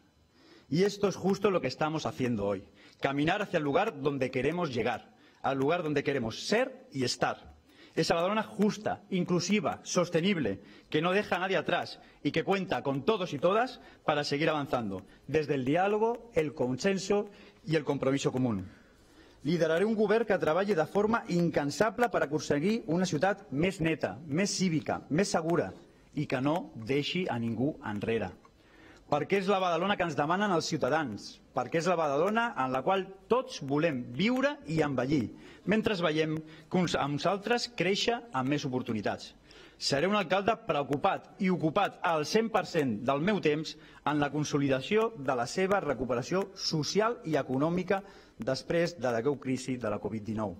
Y esto es justo lo que estamos haciendo hoy. Caminar hacia el lugar donde queremos llegar, al lugar donde queremos ser y estar. Esa Badalona justa, inclusiva, sostenible, que no deja a nadie atrás y que cuenta con todos y todas para seguir avanzando, desde el diálogo, el consenso y el compromiso común. Lideraré un govern que treballi de forma incansable per aconseguir una ciutat més neta, més cívica, més segura i que no deixi a ningú enrere. perquè és la Badalona que ens demanen els ciutadans, perquè és la Badalona en la qual tots volem viure i envellir, mentre veiem que uns amb uns altres créixer amb més oportunitats. Seré un alcalde preocupat i ocupat al cent per cent del meu temps en la consolidació de la seva recuperació social i econòmica després de la greu crisi de la Covid dinou.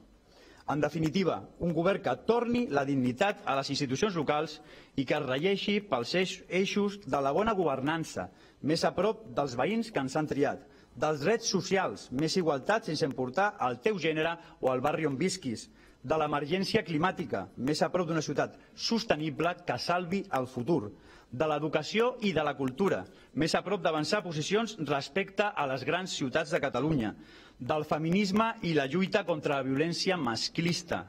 En definitiva, un govern que torni la dignitat a les institucions locals i que es regeixi pels eixos de la bona governança, més a prop dels veïns que ens han triat, dels drets socials, més igualtat sense importar el teu gènere o el barri on visquis, de l'emergència climàtica, més a prop d'una ciutat sostenible que salvi el futur, de l'educació i de la cultura, més a prop d'avançar posicions respecte a les grans ciutats de Catalunya, del feminisme i la lluita contra la violència masclista.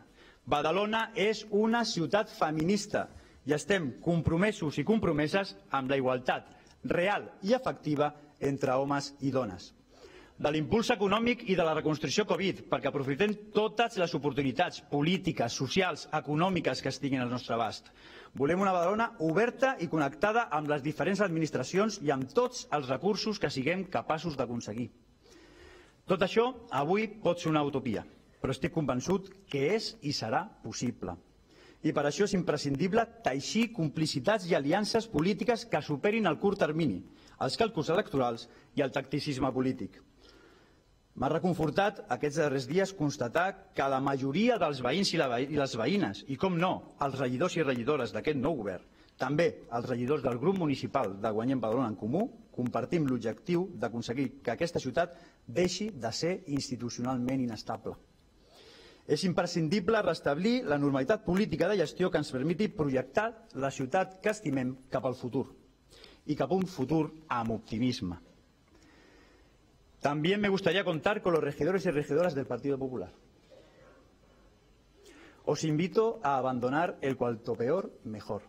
Badalona és una ciutat feminista i estem compromesos i compromeses amb la igualtat real i efectiva entre homes i dones. De l'impuls econòmic i de la reconstrucció Covid, perquè aprofitem totes les oportunitats polítiques, socials, econòmiques que estiguin al nostre abast. Volem una Badalona oberta i connectada amb les diferents administracions i amb tots els recursos que siguem capaços d'aconseguir. Tot això avui pot ser una utopia, però estic convençut que és i serà possible. I per això és imprescindible teixir complicitats i aliances polítiques que superin el curt termini, els càlculs electorals i el tacticisme polític. M'ha reconfortat aquests darrers dies constatar que la majoria dels veïns i les veïnes, i com no, els regidors i regidores d'aquest nou govern, també els regidors del grup municipal de Guanyem Badalona en Comú, compartim l'objectiu d'aconseguir que aquesta ciutat deixi de ser institucionalment inestable. És imprescindible restablir la normalitat política de gestió que ens permeti projectar la ciutat que estimem cap al futur y cap a un futuro amb optimismo. También me gustaría contar con los regidores y regidoras del Partido Popular. Os invito a abandonar el cuanto peor, mejor.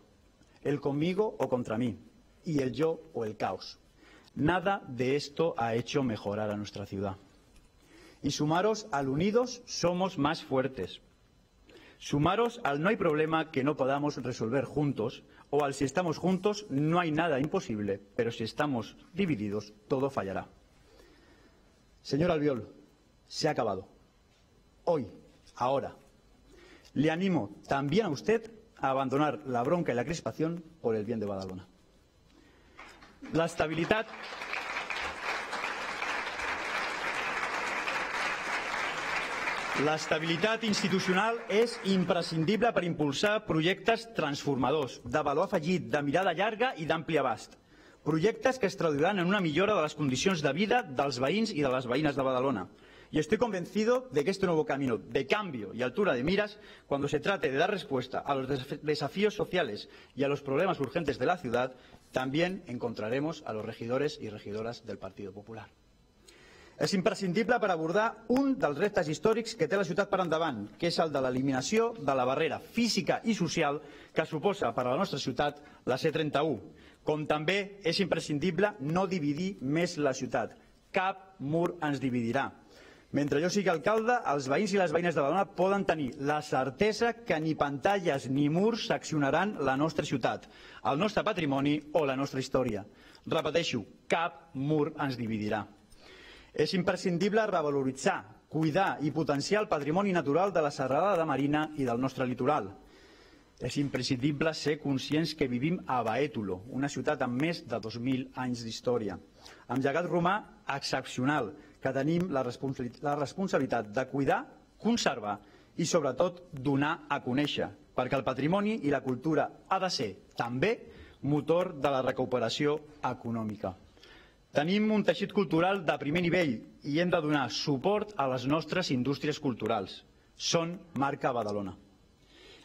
El conmigo o contra mí. Y el yo o el caos. Nada de esto ha hecho mejorar a nuestra ciudad. Y sumaros al unidos somos más fuertes. Sumaros al no hay problema que no podamos resolver juntos, o al si estamos juntos no hay nada imposible, pero si estamos divididos todo fallará. Señor Albiol, se ha acabado. Hoy, ahora. Le animo también a usted a abandonar la bronca y la crispación por el bien de Badalona. La estabilidad... L'estabilitat institucional és imprescindible per impulsar projectes transformadors, de valor afegit, de mirada llarga i d'ampli abast. Projectes que es traduiran en una millora de les condicions de vida dels veïns i de les veïnes de Badalona. Y estoy convencido de que este nuevo camino de cambio y altura de miras, cuando se trate de dar respuesta a los desafíos sociales y a los problemas urgentes de la ciudad, también encontraremos a los regidores y regidoras del Partido Popular. És imprescindible per abordar un dels reptes històrics que té la ciutat per endavant, que és el de l'eliminació de la barrera física i social que suposa per a la nostra ciutat la C trenta u. Com també és imprescindible no dividir més la ciutat. Cap mur ens dividirà. Mentre jo sigui alcalde, els veïns i les veïnes de Badalona poden tenir la certesa que ni pantalles ni murs seccionaran la nostra ciutat, el nostre patrimoni o la nostra història. Repeteixo, cap mur ens dividirà. És imprescindible revaloritzar, cuidar i potenciar el patrimoni natural de la serralada de Marina i del nostre litoral. És imprescindible ser conscients que vivim a Baétulo, una ciutat amb més de dos mil anys d'història, amb llegat romà excepcional, que tenim la responsabilitat de cuidar, conservar i, sobretot, donar a conèixer, perquè el patrimoni i la cultura ha de ser, també, motor de la recuperació econòmica. Tenim un teixit cultural de primer nivell i hem de donar suport a les nostres indústries culturals. Són marca Badalona.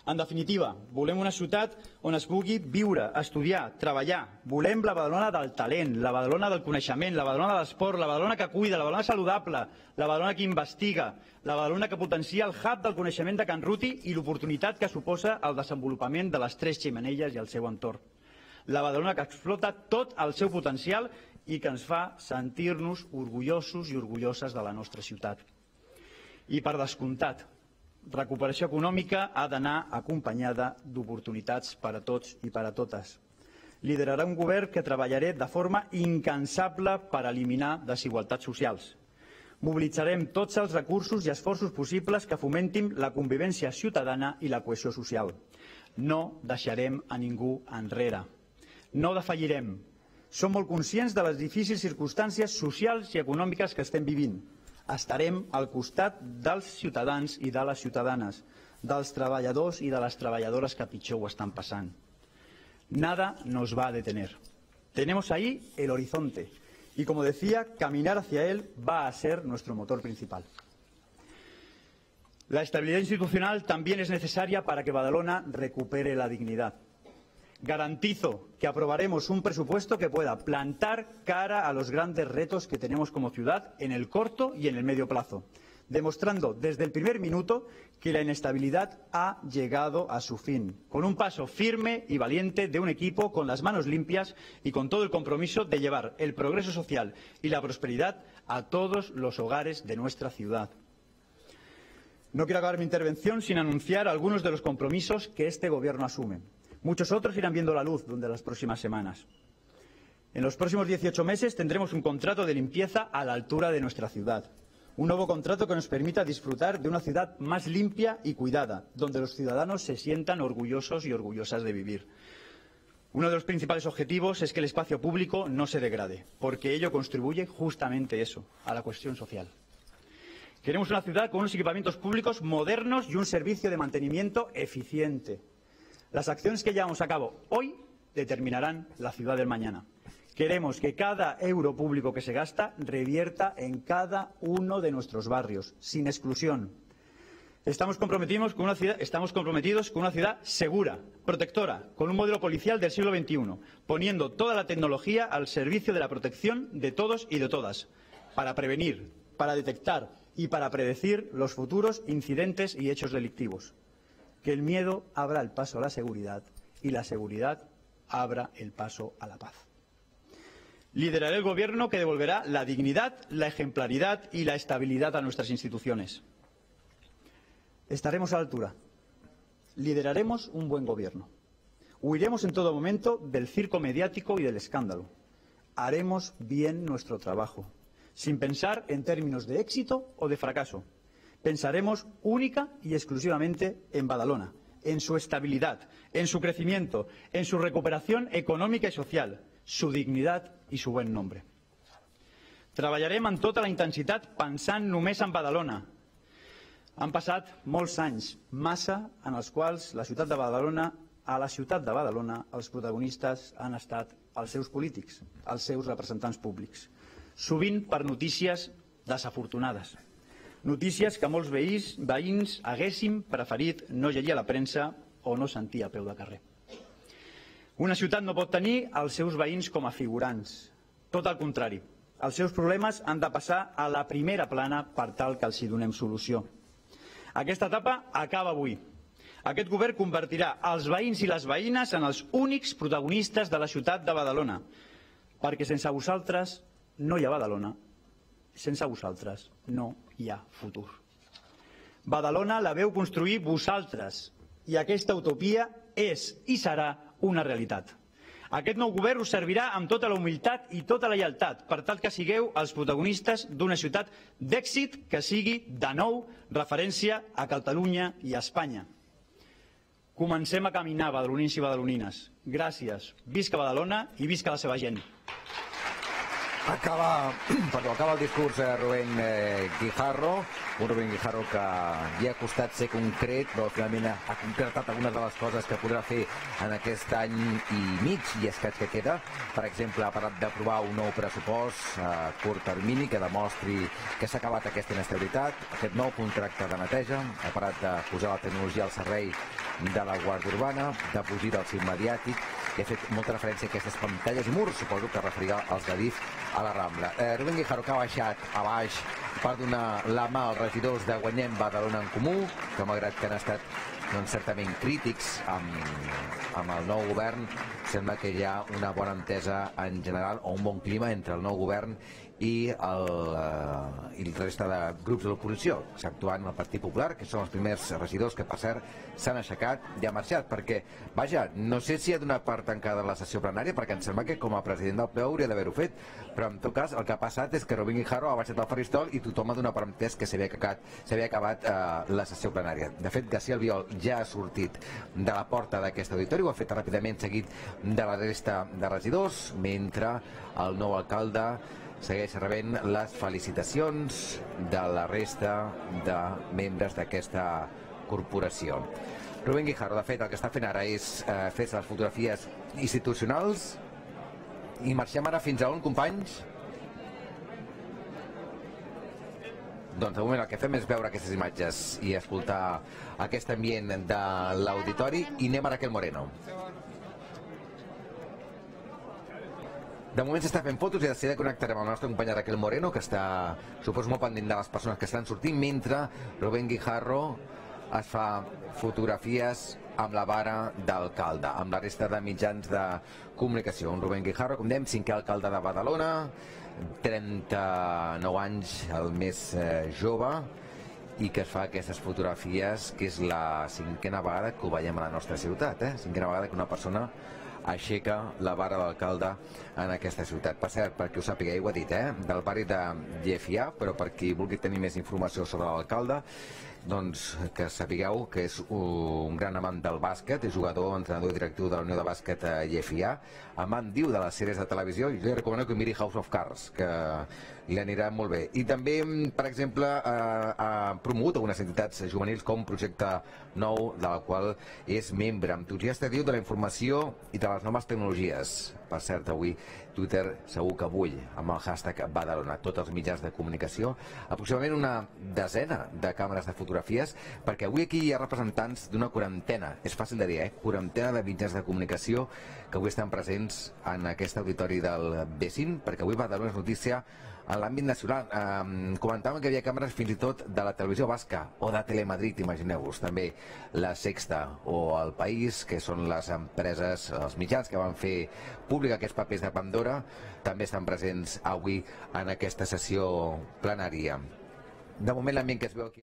En definitiva, volem una ciutat on es pugui viure, estudiar, treballar. Volem la Badalona del talent, la Badalona del coneixement, la Badalona de l'esport, la Badalona que cuida, la Badalona saludable, la Badalona que investiga, la Badalona que potencia el hub del coneixement de Can Ruti i l'oportunitat que suposa el desenvolupament de les Tres Xemeneies i el seu entorn. La Badalona que explota tot el seu potencial i que ens fa sentir-nos orgullosos i orgulloses de la nostra ciutat. I per descomptat, recuperació econòmica ha d'anar acompanyada d'oportunitats per a tots i per a totes. Liderarà un govern que treballaré de forma incansable per eliminar desigualtats socials. Mobilitzarem tots els recursos i esforços possibles que fomentin la convivència ciutadana i la cohesió social. No deixarem a ningú enrere. No defallirem. Som molt conscients de les difícils circumstàncies socials i econòmiques que estem vivint. Estarem al costat dels ciutadans i de les ciutadanes, dels treballadors i de les treballadores que pitjor ho estan passant. Nada nos va a detener. Tenemos ahí el horizonte y, como decía, caminar hacia él va a ser nuestro motor principal. La estabilidad institucional también es necesaria para que Badalona recupere la dignidad. Garantizo que aprobaremos un presupuesto que pueda plantar cara a los grandes retos que tenemos como ciudad en el corto y en el medio plazo, demostrando desde el primer minuto que la inestabilidad ha llegado a su fin, con un paso firme y valiente de un equipo con las manos limpias y con todo el compromiso de llevar el progreso social y la prosperidad a todos los hogares de nuestra ciudad. No quiero acabar mi intervención sin anunciar algunos de los compromisos que este Gobierno asume. Muchos otros irán viendo la luz durante las próximas semanas. En los próximos dieciocho meses tendremos un contrato de limpieza a la altura de nuestra ciudad. Un nuevo contrato que nos permita disfrutar de una ciudad más limpia y cuidada, donde los ciudadanos se sientan orgullosos y orgullosas de vivir. Uno de los principales objetivos es que el espacio público no se degrade, porque ello contribuye justamente eso, a la cuestión social. Queremos una ciudad con unos equipamientos públicos modernos y un servicio de mantenimiento eficiente. Las acciones que llevamos a cabo hoy determinarán la ciudad del mañana. Queremos que cada euro público que se gasta revierta en cada uno de nuestros barrios, sin exclusión. Estamos comprometidos con una ciudad, estamos comprometidos con una ciudad segura, protectora, con un modelo policial del siglo veintiuno, poniendo toda la tecnología al servicio de la protección de todos y de todas, para prevenir, para detectar y para predecir los futuros incidentes y hechos delictivos. Que el miedo abra el paso a la seguridad y la seguridad abra el paso a la paz. Lideraré el Gobierno que devolverá la dignidad, la ejemplaridad y la estabilidad a nuestras instituciones. Estaremos a la altura. Lideraremos un buen Gobierno. Huiremos en todo momento del circo mediático y del escándalo. Haremos bien nuestro trabajo, sin pensar en términos de éxito o de fracaso. Pensaremos única y exclusivamente en Badalona, en su estabilidad, en su crecimiento, en su recuperación econòmica i social, su dignitat i su bon nombre. Treballarem amb tota la intensitat pensant només en Badalona. Han passat molts anys, massa, en els quals la ciutat de Badalona, a la ciutat de Badalona, els protagonistes han estat els seus polítics, els seus representants públics, sovint per notícies desafortunades. Notícies que molts veïns, veïns haguéssim preferit no llegir a la premsa o no sentir a peu de carrer. Una ciutat no pot tenir els seus veïns com a figurants. Tot al contrari, els seus problemes han de passar a la primera plana per tal que els hi donem solució. Aquesta etapa acaba avui. Aquest govern convertirà els veïns i les veïnes en els únics protagonistes de la ciutat de Badalona, perquè sense vosaltres no hi ha Badalona. Sense vosaltres no hi ha futur. Badalona la veu construir vosaltres i aquesta utopia és i serà una realitat. Aquest nou govern us servirà amb tota la humilitat i tota la lleialtat per tal que sigueu els protagonistes d'una ciutat d'èxit que sigui de nou referència a Catalunya i a Espanya. Comencem a caminar, badalonins i badalonines. Gràcies. Visca Badalona i visca la seva gent. Acaba, perdó, acaba el discurs de Rubén eh, Guijarro, un Rubén Guijarro que li ha costat ser concret, però finalment ha, ha concretat algunes de les coses que podrà fer en aquest any i mig i escaig que queda. Per exemple, ha parlat d'aprovar un nou pressupost a curt termini que demostri que s'ha acabat aquesta inestabilitat, aquest nou contracte de neteja, ha parlat de posar la tecnologia al servei de la Guàrdia Urbana, de fugir del cim mediàtic, i ha fet molta referència a aquestes pantalles i murs, suposo que referirà als de DIF a la Rambla. Eh, Rubén Guijarro, que ha baixat a baix per donar la mà als regidors de Guanyem Badalona en Comú, que malgrat que han estat doncs, certament crítics amb, amb el nou govern, sembla que hi ha una bona entesa en general o un bon clima entre el nou govern i el, eh, i el resta de grups de l'oposició, exceptuant el Partit Popular, que són els primers regidors que, per cert, s'han aixecat i han marxat, perquè, vaja, no sé si ha donat per tancada la sessió plenària, perquè em sembla que com a president del ple hauria d'haver-ho fet, però en tot cas el que ha passat és que Rubén Guijarro ha baixat al faristol i tothom ha donat per entès que s'havia acabat, s'havia acabat eh, la sessió plenària. De fet, García Albiol ja ha sortit de la porta d'aquest auditori, ho ha fet ràpidament seguit de la resta de regidors, mentre el nou alcalde segueix rebent les felicitacions de la resta de membres d'aquesta corporació. Rubén Guijarro, de fet, el que està fent ara és eh, fer les fotografies institucionals i marxem ara fins a on, companys? Doncs de moment el que fem és veure aquestes imatges i escoltar aquest ambient de l'auditori i anem a Raquel Moreno. De moment s'està fent fotos i de seguida connectarem amb la nostra companya Raquel Moreno, que està, suposo, molt pendent de les persones que estan sortint, mentre Rubén Guijarro es fa fotografies amb la vara d'alcalde, amb la resta de mitjans de comunicació. Un Rubén Guijarro, com dèiem, cinquè alcalde de Badalona, trenta-nou anys, el més eh, jove, i que es fa aquestes fotografies, que és la cinquena vegada que ho veiem a la nostra ciutat, eh? Cinquena vegada que una persona aixeca la vara d'alcalde en aquesta ciutat. Per cert, perquè ho sapigueu, ho ha dit, eh? Del barri de Llefià, però per qui vulgui tenir més informació sobre l'alcalde, doncs que sapigueu que és un gran amant del bàsquet, és jugador, entrenador i directiu de la Unió de Bàsquet a Llefià, amant, diu, de les sèries de televisió, i li recomano que miri House of Cards, que li anirà molt bé. I també, per exemple, ha promogut algunes entitats juvenils com Projecte Nou, de la qual és membre, entusiasta, diu, de la informació i de les noves tecnologies. Per cert, avui Twitter segur que bull amb el hashtag Badalona, tots els mitjans de comunicació, aproximadament una desena de càmeres de fotografies, perquè avui aquí hi ha representants d'una quarantena, és fàcil de dir, eh? Quarantena de mitjans de comunicació que avui estan presents en aquest auditori del B cinc, perquè avui Badalona és notícia en l'àmbit nacional. Eh, comentàvem que hi havia càmeres fins i tot de la televisió basca o de Telemadrid, imagineu-vos, també La Sexta o El País, que són les empreses, els mitjans que van fer públic aquests papers de Pandora, també estan presents avui en aquesta sessió plenària. De moment l'ambient que es veu aquí